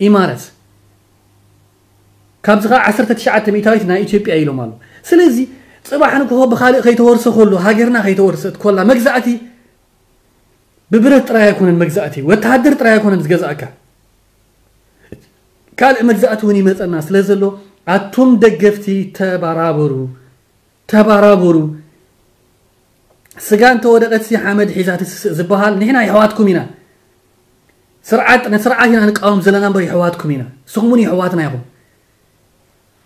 ኢማረት። ካብዚ ኸዓ ዓሰርተ ትሽዓተ ሚእታዊት ናይ ኢትዮጵያ ኢሎም ኣለዉ። ስለዚ ጽባሕ ንግሆ ብኻልእ ከይተወርሰ ከሎ ሃገርና ከይተወርሰት ኮላ መግዛእቲ ብብረት ጥራይ ኣይኮነን መግዛእቲ ወተሃደር ጥራይ ኣይኮነን ዝገዛእካ ካልእ መግዛእቲ እውን ይመጸና ስለ ዘሎ ኣቱም ደገፍቲ ተባራበሩ ተባራበሩ። ስጋ እንተወደቐት ሲ ሓመድ ሒዛ ትስስእ ዝበሃል ንሕና የሕዋትኩም ኢና። ስርዓት ነቲ ስርዓት ኢና ንቃወም ዘለና እምበር የሕዋትኩም ኢና። ንስኹም እውን የሕዋትና ኢኹም።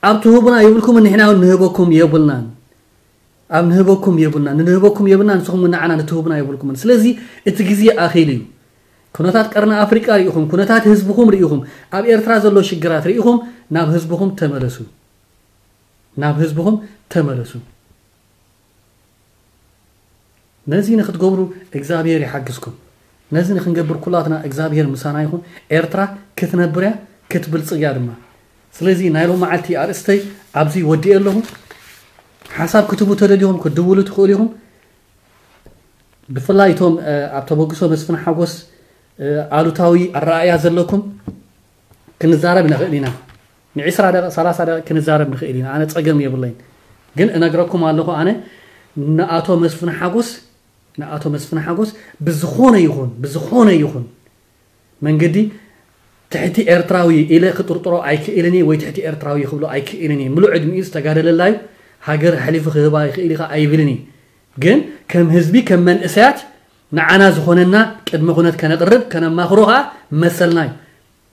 ኣብ ትህቡና የብልኩምን ንሕና እውን ንህበኩም የብልናን። ኣብ ንህበኩም የብልናን ንህበኩም የብልናን ንስኹም እውን ንዓና ንትህቡና የብልኩምን። ስለዚ እቲ ግዜ ኣኺሉ እዩ። ኩነታት ቀርኒ ኣፍሪቃ ርኢኹም፣ ኩነታት ህዝብኹም ርኢኹም፣ ኣብ ኤርትራ ዘሎ ሽግራት ርኢኹም ናብ ህዝብኹም ተመለሱ። ናብ ህዝብኹም ተመለሱ። ነዚ ንክትገብሩ እግዚኣብሔር ይሓግዝኩም። ነዚ ንክንገብር ኩላትና እግዚኣብሔር ምሳና ይኹን። ኤርትራ ክትነብር እያ፣ ክትብልጽግ እያ ድማ። ስለዚ ናይ ሎም መዓልቲ ኣርእስተይ ኣብዚ ወዲኤ ኣለኹ። ሓሳብ ክትቡ ተደልኹም ክትድውሉ ትኽእሉ ኢኹም። ብፍላይ እቶም ኣብ ተበግሶ መስፍን ሓጎስ ኣሉታዊ ኣረኣእያ ዘለኩም ክንዛረብ ንኽእል ኢና። ንዒስራ ደቂቕ ሰላሳ ደቂቕ ክንዛረብ ንኽእል ኢና። ኣነ ጸገም የብለይን። ግን እነግረኩም ኣለኹ፣ ኣነ ንኣቶ መስፍን ሓጎስ ንኣቶ መስፍን ሓጎስ ብዝኾነ ይኹን ብዝኾነ ይኹን መንገዲ ትሕቲ ኤርትራዊ ኢለ ክጥርጥሮ ኣይክእልን እየ፣ ወይ ትሕቲ ኤርትራዊ ክብሎ ኣይክእልን እየ። ምሉእ ዕድሚኡ ዝተጋደለላ እዩ። ሃገር ኣሕሊፉ ክህባ ይኽእል ኢኻ ኣይብልን እየ። ግን ከም ህዝቢ ከም መንእሰያት ንዓና ዝኾነና ቅድመ ኩነት ከነቕርብ ከነማኽሮ ከዓ መሰልና እዩ።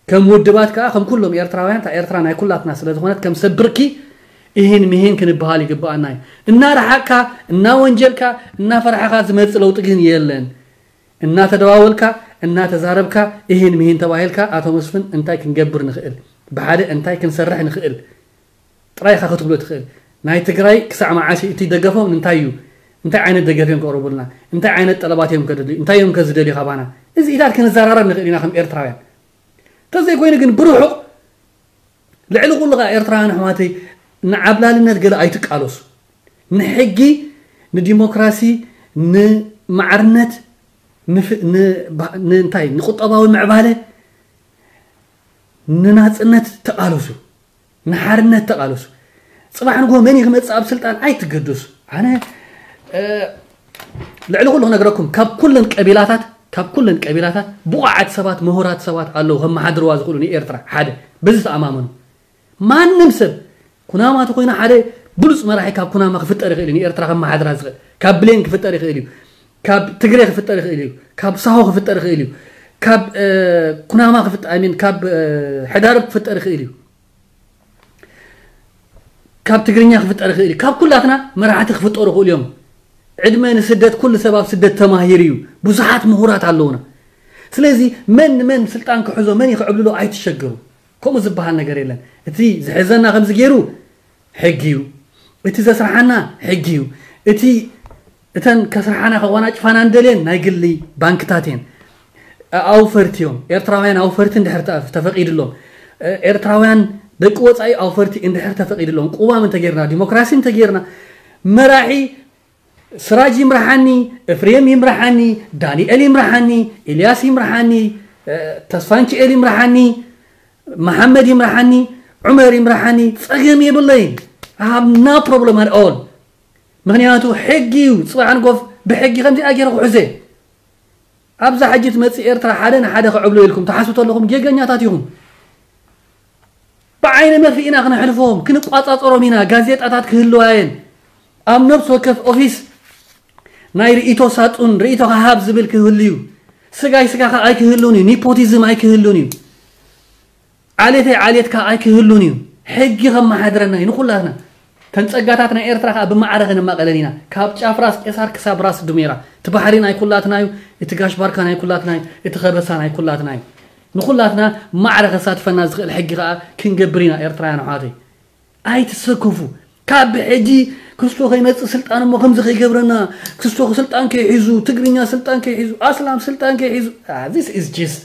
ከም ውድባት ከዓ ከም ኩሎም ኤርትራውያን እታ ኤርትራ ናይ ኩላትና ስለ ዝኾነት ከም ሰብ ብርኪ እሂን ምሂን ክንበሃል ይግብኣና እዩ። እናረሓቅካ እናወንጀልካ እናፈራሕኻ ዝመፅእ ለውጢ ግን የለን። እናተደዋወልካ እናተዛረብካ እሂን ምሂን ተባሂልካ ኣቶ መስፍን እንታይ ክንገብር ንኽእል፣ ብሓደ እንታይ ክንሰርሕ ንኽእል ጥራይ ኢኻ ክትብሎ ትኽእል። ናይ ትግራይ ክሳዕ መዓስ እዩ? እቲ ደገፎም እንታይ እዩ? እንታይ ዓይነት ደገፍ እዮም ከቕርቡልና? እንታይ ዓይነት ጠለባት እዮም ከደልዩ? እንታይ እዮም ከዝደልዩ ካባና? እዚ ኢታት ክንዘራረብ ንኽእል ኢና ከም ኤርትራውያን። እንተዘይኮይኑ ግን ብርሑቕ ልዕሊ ኩሉ ከዓ ኤርትራውያን ኣሕዋተይ ንዓብላልነት ገለ ኣይትቃለሱ። ንሕጊ፣ ንዲሞክራሲ፣ ንማዕርነት፣ ንፍ- ን- ባ- ንእንታይ ንቁጠባዊ ምዕባለ ንናጽነት ተቓለሱ፣ ንሓርነት ተቓለሱ። ጽባሕ ንግሆ መን እዩ ክመጽእ ኣብ ስልጣን ኣይትገደሱ። ኣነ ልዕሊ ኩሉ ክነግረኩም ካብ ኩለን ቀቢላታት ካብ ኩለን ቀቢላታት ብቑዓት ሰባት ምሁራት ሰባት ኣለዉ ከመሓድርዋ ዝኽእሉ ንኤርትራ ሓደ በዚ ተኣማመኑ። ማንም ሰብ ኩናማ ተኮይኑ ሓደ ብሉፅ መራሒ ካብ ኩናማ ክፍጠር ይኽእል እዩ። ንኤርትራ ከመሓድራ ዝኽእል ካብ ብሌን ክፍጠር ይኽእል እዩ። ካብ ትግሬ ክፍጠር ይኽእል እዩ። ካብ ሳሆ ክፍጠር ይኽእል እዩ። ካብ ኩናማ ክፍጠር ሚን ካብ ሕዳርብ ክፍጠር ይኽእል እዩ። ካብ ትግርኛ ክፍጠር ይኽእል እዩ። ካብ ኩላትና መራሕቲ ክፍጠሩ ይኽእሉ እዮም። ዕድመ ንስደት ኩሉ ሰብ ኣብ ስደት ተማሂሩ እዩ። ብዙሓት ምሁራት ኣለውና። ስለዚ መን ንመን ስልጣን ክሕዞ መን ይኽዕብልሎ ኣይትሸገሩ። ከምኡ ዝበሃል ነገር የለን። እቲ ዝሕዘና ከምዚ ገይሩ ሕጊ እዩ። እቲ ዘስርሓና ሕጊ እዩ። እቲ እተን ከስርሓና ከዋናጭፋና እንደልየን ናይ ግሊ ባንክታት እየን። ኣውፈርቲ እዮም። ኤርትራውያን ኣውፈርቲ እንድሕር ተፈቂድሎም፣ ኤርትራውያን ደቂ ወፃኢ ኣውፈርቲ እንድሕር ተፈቂድሎም፣ ቅዋም እንተጌርና፣ ዲሞክራሲ እንተጌርና፣ መራሒ ስራጅ ይምርሓኒ፣ እፍሬም ይምርሓኒ፣ ዳንኤል ይምርሓኒ፣ ኢልያስ ይምርሓኒ፣ ተስፋንችኤል ይምርሓኒ፣ መሓመድ ይምርሓኒ፣ ዑመር ይምርሓኒ፣ ፀገም የብለይን። I have no problem at all። ምክንያቱ ሕጊ እዩ። ፅባሕ ንጎፍ ብሕጊ ከምዚኣ ገይረ ክሕዘ ኣብዛ ሕጂ ትመፅእ ኤርትራ ሓደ ንሓደ ክዕብሎ ኢልኩም ትሓስቡ ተለኹም ጌገኛታት ኢኹም። ብዓይነ መርፍእ ኢና ክነሕልፎም፣ ክንቋፃፀሮም ኢና። ጋዜጣታት ክህልዋ እየን። ኣብ ነብሲ ወከፍ ኦፊስ ናይ ርእይቶ ሳጡን ርእይቶኻ ሃብ ዝብል ክህሉ እዩ። ስጋይ ስጋኻ ኣይክህሉን እዩ። ኒፖቲዝም ኣይክህሉን እዩ። ዓሌተይ ዓሌትካ ኣይክህሉን እዩ። ሕጊ ከመሓድረና እዩ ንኩላትና። ተን ጸጋታት ናይ ኤርትራ ከኣ ብማዕረ ከነማቐለን ኢና። ካብ ጫፍ ራስ ቄሳር ክሳብ ራስ ዱሜራ። እቲ ባሕሪ ናይ ኩላትና እዩ። እቲ ጋሽ ባርካ ናይ ኩላትና እዩ። እቲ ከበሳ ናይ ኩላትና እዩ። ንኩላትና ማዕረ ከሳትፈና ዝኽእል ሕጊ ከኣ ክንገብር ኢና ኤርትራውያን ኣሕዋተይ። ኣይትሰከፉ። ካብ ብሕጂ ክስቶ ከይመጽእ ስልጣን እሞ ከምዚ ከይገብረና፣ ክስቶ ስልጣን ከይሒዙ፣ ትግርኛ ስልጣን ከይሒዙ፣ ኣስላም ስልጣን ከይሒዙ፣ this is just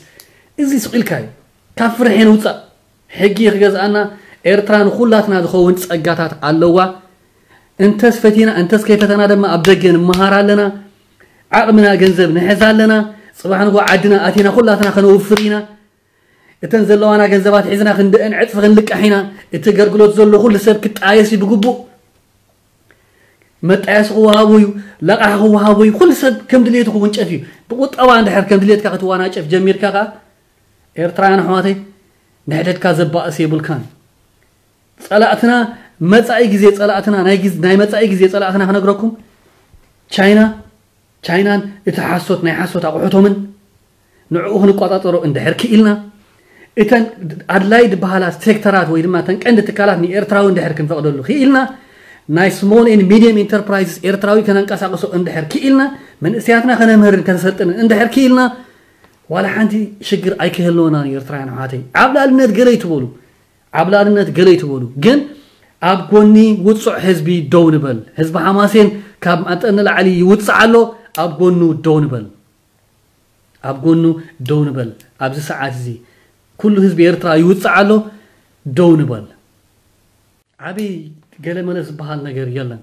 እዚ ስቕ ኢልካ እዩ። ካብ ፍርሒ ንውጻእ። ሕጊ ክገዝኣና። ኤርትራ ንኹላትና ዝኸውን ጸጋታት ኣለዋ። እንተስ ፈቲና እንተስ ከይፈተና ድማ ኣብ ደገ ንመሃር ኣለና። ዓቕምና ገንዘብ ንሕዝ ኣለና። ጽባሕ ንጎ ዓድና ኣቲና ኩላትና ከነውፍር ኢና። እተን ዘለዋና ገንዘባት ሒዝና ክንደአን ዕጽፊ ክንልቃሕ ኢና። እቲ ኣገልግሎት ዘሎ ኩሉ ሰብ ክጣየስ እዩ ብግቡእ። መጣየሲ ክወሃቡ እዩ፣ ለቓሒ ክወሃቡ እዩ። ኩሉ ሰብ ከም ድልየቱ ክውንጨፍ እዩ። ብቁጠባ እንድሕር ከም ድልየትካ ክትዋናጨፍ ጀሚርካ ከኣ ኤርትራውያን ኣሕዋተይ ንሕደድካ ዘባእስ የብልካን። ጸላእትና መጻኢ ግዜ ጸላእትና ናይ ግዝ- ናይ መጻኢ ግዜ ጸላእትና ክነግረኩም ቻይና ቻይናን እቲ ሓሶት ናይ ሓሶት ኣቑሑቶምን ንዕኡ ክንቋጻጸሮ እንድሕር ክኢልና እተን ኣድላይ ዝበሃላ ሴክተራት ወይ ድማ እተን ቀንዲ ትካላት ንኤርትራዊ እንድሕር ክንፈቕደሉ ክኢልና ናይ small and medium enterprises ኤርትራዊ ከነንቀሳቕሶ እንድሕር ክኢልና መንእሰያትና ከነምህርን ከነሰልጥንን እንድሕር ክኢልና ዋላ ሓንቲ ሽግር ኣይክህልወናን እዩ። ኤርትራውያን ኣሕዋተይ ዓብላልነት ገለ ይትበሉ ዓብላልነት ገለ ይትበሉ ግን ኣብ ጎኒ ውጹዕ ህዝቢ ደው ንበል። ህዝቢ ሓማሴን ካብ መጠን ንላዕሊ ይውጽዕ ኣሎ። ኣብ ጎኑ ደው ንበል። ኣብ ጎኑ ደው ንበል። ኣብዚ ሰዓት እዚ ኩሉ ህዝቢ ኤርትራ ይውጽዕ ኣሎ። ደው ንበል። ዓብይ ገለመለ ዝበሃል ነገር የለን።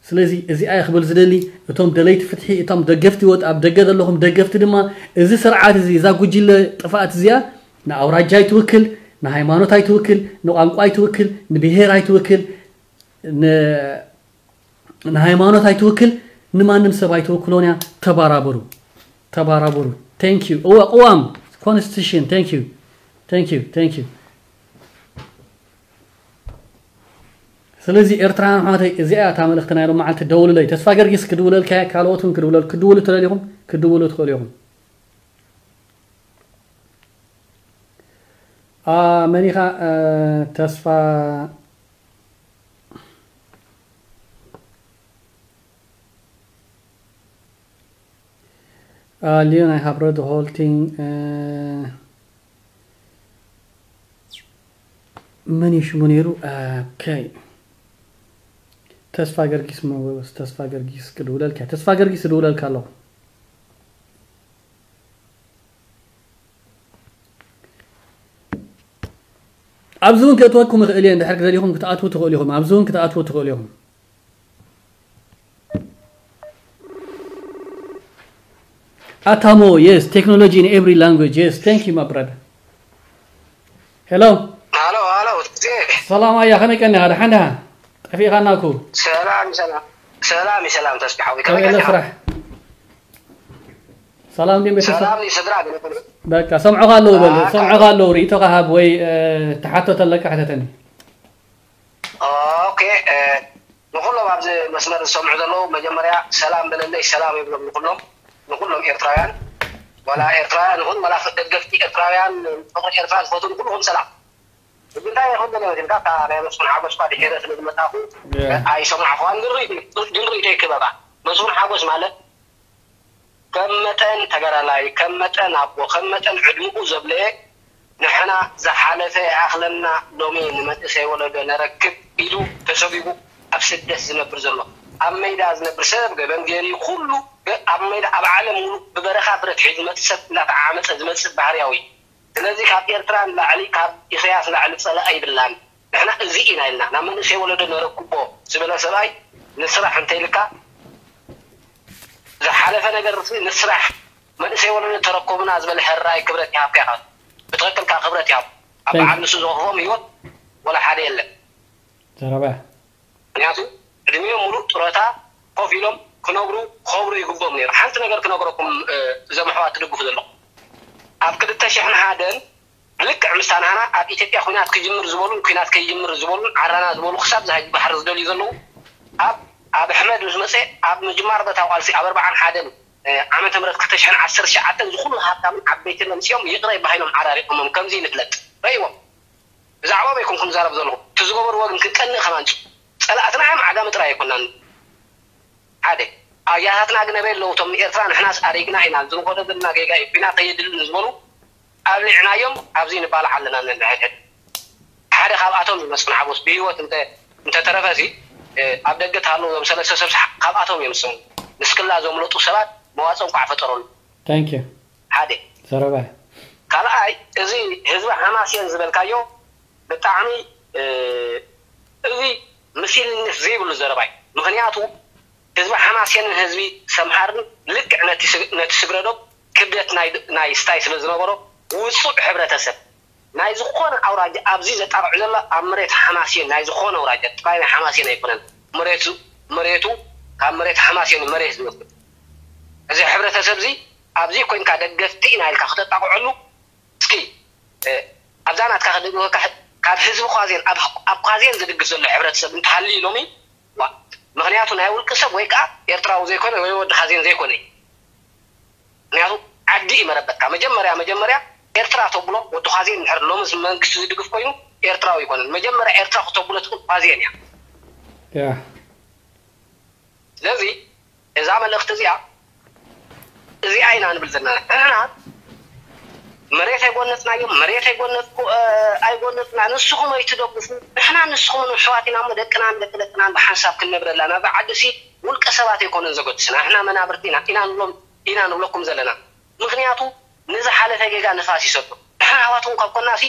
ስለዚ እዚኣ እየ ክብል ዝደሊ፣ እቶም ደለይቲ ፍትሒ፣ እቶም ደገፍቲ ወጥ ኣብ ደገ ዘለኹም ደገፍቲ ድማ፣ እዚ ስርዓት እዚ፣ እዛ ጉጅለ ጥፍኣት እዚኣ ንኣውራጃ ኣይትውክል፣ ንሃይማኖት ኣይትውክል፣ ንቋንቋ ኣይትውክል፣ ንብሄር ኣይትውክል፣ ን- ንሃይማኖት ኣይትውክል፣ ንማንም ሰብ ኣይትውክሎን እያ። ተባራበሩ፣ ተባራበሩ። Thank you። እወ ቅዋም፣ ኮንስቲቱሽን። Thank you፣ thank you፣ thank you። ስለዚ ኤርትራውያን ኣሕዋተይ፣ እዚኣ እያ እታ መልእኽቲ ናይ ሎም መዓልቲ። ደውሉለይ። ተስፋ ገርጊስ ክድውለልካ እየ፣ ካልኦት እውን ክድውለል ክድውሉ ትደልኹም ክድውሉ ትኽእሉ ኢኹም። ኣ መኒኻ እ፣ ተስፋ እ፣ ሊዮን፣ I have read the whole thing. እ፣ መን እዩ ሽሙ ነይሩ? ኦኬ። ተስፋ ገርጊስ መ-፣ ተስፋ ገርጊስ ክድውለልካ፣ ተስፋ ገርጊስ ክድውለልካ ኣለኹ። ኣብዚ እውን ክእትወኩም ይኽእል እየ፣ እንድሕር ክደሊኹም ክትኣትዉ ትኽእሉ ኢኹም። ኣብዚ እውን ክትኣትዉ ትኽእሉ ኢኹም። ኣታሞ፣ yes, technology in every language, yes, thank you, my brother. Hello. ሃሎ ሃሎ፣ ሰላም ኣያ፣ ከመይ ቀኒኻ? ደሓን ደሓን? ጠፊእኻና እኮ። ሰላም ሰላም ሰላም ሰላም፣ ተስፋ ሓወይ፣ ከመይ ከመይ ኣሎ ቀኒኻ? ስራሕ? ሰላም ድዩ ቤተሰብ? ሰላም እዩ ስድራ፣ ገለ ኩሉ። በቃ ሰምዑኻ ኣለዉ በል፣ በቃ። ሰምዑኻ ኣለዉ፣ ርእይቶኻ ሃብ ወይ እ፣ ተሓቶ ተለካ ሕተተኒ። ኦኬ፣ እ፣ ንኹሎም ኣብዚ መስመር ዝሰምዑ ዘለዉ መጀመርያ ሰላም በለለይ፣ ሰላም ይብሎም ንኹሎም፣ ንኹሎም ኤርትራውያን፣ ዋላ ኤርትራውያን ይኹን ዋላ ደገፍቲ ኤርትራውያን፣ ፍቕሪ ኤርትራ ዝፈትዉ ንኹልኹም ሰላም። ግን እንታይ ይኹን ገለ መሲልካ፣ እታ ናይ መስፍን ሓጎስ እኳ ድሒረ ስለ ዝመጻኹ Yeah. ኣይሰማዕኹዋን፣ ግን ርእይቶ፣ ግን ርእይቶ ይክበባ። መስፍን ሓጎስ ማለት ከም መጠን ተጋዳላይ፣ ከም መጠን ኣቦ፣ ከም መጠን ዕድሚኡ ዘብለየ፣ ንሕና ዝሓለፈ ይኣኽለና፣ ሎሚ ንመንእሰይ ወለዶ ነረክብ ኢሉ ተሰጒጉ ኣብ ስደት ዝነብር ዘሎ፣ ኣብ መይዳ ዝነብር ሰብ ገበን ገይሩ ኩሉ ገ-፣ ኣብ መይዳ ኣብ ዓለም ሙሉእ ብበረኻ ብረት ሒዙ ዝመጽእ ሰብ እንዳተዓመጸ ዝመጽእ ባህርያዊ። ስለዚ ካብ ኤርትራ ንላዕሊ ካብ ኢሰያስ ንላዕሊ ጸላኢ ኣይብልናን። ንሕና እዚ ኢና ኢልና ናብ መንእሰይ ወለዶ ነረክቦ ዝበለ ሰብኣይ ንስራሕ እንተይልካ ዝሓለፈ ነገር ርሲ ንስራሕ መንእሰይ ወለዶ ተረከቡና ዝበለ ሕራይ ክብረት ይሃብካ ኢኻ። ብትኽክል ከኣ ክብረት ይሃብ። ኣብ Thank you. በዓል ንሱ ዝኸፍኦም ህይወት ወላ ሓደ የለን። ዘረባ። ምክንያቱ ዕድሚኦም ሙሉእ ጡረታ ኮፍ ኢሎም ክነብሩ ክኸብሩ ይግብኦም ነይሩ። ሓንቲ ነገር ክነግረኩም እ፣ እዞም ኣሕዋት ትድግፉ ዘለኹም ኣብ ክልተ ሽሕን ሓደን ልክዕ ምስታ ናህና ኣብ ኢትዮጵያ ኩናት ክጅምር ዝበሉን ኩናት ከይጅምር ዝበሉን ዓራና ዝበሉ ክሳብ ዝሃጅ ባሕሪ ዝደልዩ ዘለዉ ኣብ ኣብ ኣሕመድ ምስ መፀ ኣብ ምጅማር በታ ቃልሲ ኣብ ኣርባዓን ሓደን እ፣ ዓመተ ምህረት ክልተ ሽሕን ዓሰርተ ትሽዓተን ዝኩሉ ሃብታምን ዓበይትን መምፅኦም ይቕረ ይባሃይኖም ዓራሪቆሞም ከምዚ ንፍለጥ ረይዎም ብዛዕባኦም ኣይኮንኩም ዝዛረብ ዘለኹ። እቲ ዝገበርዎ ግን ክንቀንእ ከማን ጸላእትና እዮም፣ ዓጋመ ጥራይ ኣይኮናን። ሓደ ኣያታትና ግን ኣበይ ኣለዉ? እቶም ንኤርትራ ንሕናስ ኣሪግና ኢና፣ ዝንኸዶ ዘለና ጌጋ እዩ፣ ኲናት ኣየድልን ዝበሉ ኣብሊዕናዮም ኣብዚ ንባላዕ ኣለና ነንሕድሕድ። ሓደ ካብኣቶም እዩ መስፍን ሓጎስ ብህይወት እንተ እንተተረፈ እዚ ኣብ ደገ ተሃለዉ እዞም ሰለስተ ሰብ ካብኣቶም እዮም ዝስሙ። ንስክላ ዘምለጡ ሰባት መዋፅኦ እንኳዕ ፈጠረሉ። Thank you። ሓደ ዘረባ። ካልኣይ እዚ ህዝቢ ሓማሴን ዝበልካዮ ብጣዕሚ እዚ ምስልነት ዘይብሉ ዘረባ እዩ። ምክንያቱ ህዝቢ ሓማሴንን ህዝቢ ሰምሃርን ልክዕ ነቲ ስግረዶብ ክብደት ናይ ስታይ ስለ ዝነበሮ ውፁዕ ሕብረተሰብ ናይ ዝኾነ ኣውራጃ ኣብዚ ዘጣቕዑ ዘሎ ኣብ መሬት ሓማሴን ናይ ዝኾነ ኣውራጃ ጥራይ ናይ ሓማሴን ኣይኮነን መሬቱ መሬቱ ካብ መሬት ሓማሴን መሬት ዝወስድ እዚ ሕብረተሰብ እዚ ኣብዚ ኮይንካ ደገፍቲ ኢና ኢልካ ክተጣቕዐሉ እስኪ ኣብዛ ናትካ ክድግፈካ ካብ ህዝቢ ኳዜን ኣብ ኳዜን ዝድግፍ ዘሎ ሕብረተሰብ እንተሃልዩ ሎሚ ዋ ምክንያቱ ናይ ውልቂ ሰብ ወይ ከዓ ኤርትራዊ ዘይኮነ ወይ ወዲ ኳዜን ዘይኮነ እዩ ምክንያቱ ዓዲ እዩ መረበትካ መጀመርያ መጀመርያ ኤርትራ ተብሎ ወዲ ኳዜን ድሕር ሎምስ መንግስቲ ዝድግፍ ኮይኑ ኤርትራዊ ይኮነን መጀመርያ ኤርትራ ክተብሎ ትኽእል ኳዜን እያ ያ ስለዚ እዛ መልእኽቲ እዚኣ እዚኣ ኢና ንብል ዘለና ንሕና መሬት ኣይጎነፅናዮም መሬት ኣይጎነፅኩ ኣይጎነፅና ንስኹም ኣይትደግፉ ንሕና ንስኹም ንሕዋት ኢና እሞ ደቅናን ደቂ ደቅናን ብሓንሳብ ክንነብረላ ናብዛ ዓዲ ሲ ውልቀ ሰባት ኣይኮነን ዘገድስና። ንሕና መናብርቲ ኢና ኢና ንብሎም ኢና ንብለኩም ዘለና። ምኽንያቱ ንዝሓለፈ ጌጋ ንፋስ ይሰዶ። ንሕና ኣሕዋትኩም ካብ ኮናሲ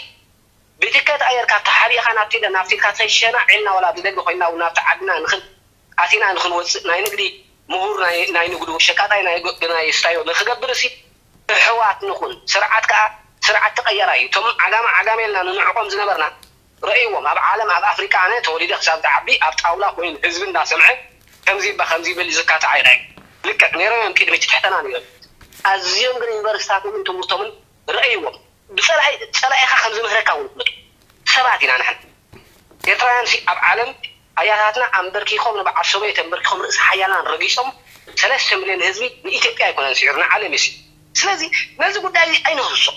ብትከት ኣየር ካብ ተሓቢእኻ ናብቲ ናብቲ ኢልካ ትኸይድ ሸናዕ ኢልና ወላ ብደገ ኮይና እውን ናብቲ ዓድና ንኽን ኣቲና ንኽንወፅእ ናይ ንግዲ ምሁር ናይ ናይ ንግዱ ሸቃጣይ ናይ ገ- ናይ ስታዮ ንኽገብር እሲ እሕዋት ንኹን። ስርዓት ከዓ ስርዓት ተቐየራ እዩ። እቶም ዓጋመ ዓጋመ ኢልና ንንዕቆም ዝነበርና ረእይዎም። ኣብ ዓለም ኣብ ኣፍሪቃ ኣነ ተወሊደ ክሳብ ዝዓቢ ኣብ ጣውላ ኮይኑ ህዝቢ እንዳሰምዐ ከምዚ ይባ ከምዚ ይብል ዝካትዓ ይረኣይ። ልክዕ ነይሮም እዮም ቅድሚ እቲ ትሕተና ነይሮም። ኣዝዮም ግን ዩኒቨርሲታቶምን ትምህርቶምን ረእይዎም። ብጸላኢ ጸላኢኻ ከም ዝምህረካ እውን ፍለጡ። ሰባት ኢና ንሕና ኤርትራውያን ሲ ኣብ ዓለም ኣያታትና ኣንበርኪኾም ንበዓል ሰበይ ተንበርኪኾም ርእሲ ሓያላን ረጊጾም ሰለስተ ሚልዮን ህዝቢ ንኢትዮጵያ ኣይኮነን ስዒሩ ንዓለም እዩ። ስለዚ ነዚ ጉዳይ እዚ ኣይንህርሶ።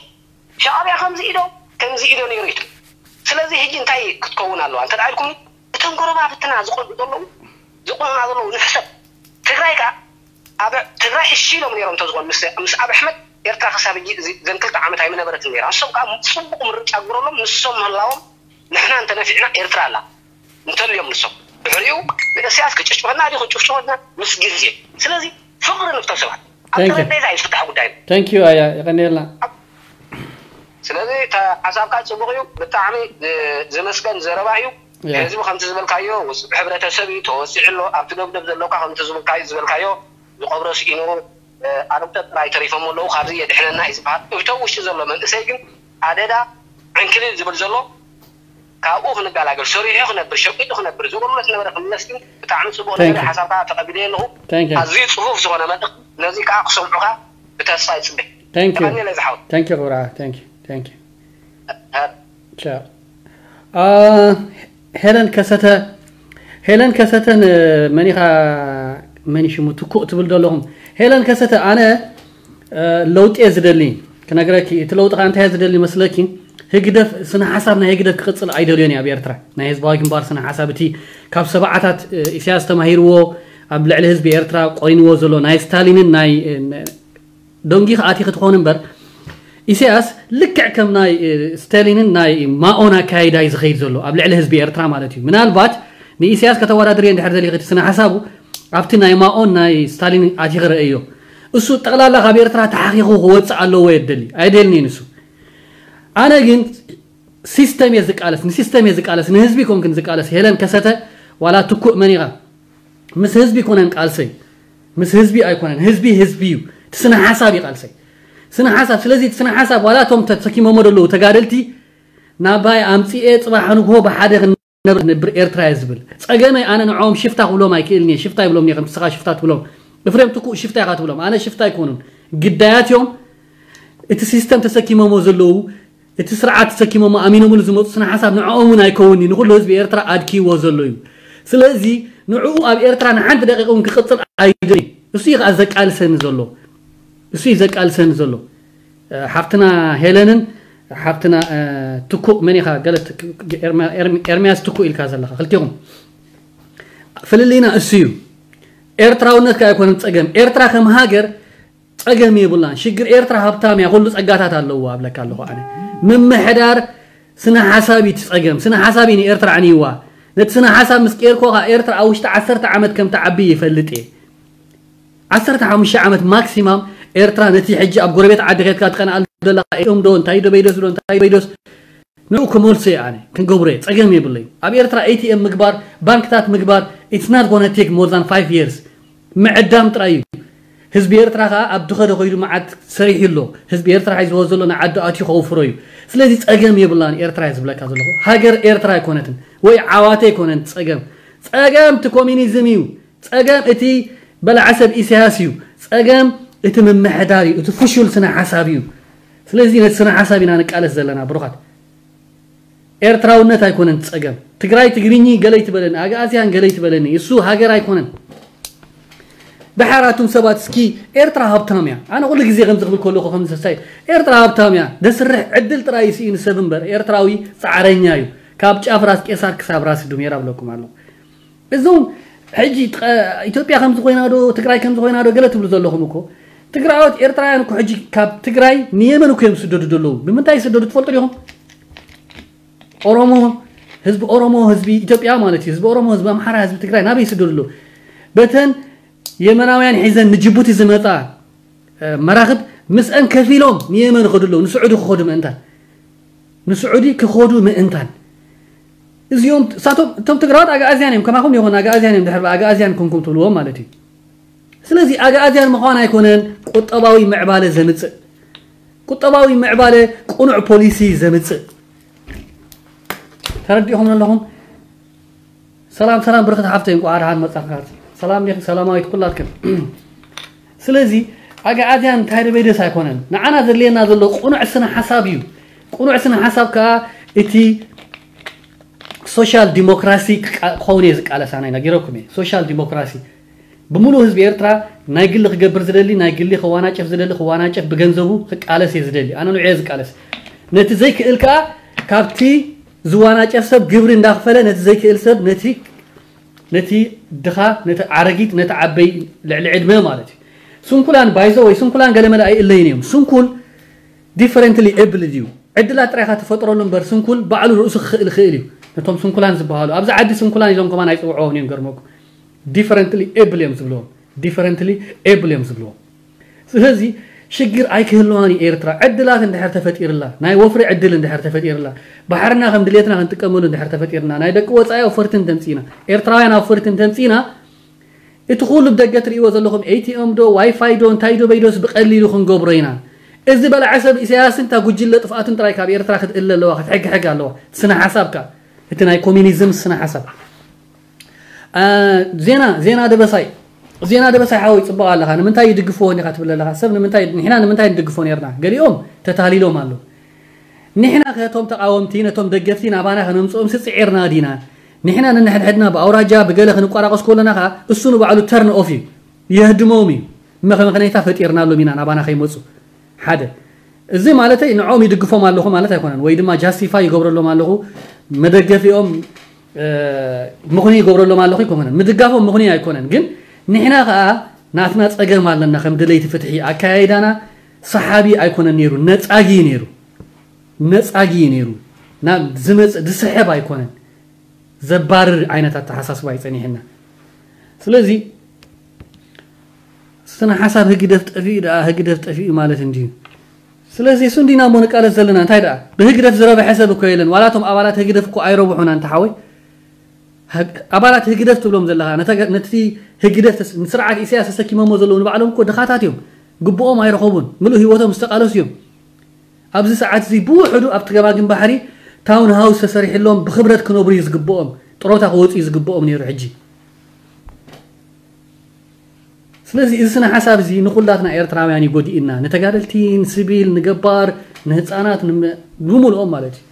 ሻዕብያ ከምዚ ኢዶ ከምዚ ኢዶ ነይሩ ይትም። ስለዚ ሕጂ እንታይ ክትከውን ኣለዋ እንተ ኢልኩም እቶም ጎረባብትና ዝቆልዑ ዘለዉ ዝቆልዑና ዘለዉ ንሕሰብ። ትግራይ ከኣ ኣብ ትግራይ እሺ ኢሎም ነይሮም እንተዝኾኑ ምስ ምስ ኣብ ኣሕመድ ኤርትራ ክሳብ ሕጂ እዚ ዘን ክልተ ዓመት ኣይምነበረትን ነይራ። ንሶም ከኣ ጽቡቕ ምርጫ ግበረሎም። ንሶም ምህላዎም ንሕና እንተነፊዕና ኤርትራ ኣላ እንተልዮም ንሶም ድሕሪኡ ንእስያስ ክጭፍጭፈና ድዩ ክጭፍጭፈና ምስ ግዜ። ስለዚ ፍቕሪ ንፍቶ ሰባት ኣብ Thank you. ጠረጴዛ እዩ ዝፍታሕ ጉዳይ። Thank you ኣያ የቐንየልና። ስለዚ እታ ሓሳብካ ጽቡቕ እዩ። ብጣዕሚ ዝ- ዝመስገን ዘረባ እዩ። Yeah. ህዝቢ ከምቲ ዝበልካዮ ውፅዕ ሕብረተሰብ እዩ ተወፂዑ ኣሎ። ኣብቲ ደብደብ ዘለካ ከምቲ ዝብልካዮ ዝበልካዮ ዝቐብሮ ስኢኑ ኣርብተ ጥራይ ተሪፎም ኣለዉ። ካብዚ የድሕነና እዩ ዝበሃል። እብቶ ውሽጢ ዘሎ መንእሰይ ግን ኣደዳ ዕንክሊል ዝብል ዘሎ ካብኡ ክንገላገል ሰሪሑ ክነብር ሸቂጡ ክነብር ዝብሉ ዝነበረ ክምለስ ግን ብጣዕሚ ፅቡቅ ነገር ሓሳብካ ተቀቢለ ኣለኹ። ኣዝዩ ፅፉፍ ዝኾነ መልእኽቲ ነዚ ከዓ ክሰምዑካ ብተስፋ ይፅበ። ተቀኒለ ዝሓወት። Thank you ክብራ። Thank you. Thank you. ሄለን ከሰተ ሄለን ከሰተን መኒኻ መኒ ሽሙ ትኩእ ትብል ዘለኹም ሄለን ከሰተ ኣነ ለውጢ እየ ዝደሊ ክነግረኪ እቲ ለውጢ ከዓ እንታይ ዝደሊ መስለኪ ህግደፍ ስነ ሓሳብ ናይ ህግደፍ ክቅፅል ኣይደልዮን ኣብ ኤርትራ ናይ ህዝባዊ ግንባር ስነ ሓሳብ እቲ ካብ ሰብዓታት ኢሳያስ ተማሂርዎ ኣብ ልዕሊ ህዝቢ ኤርትራ ቆሪንዎ ዘሎ ናይ ስታሊንን ናይ ደንጊ ኣቲ ክትኾን እምበር ኢሳያስ ልክዕ ከም ናይ ስታሊንን ናይ ማኦን ኣካይዳ እዩ ዝኸይድ ዘሎ ኣብ ልዕሊ ህዝቢ ኤርትራ ማለት እዩ ምናልባት ንኢሳያስ ከተወዳድርዮ እንድሕር ደሊኺ እቲ ስነ ሓሳቡ ኣብቲ ናይ ማኦን ናይ ስታሊን ኣቲ ክረአዮ እሱ ጠቕላላ ካብ ኤርትራ ተሓኺኹ ክወፅእ ኣለዎ የደሊ ኣይደልኒ ንሱ ኣነ ግን ሲስተም እየ ዝቃለስ ንሲስተም እየ ዝቃለስ ንህዝቢ ኮንክን ዝቃለስ ሄለን ከሰተ ዋላ ትኩእ መን ኢኻ ምስ ህዝቢ ኮነን ቃልሰይ ምስ ህዝቢ ኣይኮነን ህዝቢ ህዝቢ እዩ እቲ ስነ ሓሳብ እዩ ቃልሰይ ስነ ሓሳብ ስለዚ እቲ ስነ ሓሳብ ዋላ እቶም ተሰኪሞሞ ዘለዉ ተጋደልቲ ናባይ ኣምፅኤ ፅባሕ ንግሆ ብሓደ ክንነብር ክንነብር ኤርትራ እየ ዝብል ፀገመይ ኣነ ንዕኦም ሽፍታ ክብሎም ኣይክእልን እየ ሽፍታ ይብሎም እየ ከም ንስኻ ሽፍታ ትብሎም እፍሬም ትኩእ ሽፍታ ኢኻ ትብሎም ኣነ ሽፍታ ኣይኮኑን ግዳያት እዮም እቲ ሲስተም ተሰኪሞሞ ዘለዉ እቲ ስርዓት ተሰኪሞሞ ኣሚኖምሉ ዝመፁ ስነ ሓሳብ ንዕኦም እውን ኣይከውን እዩ ንኩሉ ህዝቢ ኤርትራ ኣድኪዎ ዘሎ እዩ ስለዚ ንዕኡ ኣብ ኤርትራ ንሓንቲ ደቂቕ እውን ክቅፅል ኣይደል እሱ እዩ ከዓ ዘቃልሰኒ ዘሎ እሱ እዩ ዘቃልሰኒ ዘሎ ሓፍትና ሄለንን ሓፍትና ትኩእ መን ኢኻ ገለ ኤርሚያስ ትኩእ ኢልካ ዘለኻ ክልቲኹም ፍልልይና እሱ እዩ ኤርትራውነት ከ ኣይኮነን ፀገም ኤርትራ ከም ሃገር ፀገም የብላን ሽግር ኤርትራ ሃብታም እያ ኩሉ ፀጋታት ኣለዎ ኣብለካ ኣለኹ ኣነ ምምሕዳር ስነ ሓሳብ እዩ ፀገም ስነ ሓሳብ እዩ ንኤርትራ ኣዕንይዋ ነቲ ስነ ሓሳብ ምስ ቀየርኮ ከዓ ኤርትራ ኣብ ውሽጢ ዓሰርተ ዓመት ከም ትዓቢ ይፈልጥ እየ ዓሰርተ ሓሙሽተ ዓመት ማክሲማም ኤርትራ ነቲ ሕጂ ኣብ ጎረቤት ዓዲ ከድካ ትቀንኣሉ ዘለካ ኤም ዶ እንታይ ዶ በይደስ ዶ እንታይ በይደስ ንኡ ክመልሶ እየ ኣነ ክንገብሮ እየ ፀገም የብለይ ኣብ ኤርትራ ኤቲኤም ምግባር ባንክታት ምግባር it's not gonna take more than five years ምዕዳም ጥራይ እዩ ህዝቢ ኤርትራ ከዓ ኣብ ድኸደ ኮይዱ መዓት ሰሪሑ ኣሎ ህዝቢ ኤርትራ ሒዝዎ ዘሎ ንዓዲ ኣትዩ ከውፍሮ እዩ ስለዚ ፀገም የብላን ኤርትራ እየ ዝብለካ ዘለኹ ሃገር ኤርትራ ኣይኮነትን ወይ ዓዋተ ኣይኮነን ፀገም ፀገም እቲ ኮሚኒዝም እዩ ፀገም እቲ በላዓ ሰብ ኢሳያስ እዩ ፀገም እቲ ምምሕዳር እዩ እቲ ፍሹል ስነ ሓሳብ እዩ ስለዚ ነቲ ስነ ሓሳብ ኢና ንቃለስ ዘለና ብሩኻት ኤርትራውነት ኣይኮነን ጸገም ትግራይ ትግርኚ ገለይ ትበለኒ ኣግኣዝያን ገለይ ትበለኒ እሱ ሃገር ኣይኮነን ድሓር ኣቱም ሰባት እስኪ ኤርትራ ሃብታም እያ ኣነ ኩሉ ግዜ ከም ዝኽብል ከለኹ ከም ዝሰሳይ ኤርትራ ሃብታም እያ ደስርሕ ዕድል ጥራይ ይስኢኑ ሰብ እምበር ኤርትራዊ ጻዕረኛ እዩ ካብ ጫፍ ራስ ቄሳር ክሳብ ራስ ዱሜራ ብለኩም ኣለኹ እዞም ሕጂ ኢትዮጵያ ከምዚ ኮይና ዶ ትግራይ ከምዚ ኮይና ዶ ገለ ትብሉ ዘለኹም እኮ ትግራዎት ኤርትራውያን እኮ ሕጂ ካብ ትግራይ ንየመን እኮ እዮም ዝስደዱ ዘለዉ ብምንታይ ይስደዱ ትፈልጡ ዲኹም ኦሮሞ ህዝቢ ኦሮሞ ህዝቢ ኢትዮጵያ ማለት እዩ ህዝቢ ኦሮሞ ህዝቢ ኣምሓራ ህዝቢ ትግራይ ናበይ ይስደዱ ኣለዉ በተን የመናውያን ሒዘን ንጅቡቲ ዝመጻ መራኽብ ምስአን ከፊሎም ንየመን ይኸዱ ኣለዉ። ንስዑዲ ክኸዱ ምእንታን ንስዑዲ ክኸዱ ምእንታን እዚኦም ሳቶም እቶም ትግራዋት ኣግኣዝያን እዮም። ከማኹም ይኹን ኣግኣዝያን እዮም። ድሕር ኣግኣዝያን ኮንኩም ትብልዎም ማለት እዩ። ስለዚ ኣግኣዝያን ምዃን ኣይኮነን ቁጠባዊ ምዕባለ ዘምፅእ ቁጠባዊ ምዕባለ ቁኑዕ ፖሊሲ ዘምፅእ። ተረዲኹም ኣለኹም? ሰላም ሰላም ብርክት ሓፍተይ እንኳዕ ደሓን መጻኻ። ሰላም ዲኺ ሰላማዊት ኩላትክን። ስለዚ ኣግኣዝያን እንታይ ደበይደስ ኣይኮነን። ንዓና ዘድልየና ዘሎ ቁኑዕ ስነ ሓሳብ እዩ። ቁኑዕ ስነ ሓሳብ ከኣ እቲ ሶሻል ዲሞክራሲ ክኸውን እየ ዝቃለስ። ኣነ ነጊረኩም እየ ሶሻል ዲሞክራሲ ብምሉእ ህዝቢ ኤርትራ ናይ ግሊ ክገብር ዝደሊ ናይ ግሊ ክዋናጨፍ ዝደሊ ክዋናጨፍ ብገንዘቡ ክቃለስ እየ ዝደሊ። ኣነ ንዑ እየ ዝቃለስ። ነቲ ዘይክእል ከኣ ካብቲ ዝዋናጨፍ ሰብ ግብሪ እንዳኽፈለ ነቲ ዘይክእል ሰብ ነቲ ነቲ ድኻ ነቲ ዓረጊት ነቲ ዓበይ ልዕሊ ዕድመ ማለት እዩ። ስንኩላን ባይዘ ወይ ስንኩላን ገለመለ ኣይእለይን እዮም። ስንኩል ዲፈረንትሊ ኤብል እዩ። ዕድላት ጥራይካ ትፈጥረሉ እምበር ስንኩል ባዕሉ ርእሱ ክኽእል ይኽእል እዩ። ነቶም ስንኩላን ዝበሃሉ ኣብዚ ዓዲ ስንኩላን ኢሎም ከማን ኣይፅውዕዎን እዮም። ገርመኩም ዲፈረንትሊ ኤብል እዮም ዝብልዎም። ዲፈረንትሊ ኤብል እዮም ዝብልዎም። ስለዚ ሽግር ኣይክህልዋን እዩ። ኤርትራ ዕድላት እንድሕር ተፈጢርላ ናይ ወፍሪ ዕድል እንድሕር ተፈጢርላ ባሕርና ከም ድሌትና ክንጥቀመሉ እንድሕር ተፈጢርና ናይ ደቂ ወፃኢ ኣውፈርቲ እንተምፂና ኤርትራውያን ኣውፈርቲ እንተምፂና እቲ ኩሉ ብደገ ትርእይዎ ዘለኹም ኤቲኤም ዶ ዋይፋይ ዶ እንታይ ዶ በይዶስ ብቀሊሉ ክንገብሮ ኢና። እዚ በላዐ ሰብ ኢሳያስን እታ ጉጅለ ጥፍኣትን ጥራይ ካብ ኤርትራ ክትእለ ኣለዋ ክትሕግሕግ ኣለዋ። ስነ ሓሳብካ እቲ ናይ ኮሚኒዝም ስነ ሓሳብ ዜና ዜና ደበሳይ ዜና ደበሳይ ሓወይ ፅቡቅ ኣለካ ንምንታይ ይድግፍዎ ኒካ ትብል ኣለካ ሰብ ንምንታይ ንሕና ንምንታይ ንድግፎ ነርና ገሊኦም ተታሊሎም ኣለዉ ንሕና ከቶም ተቃወምቲ ነቶም ደገፍቲ ናባና ከነምፅኦም ስፅዒርና ዲና ንሕና ንንሕድሕድና ብኣውራጃ ብገለ ክንቋራቀስ ከለና ከ እሱ ንባዕሉ ተርን ኦፍ እዩ የህድሞም እዩ መኸመኸነይታ ፈጢርናሎም ኢና ናባና ከይመፁ ሓደ እዚ ማለተይ ንዖም ይድግፎም ኣለኹ ማለት ኣይኮነን ወይ ድማ ጃስቲፋይ ይገብረሎም ኣለኹ መደገፊኦም ምኽኒ ይገብረሎም ኣለኹ ኣይኮነን ምድጋፎም ምኽኒ ኣይኮነን ግን ንሕና ከዓ ናትና ፀገም ኣለና ከም ድለይቲ ፍትሒ ኣካያይዳና ሰሓቢ ኣይኮነን ነይሩ ነፃጊ ነይሩ ነፃጊ ነይሩ ናብ ዝመፅ ዝስሕብ ኣይኮነን ዘባርር ዓይነት ኣተሓሳስባ ይፀኒሕና ስለዚ ስነ ሓሳብ ህግደፍ ጠፊኡ ደኣ ህግደፍ ጠፊኡ ማለት እንድዩ ስለዚ እሱ እንዲና እሞ ንቃለስ ዘለና እንታይ ደኣ ብህግደፍ ዝረበሐ ሰብ እኮ የለን ዋላቶም ኣባላት ህግደፍ እኮ ኣይረብሑና እንተ ሓወይ ኣባላት ህግደፍ ትብሎም ዘለኻ ነቲ ህግደፍ ንስርዓት ኢሳያስ ተሰኪሞሞ ዘለዉ ንባዕሎም እኮ ድኻታት እዮም ግብኦም ኣይረኸቡን ምሉእ ህይወቶም ዝተቃለሱ እዮም ኣብዚ ሰዓት እዚ ብውሕዱ ኣብቲ ገማግም ባሕሪ ታውን ሃውስ ተሰሪሕሎም ብክብረት ክነብሩ እዩ ዝግብኦም ጥሮታ ክወፁ እዩ ዝግብኦም ነይሩ ሕጂ ስለዚ እዚ ስነ ሓሳብ እዚ ንኩላትና ኤርትራውያን እዩ ጎዲእና ንተጋደልቲ ንስቢል ንገባር ንህፃናት ንምልኦም ማለት እዩ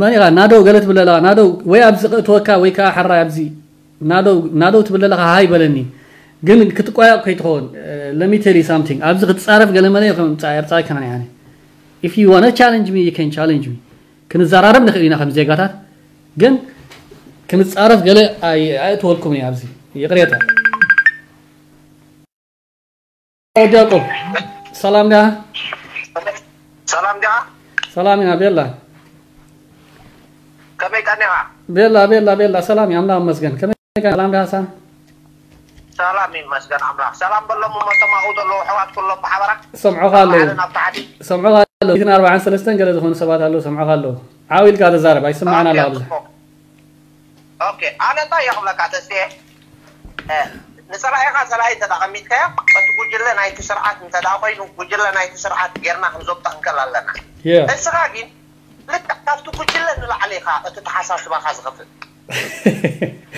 መን ኢኻ ናደው ገለ ትብል ኣለኻ ናደው ወይ ኣብዚ ክእትወካ ወይ ከዓ ሓራይ ኣብዚ ናደው ናደው ትብል ኣለኻ ሃይ በለኒ ግን ክትቋየቕ ከይትኸውን let me tell you something ኣብዚ ክትፃረፍ ገለ መለ ከምፃ ኤርትራዊ ከመን ያነ if you wanna challenge me you can challenge me ክንዘራረብ ንኽእል ኢና ከም ዜጋታት ግን ክንፃረፍ ገለ ኣእትወልኩም እየ ኣብዚ ይቕሬታ ወዲ ያዕቆብ ሰላም ዲኻ? ሰላም ዲኻ? ሰላም ኢና ቤላ። ከመይ ቀኒኻ? ቤላ ቤላ ቤላ ሰላም እዩ ኣምላኽ ይመስገን። ከመይ ቀኒኻ? ሰላም ዲኻ? ሰላም ይመስገን ኣምላኽ። ሰላም በሎም እሞ እቶም ኣብኡ ዘለዉ ኣሕዋት ኩሎም ብሓበራ። ሰምዑኻ ኣለዉ። ባዕለን ኣብ ታሕቲ። ሰምዑኻ ኣለዉ። ሚእትን ኣርባዓን ሰለስተን ገለ ዝኾኑ ሰባት ኣለዉ ሰምዑኻ ኣለዉ። ዓው ኢልካ ተዛረብ ኣይስማዕን ኣሎ ኣብዛ። ኦኬ ኣነ እንታይ እየ ክብለካ ተስፍየ ንፀላኢኻ ፀላኢ እንተ ኣቐሚጥካዮ እቲ ጉጅለ ናይቲ ስርዓት እንተ ኮይኑ ጉጅለ ናይቲ ስርዓት ጌርና ክንዘብጦ ክንክእል ኣለና እስኻ ግን ልክዕ ካብቲ ጉጅለ ንላዕሊ ኢኻ እቲ ተሓሳስባኻ ዝኸፍእ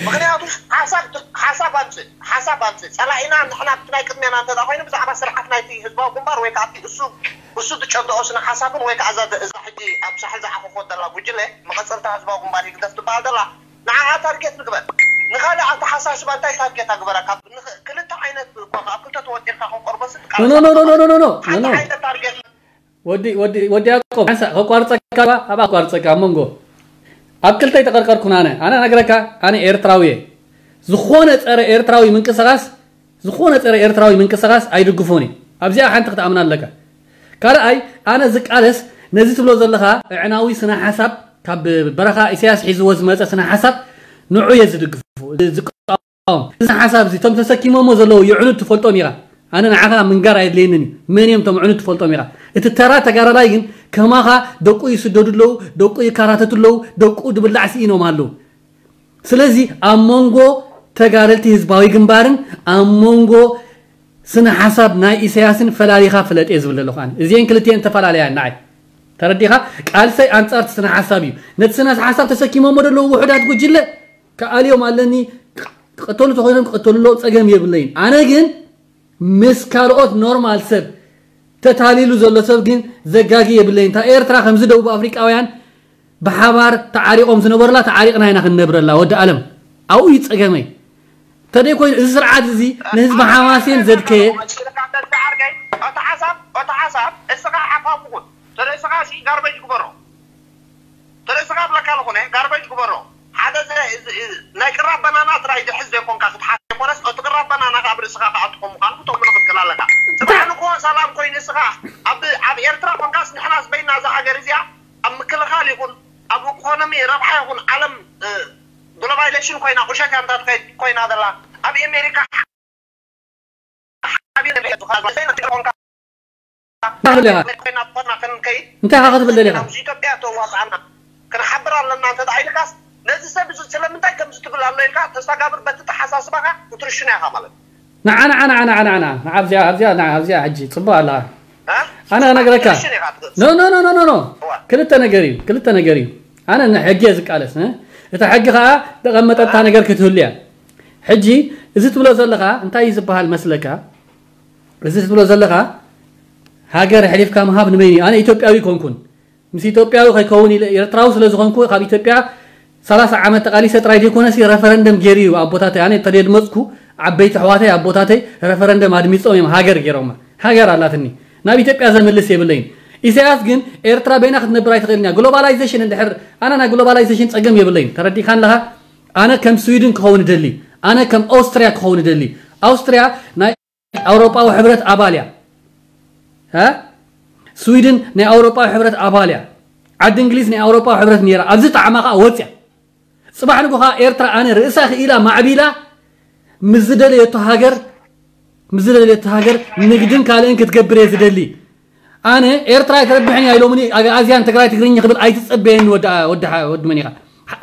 ምክንያቱ ሓሳብ ኣምፅእ ሓሳብ ኣምፅእ ፀላኢና ንሕና ብቲ ናይ ቅድሜና እንተ ኮይኑ ብዛዕባ ስርዓት ናይቲ ህዝባዊ ግንባር ወይ ከዓ እሱ እሱ ዝጨብጦ ስነ ሓሳብን ወይ ከዓ እዛ ሕጂ ኣብ ሳሕል ዝዓኸኾ ዘላ ጉጅለ መቐፀልታ ህዝባዊ ግንባር ህግደፍ ትበሃል ዘላ ንዓኣ ታርጌት ንግበር ንኻልእ ኣተሓሳስባ እንታይ ታርጌት ኣግበረካ ክልተ ዓይነት እኳ ካብ ክልተ ተወጢርካ ክንቆርቦ ስል ሓደ ዓይነት ታርጌት ወዲ ወዲ ወዲ ያቆብ ሓንሳ ከቋርፀካ ኣብ ኣቋርፀካ ኣብ መንጎ ኣብ ክልተ ይተቀርቀርኩን ኣነ ኣነ ነግረካ ኣነ ኤርትራዊ እየ ዝኾነ ፀረ ኤርትራዊ ምንቅስቃስ ዝኾነ ፀረ ኤርትራዊ ምንቅስቃስ ኣይድግፎን እየ ኣብዚኣ ሓንቲ ክትኣምና ኣለካ ካልኣይ ኣነ ዝቃለስ ነዚ ትብሎ ዘለኻ እዕናዊ ስነ ሓሳብ ካብ በረኻ ኢሳያስ ሒዝዎ ዝመጸ ስነ ሓሳብ ንዑ እየ ዝድግፉ፣ ዝቃወም። እዚ ሓሳብ እዚ እቶም ተሰኪሞሞ ዘለዉ ይዕኑድ ትፈልጦም ኢኻ። ኣነ ንዓኻ ምንጋር ኣየድልየንን እዩ። መን እዮም እቶም ዕኑድ ትፈልጦም ኢኻ። እቲ ተራ ተጋዳላይ ግን ከማኻ ደቁ ይስደዱ ኣለዉ፣ ደቁ ይካራተቱ ኣለዉ፣ ደቁ ድብላዕ ስኢኖም ኣለዉ። ስለዚ ኣብ መንጎ ተጋደልቲ ህዝባዊ ግንባርን ኣብ መንጎ ስነ ሓሳብ ናይ ኢሳያስን ፈላሊኻ ፍለጥ እየ ዝብል ዘለኹ ኣነ። እዚአን ክልቲአን ተፈላለያ ንዓይ። ተረዲኻ? ቃልሰይ ኣንጻርቲ ስነ ሓሳብ እዩ። ነቲ ስነ ሓሳብ ተሰኪሞሞ ዘለዉ ውሑዳት ጉጅለ ክኣልዮም ኣለኒ፣ ክቐተሉ ተኾይኖም ክቐተሉ ኣለዎም፣ ጸገም የብለይን። ኣነ ግን ምስ ካልኦት ኖርማል ሰብ ተታሊሉ ዘሎ ሰብ ግን ዘጋጊ የብለይን። እታ ኤርትራ ከምዚ ደቡብ ኣፍሪቃውያን ብሓባር ተዓሪቖም ዝነበሩላ ተዓሪቕና ኢና ክንነብረላ። ወዲ ኣለም ኣብኡ እዩ ጸገመይ። ተደይ ኮይኑ እዚ ስርዓት እዚ ንህዝቢ ሓማሴን ዘድከየ ኦታ ሓሳብ ኦታ ሓሳብ እስኻ ሓፋሙ ኩን ተደ እስኻ ሲ ጋርበጅ ግበሮ ተደ እስኻ ብለካ ለኾነ ጋርበጅ ግበሮ ሓደ ናይ ቅራብ በናና ጥራይ ዝሕዝ ዘይኮንካ ክትሓት ዘይኮነስ እቲ ቅራብ በናና ካብ ርእስኻ ክኣቱ ከም ምዃኑ ክተምኖ ክትክእል ኣለካ። ጽባሕ ንግሆ ሰላም ኮይኑ እስኻ ኣብ ኣብ ኤርትራ ኮንካስ ንሕናስ በይና እዛ ሃገር እዚኣ ኣብ ምክልኻል ይኹን ኣብ ኢኮኖሚ ረብሓ ይኹን ዓለም ግሎባላይዜሽን ኮይና ቁሸት ያምታት ኮይና ዘላ ኣብ ኤሜሪካ እንታይ ኢኻ ክትብል ደሊኻ? ኢትዮጵያ ተዋፅኣና ክንሓብር ኣለና እንተ ኢልካስ ነዚ ሰብ እዚ ስለምንታይ ከምዚ ትብል ኣሎ ኢልካ ተስተጋብር በቲ ተሓሳስባኻ ክትርሽና ኢኻ ማለት ንዓ ንዓ ንዓ ንዓ ንዓ ንዓ ኣብዚኣ ኣብዚኣ ንዓ ኣብዚኣ ሕጂ ፅቡቅ ኣለኻ ኣነ ክነግረካ ኖ ኖ ኖ ኖ ኖ ክልተ ነገር እዩ ክልተ ነገር እዩ ኣነ ንሕጊ እየ ዝቃለስ እቲ ሕጊ ከዓ ተቐመጠታ ነገር ክትህሉ እያ ሕጂ እዚ ትብሎ ዘለኻ እንታይ እዩ ዝበሃል መስለካ እዚ ትብሎ ዘለኻ ሃገር ሕሊፍካ ምሃብ ንመን እዩ ኣነ ኢትዮጵያዊ ኮንኩን ምስ ኢትዮጵያዊ ከይከውን ኢለ ኤርትራዊ ስለ ዝኾንኩ ካብ ኢትዮጵያ ሰላሳ ዓመት ተቃሊሰ ጥራይ ዘይኮነሲ ረፈረንደም ገይሩ እዩ ኣቦታተይ ኣነ ተደድመፅኩ ዓበይቲ ኣሕዋተይ ኣቦታተይ ረፈረንደም ኣድሚፆም እዮም ሃገር ገይሮማ ሃገር ኣላትኒ ናብ ኢትዮጵያ ዘምልስ የብለይን ኢሳያስ ግን ኤርትራ በይና ክትነብር ኣይትኽእልን እያ ግሎባላይዜሽን እንድሕር ኣነ ናይ ግሎባላይዜሽን ፀገም የብለይን ተረዲእካ ኣለኻ ኣነ ከም ስዊድን ክኸውን እደሊ ኣነ ከም ኣውስትርያ ክኸውን እደሊ ኣውስትርያ ናይ ኣውሮጳዊ ሕብረት ኣባል እያ ስዊድን ናይ ኣውሮጳዊ ሕብረት ኣባል እያ ዓዲ እንግሊዝ ናይ ኣውሮጳዊ ሕብረት ነይራ ኣብዚ ጣዕማ ከዓ ወፅያ ፅባሕ ንጎ ከዓ ኤርትራ ኣነ ርእሳ ክኢላ ማዕቢላ ምስ ዝደለየቶ ሃገር ምስ ዝደለየቶ ሃገር ንግድን ካልእን ክትገብር እየ ዝደሊ ኣነ ኤርትራ ኣይትረብሕን እያ ኢሎምኒ ኣግኣዝያን ትግራይ ትግርኛ ክብል ኣይትፀበየኒ ወዲ መን ኢኻ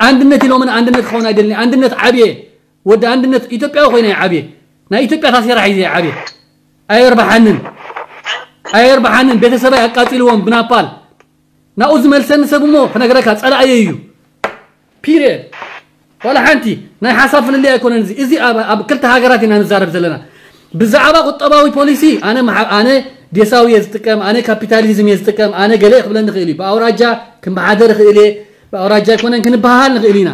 ኣንድነት ኢሎምኒ ኣንድነት ክኸውን ኣይደልን ኣንድነት ዓብየ ወዲ ኣንድነት ኢትዮጵያዊ ኮይነ እየ ዓብየ ናይ ኢትዮጵያ ታሴራ ሒዘ እየ ዓብየ ኣየርባሓንን ኣየርባሓንን ቤተሰበይ ኣቃፂልዎም ብናፓል ናብኡ ዝመልሰኒ ሰብ እሞ ክነግረካ ፀላእየ እዩ ፒሪየድ ዋላ ሓንቲ ናይ ሓሳብ ፍልልይ ኣይኮነን እዚ እዚ ኣብ ክልተ ሃገራት ኢና ንዛረብ ዘለና ብዛዕባ ቁጠባዊ ፖሊሲ ኣነ ኣነ ዴሳዊ እየ ዝጥቀም ኣነ ካፒታሊዝም እየ ዝጥቀም ኣነ ገለ ክብለኒ ይኽእል እዩ ብኣውራጃ ክንበሓደር ይኽእል እየ ብኣውራጃ ኣይኮነን ክንበሃሃል ንኽእል ኢና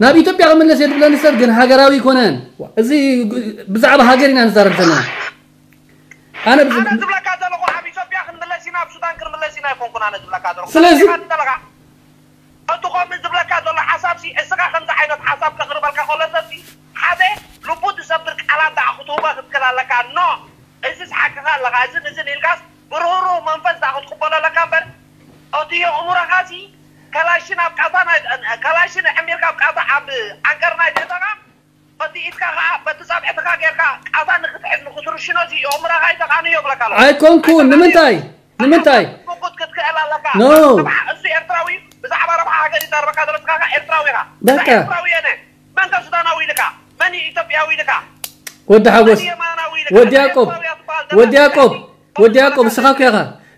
ናብ ኢትዮጵያ ክምለስ እየ ዝብለኒ ሰብ ግን ሃገራዊ ኣይኮነን እዚ ብዛዕባ ሃገር ኢና ንዛረብ ዘለና ኣነ ኣነ ዝብለካ ዘለኹ ኣብ ኢትዮጵያ ክንምለስ ኢና ኣብ ሱዳን ክንምለስ ኢና ኣይኮንኩን ኣነ ዝብለካ ዘለኹ ስለዚ ተረዲኻ ኣለኻ እቲ ከምኡ ዝብለካ ዘሎ ሓሳብ ሲ እስኻ ከምዚ ዓይነት ሓሳብ ከቕርበልካ ከሎ ሰብ ሲ ሓደ ልቡ ዝሰብር ቃላት ደኣ ክትህቦ ክትክእል ኣለካ ኖ እዚስ ሓቅኻ ኣለኻ እዝን እዝን ኢልካስ ብርህሩህ መንፈስ ደኣ ክትቅበሎ ኣለካ እምበር እቲ የእምሮኻ ሲ ከላሽን ኣብ ቃታ ናይ ከላሽን ኣዕሚርካ ኣብ ቃታ ኣብ ዓንቀር ናይ ቤተኻ በቲ ኢድካ ከዓ በቲ ፃብዕትኻ ጌርካ ቃታ ንክትሕዝ ንክትርሽኖ ሲ የእምሮኻ ይተቃንዮ ይብለካ ኣለኹ። ኣይኮንኩን ንምንታይ ንምንታይ ምጉት ክትክእል ኣለካ No. እሱ ኤርትራዊ ብዛዕባ ረብሓ ሃገር ይዛረበካ ዘሎ እስኻ ከዓ ኤርትራዊ ኢኻ በቃ። ኤርትራዊ የነ መን ከ ሱዳናዊ ኢልካ መን እዩ ኢትዮጵያዊ ኢልካ ወዲ ሓጎስ መን የማናዊ ኢልካ ወዲ ያዕቆብ ኤርትራዊ እያ ትበሃል ወዲ ያዕቆብ ዘለካ ወዲ ያዕቆብ እስኻ እኮ ኢኻ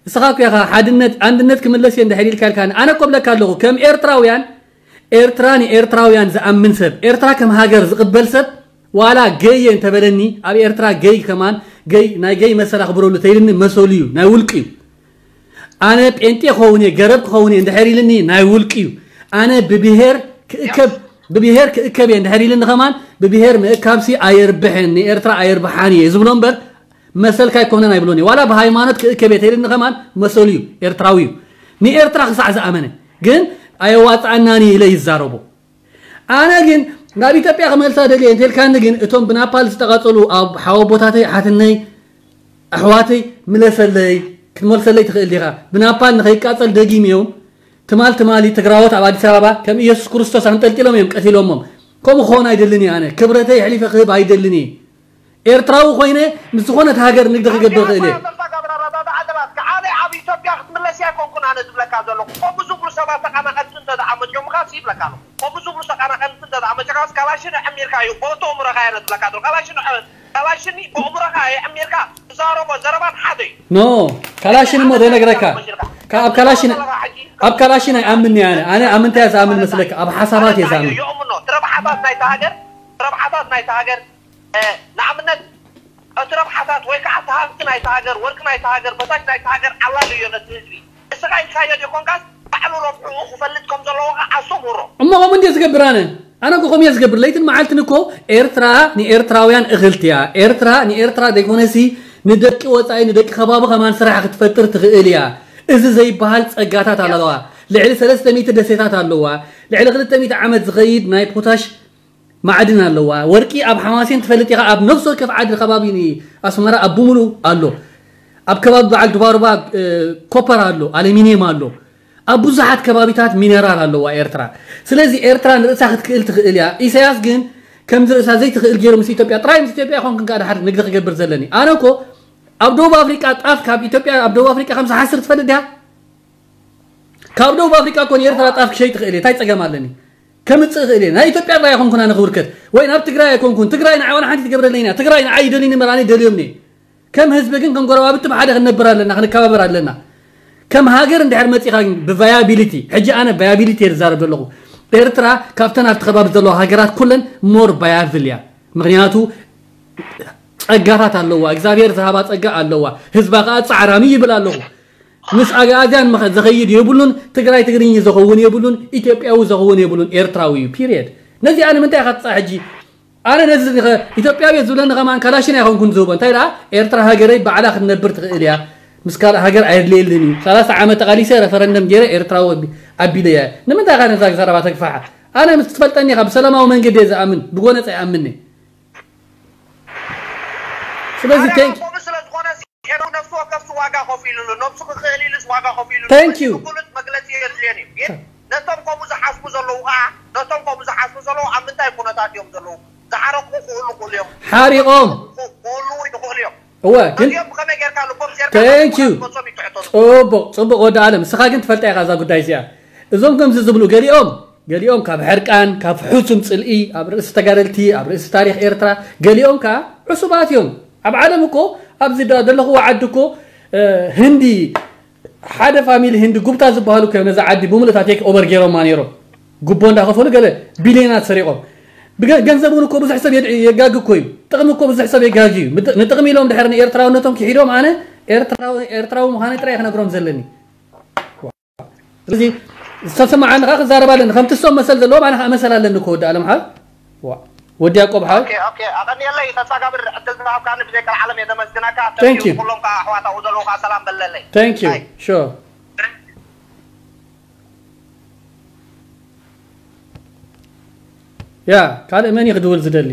እስኻ እኮ ኢኻ ሓድነት ኣንድነት ክምለስ እየ እንድሕር ኢልካ ኢልካ ኣነ እኮ ብለካ ኣለኹ ከም ኤርትራውያን ኤርትራ ንኤርትራውያን ዝኣምን ሰብ ኤርትራ ከም ሃገር ዝቕበል ሰብ ዋላ ገይ እየ እንተበለኒ ኣብ ኤርትራ ገይ ከማን ገይ ናይ ገይ መሰል ኣኽብረሉ ተይልኒ መሰሉ እዩ ናይ ውልቂ እዩ ኣነ ጴንጤ ክኸውን እየ ገረብ ክኸውን እየ እንድሕር ኢልኒ ናይ ውልቂ እዩ ኣነ ብብሄር ክእከብ ብብሄር ክእከብ እየ እንድሕር ኢልኒ ከማን ብብሄር ምእካብሲ ኣየርብሕን ንኤርትራ ኣየርብሓን እየ ዝብሎ እምበር መሰልካ ኣይኮነን ኣይብሎን እየ ዋላ ብሃይማኖት ክእከብ እየ ተይልኒ ከማን መሰሉ እዩ ኤርትራዊ እዩ ንኤርትራ ክሳዕ ዝኣመነ ግን ኣየዋፅኣናን እዩ ኢለ ይዛረቦ ኣነ ግን ናብ ኢትዮጵያ ክመልሳ ደልየ እንተልካኒ ግን እቶም ብናፓል ዝተቓፀሉ ኣብ ሓወቦታተይ ሓትነይ ኣሕዋተይ ምለሰለይ ክትመልሰለይ ትኽእል ዲኻ? ብናፓል ንኸይቃጸል ደጊም እዮም። ትማል ትማሊ ትግራዎት ኣብ ኣዲስ ኣበባ ከም ኢየሱስ ክርስቶስ ኣንጠልጢሎም እዮም ቀቲሎሞም። ከምኡ ክኾን ኣይደልን እየ ኣነ። ክብረተይ ኣሕሊፈ ክህብ ኣይደልን እየ። ኤርትራዊ ኮይነ ምስ ዝኾነት ሃገር ንግዲ ክገብር ክእል እየ። ኣበባ ገብረ ረዳዳ ዓለባት ከዓነ ኣብ ኢትዮጵያ ክትምለስ እያ ኣይኮንኩን ኣነ ዝብለካ ዘለኹ። ከምኡ ዝብሉ ሰባት ተቐናቐንቲ እንተ ደኣ መፂኦምኻ ሲ ይብለካ ኣለኹ። ከምኡ ዝብሉ ተቐናቐንቲ እንተ ደኣ መፂኦምኻ ካላሽን ኣዕሚርካ እዩ። ቦቶ እምረኻ እየ ዝብለካ ዘለኹ። ካላሽን ኣዕ-፣ ካላሽን ብእምሮኻ ኣዕሚርካ ትዛረቦ ዘረባን ሓደ እዩ። ኖ፣ ካላሽን እሞ ዘይነግረካ። ካብ ኣብ ካላሽን፣ ኣብ ካላሽን ኣይኣምን እየ ኣነ። ኣነ ኣብ ምንታይ እየ ዝኣምን መስለካ? ኣብ ሓሳባት እየ ዝኣምን። የእምኖ። እቲ ረብሓታት ናይታ ሃገር፣ እቲ ረብሓታት ናይታ ሃገር፣ እ፣ ንኣብነት፣ እቲ ረብሓታት ወይ ከዓ እቲ ሃብቲ ናይታ ሃገር፣ ወርቂ ናይታ ሃገር፣ በታሽ ናይታ ሃገር ዓላል እዮ ነቲ ህዝቢ። እስኻ ኢልካዮ ዲኾንካስ ባዕሉ ረብሕኡ ክፈልጥ ከም ዘለዎ ከዓ ኣስተምህሮ። እሞ ከምኡ እንድየ ዝገብር ኣነ። ኣነ እኮ ከምኡ እየ ዝገብር። ለይትን መዓልትን እኮ ኤርትራ ንኤርትራውያን እኽልቲ እያ። ኤርትራ ንኤርትራ ዘይኮነሲ ንደቂ ወጻኢ፣ ንደቂ ከባቢ ከማን ስራሕ ክትፈጥር ትኽእል እያ። እዚ ዘይበሃል ጸጋታት ኣለዋ። ልዕሊ ሰለስተ ሚእቲ ደሴታት ኣለዋ። ልዕሊ ክልተ ሚእቲ ዓመት ዝኸይድ ናይ ፖታሽ ማዕድን ኣለዋ። ወርቂ ኣብ ሓማሴን ትፈልጥ ኢኻ። ኣብ ነፍሲ ወከፍ ዓዲ ከባቢ ኣስመራ ኣብ ብምሉእ ኣሎ። ኣብ ከባቢ በዓል ድባሩባ፣ እ፣ ኮፐር ኣሎ፣ ኣሉሚንየም ኣሎ። ኣብ ብዙሓት ከባቢታት ሚነራል ኣለዋ ኤርትራ። ስለዚ ኤርትራ ንርእሳ ክትክእል ትኽእል እያ። ኢሳያስ ግን ከምዚ ርእሳ ዘይትኽእል ገይሩ ምስ ኢትዮጵያ፣ ጥራይ ምስ ኢትዮጵያ ይኾንክን ከኣ ድሓር ንግዲ ክገብር ዘለኒ። ኣነ እኮ ኣብ ደቡብ ኣፍሪቃ ጣፍ ካብ ኢትዮጵያ፣ ኣብ ደቡብ ኣፍሪቃ ከም ዝሓስር ትፈልጥ ዲኻ? ካብ ደቡብ ኣፍሪቃ እኮ ንኤርትራ ጣፍ ክሸይጥ ይኽእል እየ። እንታይ ጸገም ኣለኒ? ከምጽእ ይኽእል እየ። ናይ ኢትዮጵያ ጥራይ ኣይኮንኩን ኣነ ክውርከት። ወይ ናብ ትግራይ ኣይኮንኩን። ትግራይ ንዓይ ዋላ ሓንቲ ትገብረለይ እያ። ትግራይ ንዓይ ይደልዩኒ እምበር ኣነ ይደልዮም እየ። ከም ህዝቢ ግን ከም ጎረባብቲ ብሓደ ክንነብር ኣለና፣ ክንከባበር ኣለና። ከም ሃገር እንድሕር መጺኻ ግን ብቫያቢሊቲ፣ ሕጂ ኣነ ቫያቢሊቲ እየ ዝዛረብ ዘለኹ። ኤርትራ ካብተን ኣብቲ ከባቢ ዘለዋ ሃገራት ኩለን ሞር ቫያብል እያ። ምኽንያቱ ጸጋታት ኣለዋ፣ እግዚኣብሔር ዝሃባ ጸጋ ኣለዋ። ህዝባ ከኣ ጻዕራሚ ይብል ኣለኹ። ምስ ኣግኣዝያን መኸ-፣ ዝኸይድ የብሉን፣ ትግራይ ትግርኝ ዝኸውን የብሉን፣ ኢትዮጵያዊ ዝኸውን የብሉን፣ ኤርትራዊ እዩ። ፒሪየድ። ነዚኣ ንምንታይ ኢኻ ትጻ-፣ ሕጂ? ኣነ ነዚ ኸ-፣ ኢትዮጵያዊ እየ ዝብለኒ ከማን ካላሽን ኣይኮንኩን ዝህቦ። እንታይ ደኣ? ኤርትራ ሃገረይ ባዕላ ክትነብር ትኽእል እያ። ምስ ካልእ ሃገር ኣየድልየልን እዩ። ሰላሳ ዓመት ተቓሊሰ፣ ረፈረንደም ገይረ፣ ኤርትራዊ ኣቢ-፣ ኣቢለ እየ። ንምንታይ ኢኻ ነዛ ዘረባ ተግፋሓ? ኣነ ምስ ትፈልጠኒ ኢኻ፣ ብሰላማዊ መንገዲ እየ ዝኣምን፣ ብጎነጽ ኣይኣምንን። ስለዚ ኣነ ቴንክ ከምኡ ስለ ዝኾነ ሲ-፣ ሄኖክ ነፍሲ ወከፍ ሲ ዋጋ ከፊሉሉ፣ ነብሱ ክኽእል ኢሉስ ዋጋ ከፊሉሉ። Thank you። ግሉጽ መግለጺ የድልየን እዩ። ግን ነቶም ከምኡ ዝሓስቡ ዘለዉ ከዓ፣ ነቶም ከምኡ ዝሓስቡ ዘለዉ ኣብ ምንታይ ኩነታት እዮም ዘለዉ? ዝሓረቑ ክኽእሉ ክኽእሉ እዮም። ሓሪቖም። ክኽእሉ ይኽእሉ እዮም። እወ፣ ግን እዚኦም ብኸመይ ጌርካ ልቦም ጌርካ Thank you። ክትመልሶም ይትሕተቱ። ጽቡቕ፣ ጽቡቕ ወዲ ኣለም። ንስኻ ግን ትፈልጣ ኢኻ እዛ ጉዳይ እዚኣ። እዞም ከምዚ ዝብሉ ገሊኦም፣ ገሊኦም ካብ ሕርቃን፣ ካብ ሕሱም ጽልኢ ኣብ ርእሲ ተጋደልቲ፣ ኣብ ርእሲ ታሪኽ ኤርትራ፣ ገሊኦም ከኣ ዕሱባት እዮም። ኣብ ዓለም እኮ፣ ኣብዚ ዳ-፣ ዘለኽዎ ዓዲ እኮ፣ እ፣ ህንዲ፣ ሓደ ፋሚሊ ህንዲ ጉብታ ዝበሃሉ እኮ እዮም ነዛ ዓዲ ብምሉእታ ቴክ ኦቨር ገይሮማ ነይሮም። ጉቦ እንዳኸፈሉ ገለ ቢልዮናት ሰሪቖም። ብገ-፣ ገንዘብ እውን እኮ ብዙሕ ሰብ የድ-፣ የጋጊ እኮ እዩ። ጥቕሚ እኮ ብዙሕ ሰብ የጋጊ እዩ። ምጥ-፣ ንጥቕሚ ኢሎም ድሕር ንኤርትራውነቶም ክሒዶም ኣነ ኤርትራዊ፣ ኤርትራዊ ምዃነይ ጥራይ ክነግሮም ዘለኒ። ስለዚ ዝተሰማዓኒ ከኣ ክዛረብ ኣለኒ። ከምቲ እሶም መሰል ዘለዎም ኣነ ከኣ መሰል ኣለኒ እኮ ወዲ ኣለም ሓው። ዋ። ወዲ ያዕቆብ ሓው። ኦኬ፣ ኦኬ። ኣቐንየለይ ተጻጋብር ዕድል ዝሃብካኒ ብዘይ ቀልዓለም እየ ዘመስግነካ። Thank you። ኩሎም ከኣ ኣሕዋት ኣብኡ ዘለዉ ከኣ ሰላም በለለይ። Thank you። ኣይ። Sure። ያ፣ ካልእ መን እዩ ክድውል ዝደሊ?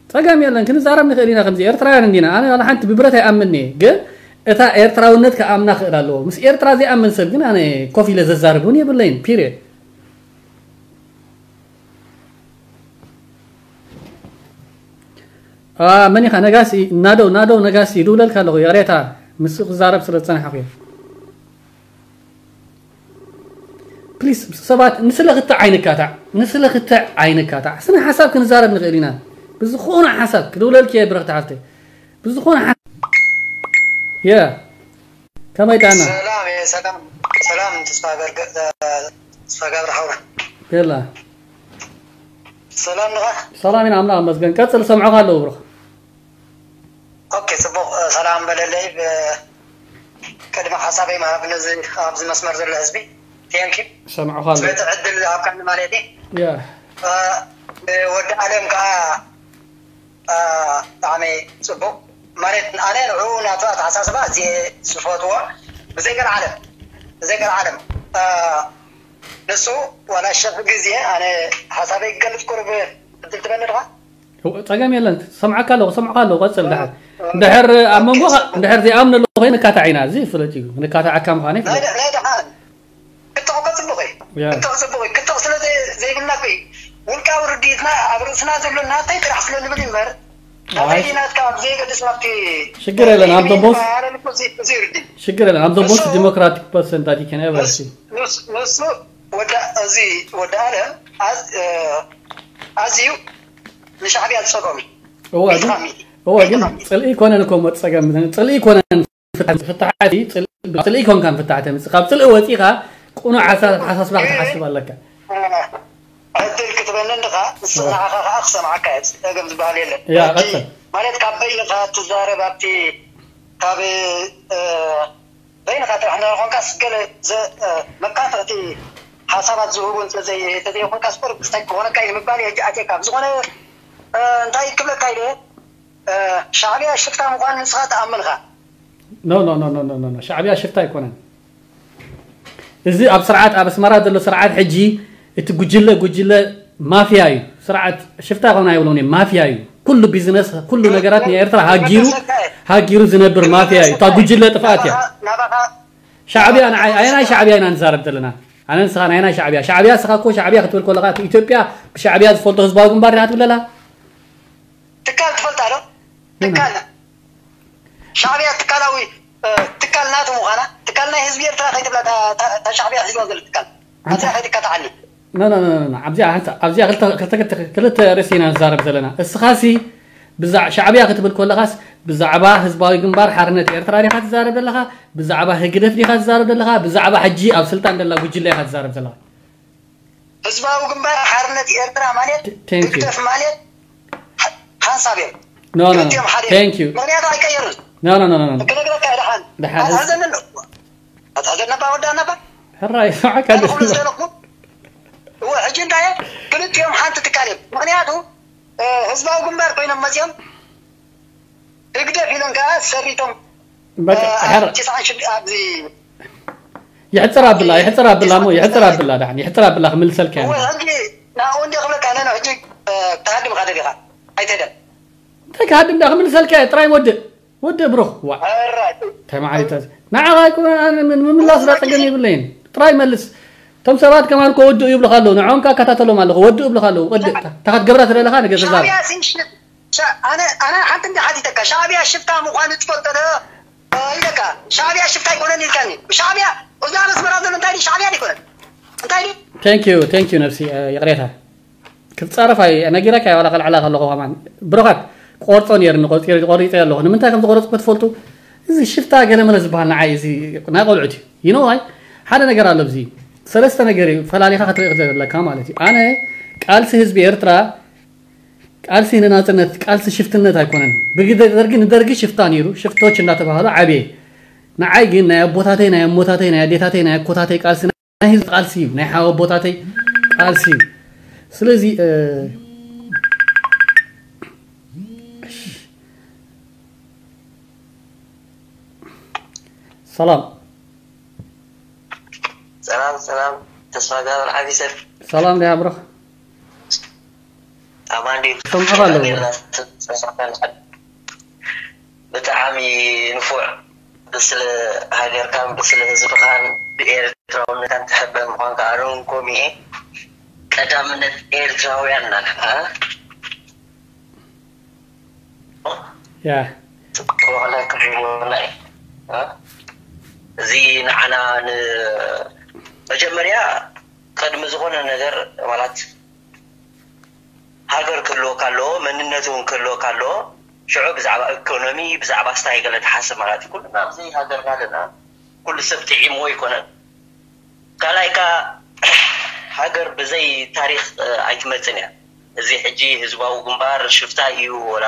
ጸገም የለን፣ ክንዛረብ ንኽእል ኢና። ከምዚ ኤርትራውያን እንዲና። ኣነ ዋላ ሓንቲ ብብረት ኣይኣምንን እየ፣ ግን እታ ኤርትራውነት ክኣምና ክእል ኣለዎ። ምስ ኤርትራ ዘይኣምን ሰብ ግን ኣነ ኮፍ ኢለ ዘዛርብ እውን የብለይን። ፒሪየድ። አ፣ መን ኢኻ? ነጋሲ፣ ናደው፣ ናደው ነጋሲ ይድውለልካ ኣለኹ። ይቕሬታ፣ ምስ ክዛረብ ስለ ዝጸናሕኩ እየ። ፕሊስ፣ ሰባት፣ ንስለ ክትዕ ኣይንካታዕ፣ ንስለ ክትዕ ኣይንካታዕ። ስነ ሓሳብ ክንዛረብ ንኽእል ኢና። ብዝኾነ ሓሳብ፣ ክድውለልኪ እየ ብረኽቲ ሓፍተይ። ብዝኾነ ሓ-፣ የ፣ ከመይ ጣና? ሰላም፣ የ፣ ሰላም፣ ሰላም፣ ተስፋ ገርገ-፣ ተስፋ ገብረ ሓውና። የላ። ሰላም ንኻ? ሰላም ኢና፣ ኣምላኽ ይመስገን። ቀጽል፣ ሰምዖኻ ኣለዉ ብሩኽ። ኦኬ፣ ጽቡቕ፣ እ፣ ሰላም በለለይ። ብ-፣ ቅድሚ ሓሳበይ ምሃብ ነዚ ኣብዚ መስመር ዘሎ ህዝቢ፣ ቴንክ ዩ። ሰምዖኻ ኣለዉ። ስለቲ ዕድል ዝሃብካኒ ማለት እዩ። ያ። እ፣ ወዲ ኣለም ከኣ፣ እ፣ ብጣዕሚ ጽቡቕ። ማለት ኣነ ንዕኡ ናቱ ኣተሓሳስባ ኣዝየ ዝፈትዎ። ብዘይ ገለ ዓለም፣ ብዘይ ገለ ዓለም። እ፣ ንሱ ዋላ ሸሕ ግዜ ኣነ ሓሳበይ ክገልጽ ቁሩብ ዕድል ትበኒ ድኻ? ጸገም የለን። ሰምዓካ ኣለኹ፣ ሰምዓካ ኣለኹ። ቀጽል ድሓር። ድሕር ኣብ መንጎኻ፣ ድሕር ዘይኣምነሉ ኮይኑ ንካታዕ ኢና። እዚ ፍለጥ እዩ። ንካታዕ ኣካ ምዃነ ናይ ይፍለጥ። ደ- ናይ ደሓን ክትዕ እኮ ፅቡቅ እዩ። ያ። ክትዕ ፅቡቅ እዩ። ክትዕ ስለ ዘይ- ዘይብልና እኮ እዩ። ውልቃዊ ርድኢትና ኣብ ርእስና ዘሎ ናተይ ጥራሕ ስለ ንብል እምበር ናተይ ኣይ። ናትካ ኣብ ዘይገድስ ናብቲ ሽግር የለን። ኣብ ደቦስ ኣረን እኮ እዚ- እዚ ርድእ ሽግር የለን። ኣብ ደቦስ ንሱ- ዲሞክራቲክ ፐርሰንት ኣዲከን ኤቨርሲ ንስ- ንሱ ወዳ እዚ ወዳ ኣለም ኣዝ- እ፣ ኣዝዩ ንሻዕብያ ዝጸልኦም እዩ። እዋ ግን ቤትኻ ሚሊ እዋ ግን ቤትኻ ሚሊ ጽልኢ ይኮነን እኮ ሞ ጸገም ጽልኢ ይኮነን። ፍታሕ ፍታሕ ጽልኢ ጽልኢ ይኮንካን ፍታሕ ተምጽእ ካብ ጽልኢ ወጺኻ ቁኑዕ ሓሳ- ሓሳስባ ክትሓስብ ኣለካ። ዕድል ክትበኒ እንድኻ ንስኻ ንዓኻ ከዓ ክሰምዓካ እየ። ጸገም ዝበሃል የለን። ያ ሕጂ ቀጽል። ማለት ካብ በይንኻ ትዛረብ ኣብቲ ካብ እ፣ በይንኻ ጥራሕ እንድሕር ኮንካስ ገለ ዘ- እ፣ መካፍእቲ ሓሳባት ዝህቡ እንተዘይ- እንተዘይኮንካስ ቁሩብ ክስታይ ክኾነካ እዩ ንምባል እየ ሕጂ ኣትየካ። ብዝኾነ እ፣ እንታይ ክብለካ ኢለ እ፣ ሻዕብያ ሽፍታ ምዃኑ ንስኻ ትኣምን ኢኻ። ኖ ኖ ኖ ኖ ኖ ኖ ኖ ሻዕብያ ሽፍታ ኣይኮነን። እዚ ኣብ ስርዓት ኣብ ኣስመራ ዘሎ ስርዓት ሕጂ እቲ ጉጅለ ጉጅለ ማፍያ እዩ። ስርዓት ሽፍታ ይኾን ኣይብሎን እየ፣ ማፍያ እዩ። ኩሉ ቢዝነስ ኩሉ ነገራት ናይ ኤርትራ ሃጊሩ ሃጊሩ ዝነብር ማፍያ እዩ። እታ ጉጅለ ጥፍኣት እያ። ናባኻ ሻዕብያ ንዓይ ኣየናይ ሻዕብያ ኢና ንዛረብ ዘለና? ኣነ ንስኻ ናይ ናይ ሻዕብያ ሻዕብያ ስኻ እኮ ሻዕብያ ክትብል ከለኻ እቲ ኢትዮጵያ ብሻዕብያ ዝፈልጦ ህዝባዊ ግንባር ዲኻ ትብለላ? ትካል ትፈልጣ ዶ? ትካል ሻዕብያ ትካላዊ እ፣ ትካል ናቱ ምዃና ትካል ናይ ህዝቢ ኤርትራ ከይትብላ እታ- እታ እታ ሻዕብያ ሒዝዋ ዘሎ ትካል ኣብዚኣ ከይትካትዓኒ። ኖ ኖ ኖ ኖ ኣብዚኣ ሓንሳ ኣብዚኣ ክልተ ክልተ ክልተ ክልተ ርእሲ ኢና ንዛረብ ዘለና። እስኻሲ ብዛዕ ሻዕብያ ክትብል ከለኻስ ብዛዕባ ህዝባዊ ግንባር ሓርነት ኤርትራ ዲኻ ትዛረብ ዘለኻ? ብዛዕባ ህግደፍ ዲኻ ትዛረብ ዘለኻ? ብዛዕባ ሕጂ ኣብ ስልጣን ዘላ ጉጅለ ኢኻ ትዛረብ ዘለኻ። ህዝባዊ ግንባር ሓርነት ኤርትራ ማለት Thank you. ህግደፍ ማለት ሓ- ሓንሳብ እዮም። No, no, no. ክልቲኦም ሓደ እዮም። Thank you. ምኽንያቱ ኣይቀየሩን። No, no, no, no, no. ክነግረካ እየ ደሓን። ደሓን፣ ህዝ- ኣትሕዘኒ ኣለኹ። ኣትሕዘኒ ነባ ወዳ ነባ። ሕራይ፣ ስምዓካ ኣነ ክብሎ ኣለኹ። ዝደለኹ። እወ፣ ሕጂ እንታይ እየ? ክልቲኦም ሓንቲ ትካል እዮም። ምኽንያቱ እ፣ ህዝባዊ ግንባር ኮይኖም መፅዮም ህግደፍ ኢሎም ከዓ ሰሪቶም በቃ፣ እ፣ ሕር- ኣብ ትስዓን ሽዱሽተ ኣብዚ ይሕፅር ኣብላ፣ ይሕፅር ኣብላ እሞ፣ ይሕፅር ኣብላ ደሓን፣ ይሕፅር ኣብላ ክምልሰልካ እየ። እወ፣ ሕጂ ናብኡ እንደ ክብለካ፣ ነነ ሕጂ እ፣ ተሃድምካ ደሊኻ ኣይትህደም። እንታይ ክሃድም ዳ ክምልሰልካ እየ፣ ጥራይ ወድእ። ወዲ ብሩኽ፣ ዋ። ሕራይ። ተማዓሊታ። ንዓኻ እኮ ኣነ ምን- ምምላስ ዳ ጸገም የብለይን። ጥራይ መልስ። እቶም ሰባት ከማን እኮ ወድኡ ይብሉኻ ኣለዉ። ንዕኦም ከኣ እከታተሎም ኣለኹ። ወድኡ ይብሉኻ ኣለዉ። ወድእ። እታ እታ ክትገብራ ትደለኻ ነገር ተዛረብ። ሻዕብያ ሲ ሽፍ- ሻ- ኣነ ኣነ ሓንቲ እንዲ ሓቲተካ ሻዕብያ ሽፍታ ምዃኑ ትፈልጦ ዶ? እ፣ ኢለካ ሻዕብያ ሽፍታ ኣይኮነን ኢልካኒ። ሻዕብያ እዛ ኣብ ኣስመራ ዘሎ እንታይ ድዩ? ሻዕብያ ኣይኮነን። እንታይ ድዩ? Thank you, thank you ነብሲ፣ እ፣ ይቕሬታ። ክትጻረፍ ኣይ ነጊረካ ዋላ ከልዕላ ከለኹ ከማን ብሮኻት ቆርጾ ነይርኒ ቆርጺ ቆሪጸ ኣለኹ ንምንታይ ከም ዝቆረጽኩ ክትፈልጡ። እዚ ሽፍታ ገለመለ ዝበሃል ንዓይ እዚ ናይ ቆልዑት እዩ። You know why? ሓደ ነገር ኣሎ ኣብዚ ሰለስተ ነገር እዩ ፈላሊኻ ክትርኢ ዘለካ ማለት እዩ። ኣነ ቃልሲ ህዝቢ ኤርትራ ቃልሲ ንናጽነት ቃልሲ ሽፍትነት ኣይኮነን። ብግደ ደርጊ ንደርጊ ሽፍታ ነይሩ ሽፍቶች እንዳተባሃሉ ዓብየ። ንዓይ ግን ናይ ኣቦታተይ ናይ ኣሞታተይ ናይ ኣዴታተይ ናይ ኣኮታተይ ቃልሲ ናይ ህዝቢ ቃልሲ እዩ ናይ ሓወቦታተይ ቃልሲ እዩ። ስለዚ እ፣ ሰላም ሰላም ሰላም ተስፋ ጋብር ዓቢ ሰብ ሰላም ዲያ ብሮ ኣማን ድዩ ሰምዕኻ ኣለኹ። ብጣዕሚ ንፉዕ ብስለ ሃገርካን ብስለ ህዝብኻን ብኤርትራውነትካን ትሕበን ምዃንካ ኣነ እውን ከምኡ እየ። ቀዳምነት ኤርትራውያን ናትና ያ ክበቕለካ ይብለና እዩ። እዚ ንዓና ን- መጀመርያ ቅድሚ ዝኾነ ነገር ማለት ሃገር ክህልወካ ኣለዎ፣ መንነት እውን ክህልወካ ኣለዎ። ሽዑ ብዛዕባ ኢኮኖሚ ብዛዕባ ስታይ ገለ ትሓስብ ማለት እዩ። ኩልና ኣብዘይ ሃገርና ኣለና። ኩሉ ሰብ ጥዒምዎ ኣይኮነን። ካልኣይ ከኣ ሃገር ብዘይ ታሪኽ ኣይትመጽን እያ። እዚ ሕጂ ህዝባዊ ግንባር ሽፍታ እዩ ወላ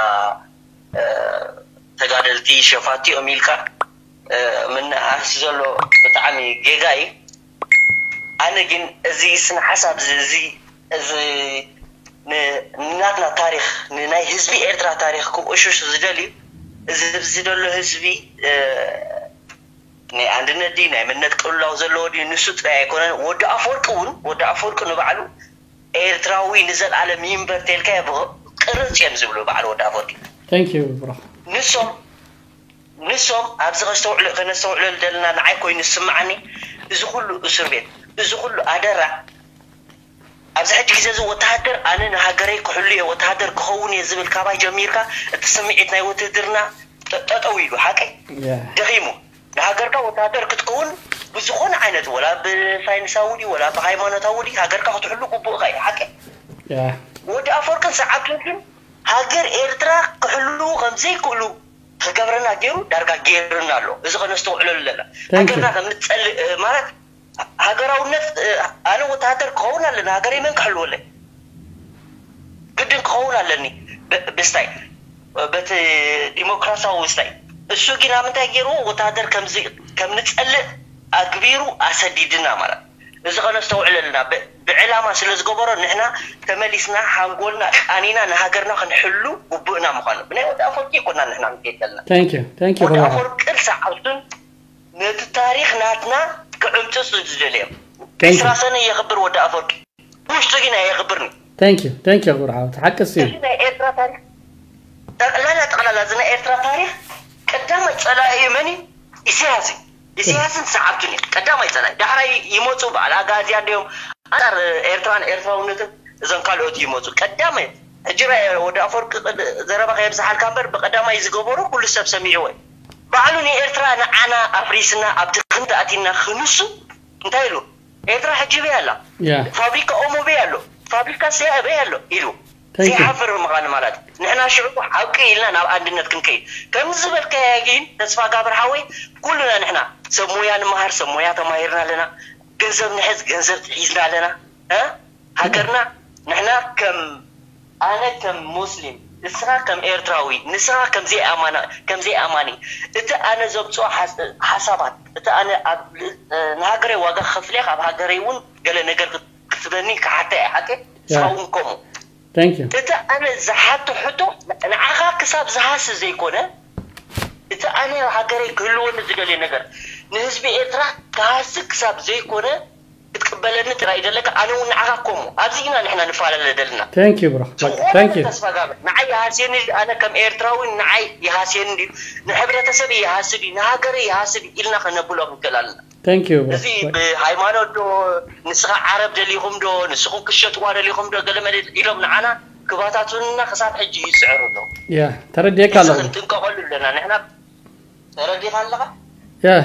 ተጋደልቲ ሸፋቲ እዮም ኢልካ ምንኣስ ዘሎ ብጣዕሚ ጌጋ እዩ። ኣነ ግን እዚ ስነ ሓሳብ እዚ እዚ ንናትና ታሪኽ ንናይ ህዝቢ ኤርትራ ታሪኽ ክቆሽሽ ዝደልዩ እዚ ኣብዚ ዘሎ ህዝቢ ናይ ኣንድነት ድዩ ናይ መንነት ቅልውላው ዘለዎ ድዩ ንሱ ጥራይ ኣይኮነን። ወዲ ኣፈወርቂ እውን ወዲ ኣፈወርቂ ንባዕሉ ኤርትራዊ ንዘልኣለም ይንበር ተልካ ቅርጽ እዮም ዝብሉ በዓል ወዲ ኣፈወርቂ። Thank you bro። ንሶም ንሶም ኣብዚ ከስተውዕሉ ከነስተውዕለሉ ዘለና ንዓይ ኮይኑ ዝስምዓኒ፣ እዚ ኩሉ እስር ቤት፣ እዚ ኩሉ ኣደራዕ፣ ኣብዚ ሕጂ ግዜ እዚ ወተሃደር ኣነ ንሃገረይ ክሕሉ እየ፣ ወተሃደር ክኸውን እየ ዝብል ካባይ ጀሚርካ እቲ ስምዒት ናይ ውትህድርና ጠ- ጠጠው ኢሉ ሓቀይ ያ ደኺሙ። ንሃገርካ ወተሃደር ክትከውን ብዝኾነ ዓይነት፣ ወላ ብሳይንሳዊ ድዩ ወላ ብሃይማኖታዊ ድዩ፣ ሃገርካ ክትሕሉ ግቡእካ እዩ ሓቀይ። ያ ወዲ ኣፈወርቅን ሰዓብቱን ግን ሃገር ኤርትራ ክሕልዉ ከም ዘይክእሉ ክገብረና ገይሩ ዳርጋ ገይሩና ኣሎ። እዚ ከነስተውዕለሉ ኣለና። Thank you. ሃገርና ከም ንጸልእ ማለት ሃገራውነት፣ ኣነ ወተሃደር ክኸውን ኣለና፣ ሃገረይ መን ክሕልወለይ? ግድን ክኸውን ኣለኒ። ብ- ብስታይ በቲ ዲሞክራሲያዊ ስታይ። እሱ ግን ኣብ ምንታይ ገይርዎ? ወተሃደር ከምዚ ከም ንጸልእ ኣግቢሩ ኣሰዲድና ማለት። እዚ ከነስተውዕለልና ብ- ብዕላማ ስለ ዝገበሮ ንሕና ተመሊስና ሓንጎልና ቃኒና ንሃገርና ክንሕሉ ግቡእና ምዃኑ ብናይ ወዲ ኣፈወርቂ ይኮና ንሕና ንከይድ ዘለና። Thank you thank you ወዲ ክቡር ሓው። ኣፈወርቅን ሰዓብቱን ነቲ ታሪኽ ናትና ክዕምጽጹ ዝደልዮም Thank you. ዕስራ ሰነ የኽብር ወዲ ኣፈወርቂ፣ ውሽጡ ግን ኣየኽብርኒ። Thank you thank you ክቡር ሓው፣ ሓቂ እዩ። እዚ ናይ ኤርትራ ታሪኽ ጠቕላላ ጠቕላላ እዚ ናይ ኤርትራ ታሪኽ ቀዳማይ ጸላኢ መን እዩ? ኢሳያስ እዩ። ኢሳያስን ሰዓብቱን እዩ ቀዳማይ ጸላኢ። ዳሕራይ ይመጹ በዓል ኣጋዚያን ድዮም ኣንጻር ኤርትራን ኤርትራውነትን እዞም ካልኦት ይመጹ። ቀዳማይ ሕጂ ራይ ወዲ ኣፈወርቂ ቅድ- ዘረባ ከየብዝሓልካ እምበር ብቀዳማይ ዝገበሩ ኩሉ ሰብ ሰሚዕዎ እዩ። ባዕሉ ንኤርትራ ንዓና ኣፍሪስና ኣብ ድኽነት ኣቲና ክንሱ እንታይ ኢሉ? ኤርትራ ሕጂ በይ ኣላ፣ ያ ፋብሪካ ኦሞ በይ ኣሎ፣ ፋብሪካ ሰያ በይ ኣሎ ኢሉ Thank you. ዘይሓፍር ምዃኑ ማለት ንሕና ሽዑ ሓቂ ኢልና ናብ ኣንድነት ክንከይድ ከምዚ ዝበልካያ ግን ተስፋ ጋብር ሓወይ ኩሉና ንሕና ሰብ ሞያ ንመሃር ሰብ ሞያ ተማሂርና ኣለና፣ ገንዘብ ንሕዝ ገንዘብ ሒዝና ኣለና። እ? ሃገርና ንሕና ከም ኣነ ከም ሙስሊም ንስኻ ከም ኤርትራዊ ንስኻ ከም ዘይኣማና ከም ዘይኣማኒ እቲ ኣነ ዘምፅኦ ሓስ- ሓሳባት እቲ ኣነ ኣብ ል- ንሃገረይ ዋጋ ከፍልያ ካብ ሃገረይ እውን ገለ ነገር ክትበኒ ክሓታ እየ ሓቂ ንስኻ እውን ከምኡ Thank you. እቲ ኣነ ዝሓቶ ሕቶ ንዓኻ ክሳብ ዝሃሲ ዘይኮነ እቲ ኣነ ሃገረይ ክህልወኒ ዝደልየ ነገር ንህዝቢ ኤርትራ ክሃሲ ክሳብ ዘይኮነ ክትቅበለኒ ጥራይ ደለካ ኣነ እውን ንዓኻ ከምኡ ኣብዚ ኢና ንሕና ንፈላለ ደልና Thank you bro. ዝኾነ Thank you. ተስፋ ጋብር ንዓይ ይሃስየኒ ድዩ? ኣነ ከም ኤርትራዊ ንዓይ ይሃስየኒ ድዩ? ንሕብረተሰብ ይሃሲ ድዩ ንሃገረ ይሃሲ ድዩ ኢልና ከነብሎ ክንክእል ኣለና። Thank you bro. እዚ ብሃይማኖት ዶ ንስኻ ዓረብ ደሊኹም ዶ ንስኹም ክሸጥዋ ደሊኹም ዶ ገለመለ ኢሎም ንዓና ክባታቱንና ክሳብ ሕጂ ይስዕሩ ኣለዉ። Yeah ተረዲኤካ እዚ ኣለኹ። ክንጥንቀቐሉ ኣለና ንሕና። ተረዲኻ ኣለኻ? Yeah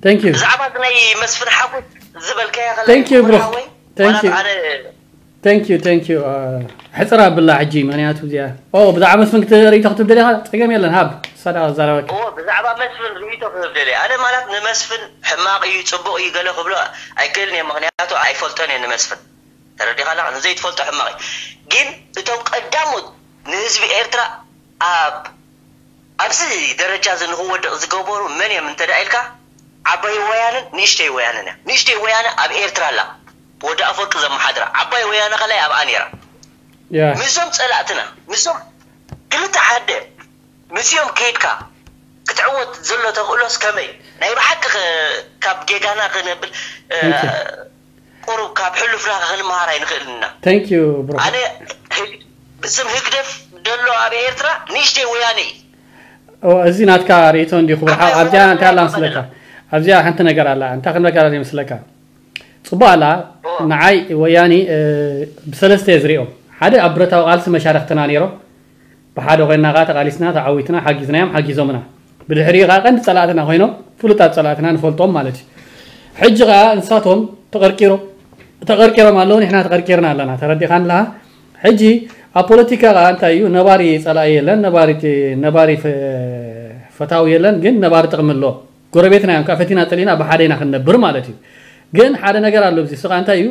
thank you. ብዛዕባ እዚ ናይ መስፍን ሓጎስ ዝበልካዮ ከላ Thank you bro. ሓወይ Thank ማለት you. ኣነ Thank you thank you. ሕፅር ኣብላ ሕጂ ምክንያቱ እዚኣ ኦ ብዛዕባ መስፍን ክትርኢ ተክትብ ደሊኻ ፀገም የለን ሃብ ሳዳ ዛረበካ። እዎ ብዛዕባ መስፍን ርእይቶ ክህብ ደልየ ኣነ ማለት ንመስፍን ሕማቕ እዩ ፅቡቕ እዩ ገለ ክብሎ ኣይክእልን እየ ምክንያቱ ኣይፈልጦን እየ ንመስፍን ተረዲኻ ኣለኻ ንዘይትፈልጦ ሕማቕ እዩ ግን እቶም ቀዳሞት ንህዝቢ ኤርትራ ኣብ ኣብዚ ደረጃ እዚ ንክወድቕ ዝገበሩ መን እዮም እንተ ኢልካ ዓባይ ወያንን ንእሽተይ ወያንን እዮም ንእሽተይ ወያነ ኣብ ኤርትራ ኣላ ወዲ ኣፈወርቂ ዘመሓድራ ዓባይ ወያነ ከላይ ኣብኣ ነይራ Yeah. ምስዞም ጸላእትና ምስዞም ክልተ ዓደ ምስዮም ከይድካ ክትዕወት ዘሎ ተኽእሎስ ከመይ ናይ ብሓቂ ከ- ካብ ጌጋና ክነብል እ፣ Thank you. ቁሩብ ካብ ሕሉፍና ክንመሃር ኣይንኽእልን ኢና Thank you bro. ኣነ ህግ- ብስም ህግደፍ ደሎ ኣብ ኤርትራ ንእሽተይ ወያነ እዩ ኦ እዚ ናትካ ርእይቶ እንዲ ክቡር ሓው ኣብዚኣ እንታይ ኣላ መስለካ ኣብዚኣ ሓንቲ ነገር ኣላ እንታይ ክንበካ ኣላ መስለካ ጽቡቅ ኣላ ንዓይ ወያኒ እ፣ ብሰለስተ እየ ዝሪኦም ሓደ ኣብ ብረታዊ ቃልሲ መሻርክትና ነይሮም ብሓደ ኮይና ከዓ ተቃሊስና ተዓዊትና ሓጊዝናዮም ሓጊዞምና ብድሕሪኡ ከዓ ቀንዲ ጸላእትና ኮይኖም ፍሉጣት ጸላእትና ንፈልጦም ማለት እዩ ሕጂ ከዓ ንሳቶም ተቀርቂሮም ተቀርቂሮም ኣለዉ ንሕና ተቀርቂርና ኣለና ተረዲኻን ኣለካ ሕጂ ኣብ ፖለቲካ ከዓ እንታይ እዩ ነባሪ ጸላኢ የለን ነባሪ ነባሪ ፈ- ፈታዊ የለን ግን ነባሪ ጥቅሚ ኣሎ ጎረቤትና እዮም ካብ ፈቲና ጸሊና ብሓደ ኢና ክንነብር ማለት እዩ ግን ሓደ ነገር ኣሎ እዚ ስኻ እንታይ እዩ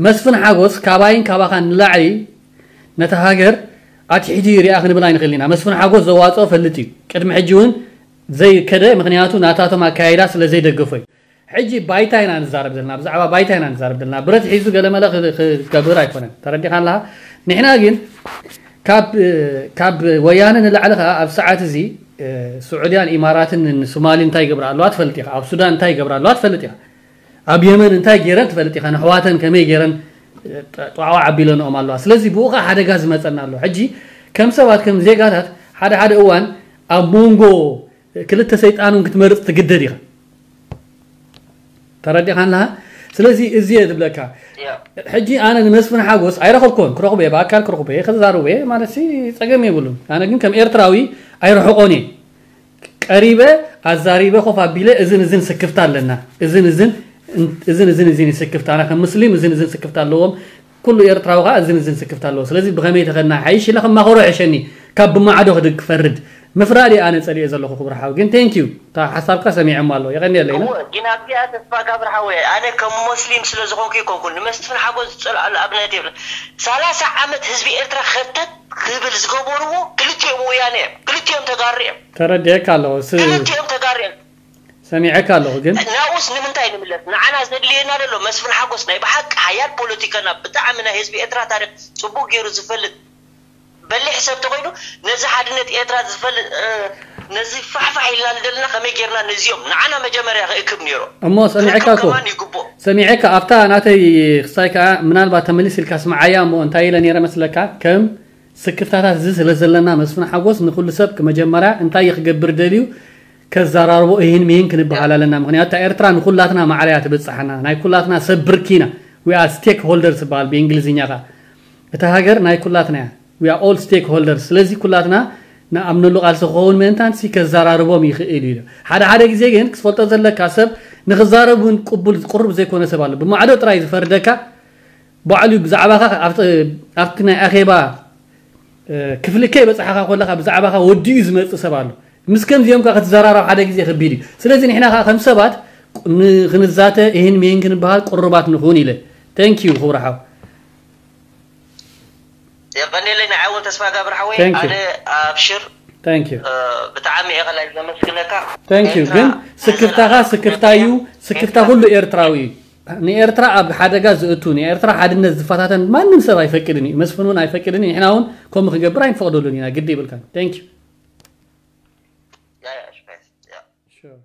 መስፍን ሓጎስ ካባይን ካባኻን ንላዕሊ ነታ ሃገር ኣትሒቱ ይሪኣ ክንብል ኣይንኽእል ኢና መስፍን ሓጎስ ዘዋፅኦ ፈልጥ እዩ ቅድሚ ሕጂ እውን ዘይከደ ምክንያቱ ናታቶም ኣካይዳ ስለ ዘይደገፎ እዩ ሕጂ ባይታ ኢና ንዛረብ ዘለና ብዛዕባ ባይታ ኢና ንዛረብ ዘለና ብረት ሒዙ ገለመለ ክገብር ኣይኮነን ተረዲኻ ኣለካ ንሕና ግን ካብ ካብ ወያነ ንላዕሊ ከዓ ኣብ ሰዓት እዚ ስዑድያን ኢማራትን ንሶማሊ እንታይ ይገብራ ኣለዋ ትፈልጥ ኢኻ ኣብ ሱዳን እንታይ ይገብራ ኣለዋ ትፈልጥ ኢኻ ኣብ የመን እንታይ ገይረን ትፈልጥ ኢኻ ንሕዋተን ከመይ ገይረን ጧዕዋ ዓቢለንኦም ኣለዋ ስለዚ ብኡ ከዓ ሓደጋ ዝመፀና ኣሎ ሕጂ ከም ሰባት ከም ዜጋታት ሓደ ሓደ እዋን ኣብ መንጎ ክልተ ሰይጣን እውን ክትመርፅ ትግደድ ኢኻ። ተረዲኻ ኣለኻ? ስለዚ እዚ እየ ዝብለካ። ሕጂ ኣነ ንመስፍን ሓጎስ ኣይረኸብኮን፣ ክረኽቦ እየ፣ ብኣካል ክረኽቦ እየ፣ ክዛረቦ እየ ማለት ሲ ጸገም የብሉን። ኣነ ግን ከም ኤርትራዊ ኣይርሕቆን እየ። ቀሪበ ኣዛሪበ ኮፍ ኣቢለ እዝን እዝን ስክፍታ ኣለና፣ እዝን እዝን እዝን እዝን እዝን ስክፍታ፣ ኣነ ከም ሙስሊም እዝን እዝን ስክፍታ ኣለዎም። ኩሉ ኤርትራዊ ከዓ እዝን እዝን ስክፍታ ኣለዎ። ስለዚ ብኸመይ ተኸድና ሓይሽ ኢለ ከማኸሮ ሕሸኒ፣ ካብ ብማዕዶ ክድግ ክፈርድ ምፍራድ እየ ኣነ ጸሊኤ ዘለኹ። ክብር ሓው ግን ቴንክ ዩ፣ እታ ሓሳብካ ሰሚዐሞ ኣለዎ። የቐንየለይ። እወ፣ ግን ኣብዚኣ ተስፋ ጋብር ሓወይ፣ ኣነ ከም ሞስሊም ስለ ዝኾንኩ ይኮንኩን ንመስፍን ሓጎስ ዝጸልኣሉ ኣብነት የብለ። ሰላሳ ዓመት ህዝቢ ኤርትራ ኸርተት ክብል ዝገበርዎ ክልቲኦም ወያነ እዮም፣ ክልቲኦም ተጋሩ እዮም፣ ተረዲኤካ ኣለኹ። ስ- ክልቲኦም ተጋሩ እዮም። ሰሚዐካ ኣለኹ ግን ናኡስ ንምንታይ ንምለስ? ንዓና ዘድልየና ዘሎ መስፍን ሓጎስ ናይ ብሓቂ ሓያል ፖለቲከና፣ ብጣዕሚ ናይ ህዝቢ ኤርትራ ታሪክ ጽቡቅ ገይሩ ዝፈልጥ በሊሕ ሰብ ተኮይኑ፣ ነዚ ሓድነት ኤርትራ ዝፈልጥ፣ እ፣ ነዚ ፋሕፋሕ ኢልና ንደልና ከመይ ጌርና ነዚኦም ንዓና መጀመርያ ክእክብ ነይሩ። እሞ ሰሚዐካ ክእክብ እኮ። ከማን ይግብኦ። ሰሚዐካ ኣብታ ናተይ ክሳይ ከዓ ምናልባት ተመሊስ ኢልካ ስምዓያ እሞ እንታይ ኢለ ነይረ መስለካ? ከም ስክፍታታት እዚ ስለ ዘለና መስፍን ሓጎስ ንኩሉ ሰብ መጀመርያ እንታይ እዩ ክገብር ደልዩ ከዘራርቦ እሂን ሚሂን ክንበሃል ኣለና። ምክንያቱ እታ ኤርትራ ንኩላትና ማዕረ እያ ትብጽሓና። ናይ ኩላትና ሰብ ብርኪ ኢና። We are stakeholders ዝበሃል ብእንግሊዝኛ ኸዓ። እታ ሃገር ናይ ኩላትና እያ። We are all stakeholders። ስለዚ ኩላትና ንኣምነሉ ቃልሲ ክኸውን ምእንታን ሲ ከዘራርቦም ይኽእል እዩ። ሓደ ሓደ ግዜ ግን ክትፈልጦ ዘለካ ሰብ ንክዛረብ እውን ቅቡል ቅሩብ ዘይኮነ ሰብ ኣሎ። ብማዕዶ ጥራይ ዝፈርደካ ባዕሉ ብዛዕባኻ ኣብቲ ኣብቲ ናይ ኣኼባ እ፣ ክፍሊ ከይበጻሕኻ ከለኻ ብዛዕባኻ ወዲኡ ዝመጽእ ሰብ ኣሎ። ምስ ከምዚኦም ከ ክትዘራረብ ሓደ ግዜ ከቢድ እዩ። ስለዚ ንሕና ከኣ ከም ሰባት ቁ- ን- ክንዛተ እህን ሚህን ክንበሃል ቅሩባት ንኹን ኢለ። Thank you ክቡር ሓው። የቐኔለይ ንዓይ እውን ተስፋ ጋብር ሓወይ Thank you. ኣነ ኣብሽር Thank you. እ፣ ብጣዕሚ እየ ከላይ ዘመስግነካ Thank you። ኤርትራ ግን ስክፍታኻ ንዘለኣለም ስክፍታ እዩ። ስክፍታ ኩሉ ኤርትራዊ እዩ። ንኤርትራ ኣብ ሓደጋ ዝእቱ ንኤርትራ ሓድነት ዝፈታተን ማንም ሰብ ኣይፈቅድን እዩ። መስፍን እውን ኣይፈቅድን እዩ። ንሕና እውን ከምኡ ክገብር ኣይንፈቕደሉን ኢና። ግዲ ይብልካን። Thank you. ያ፣ ያ፣ ሽፋይ፣ ያ። Sure.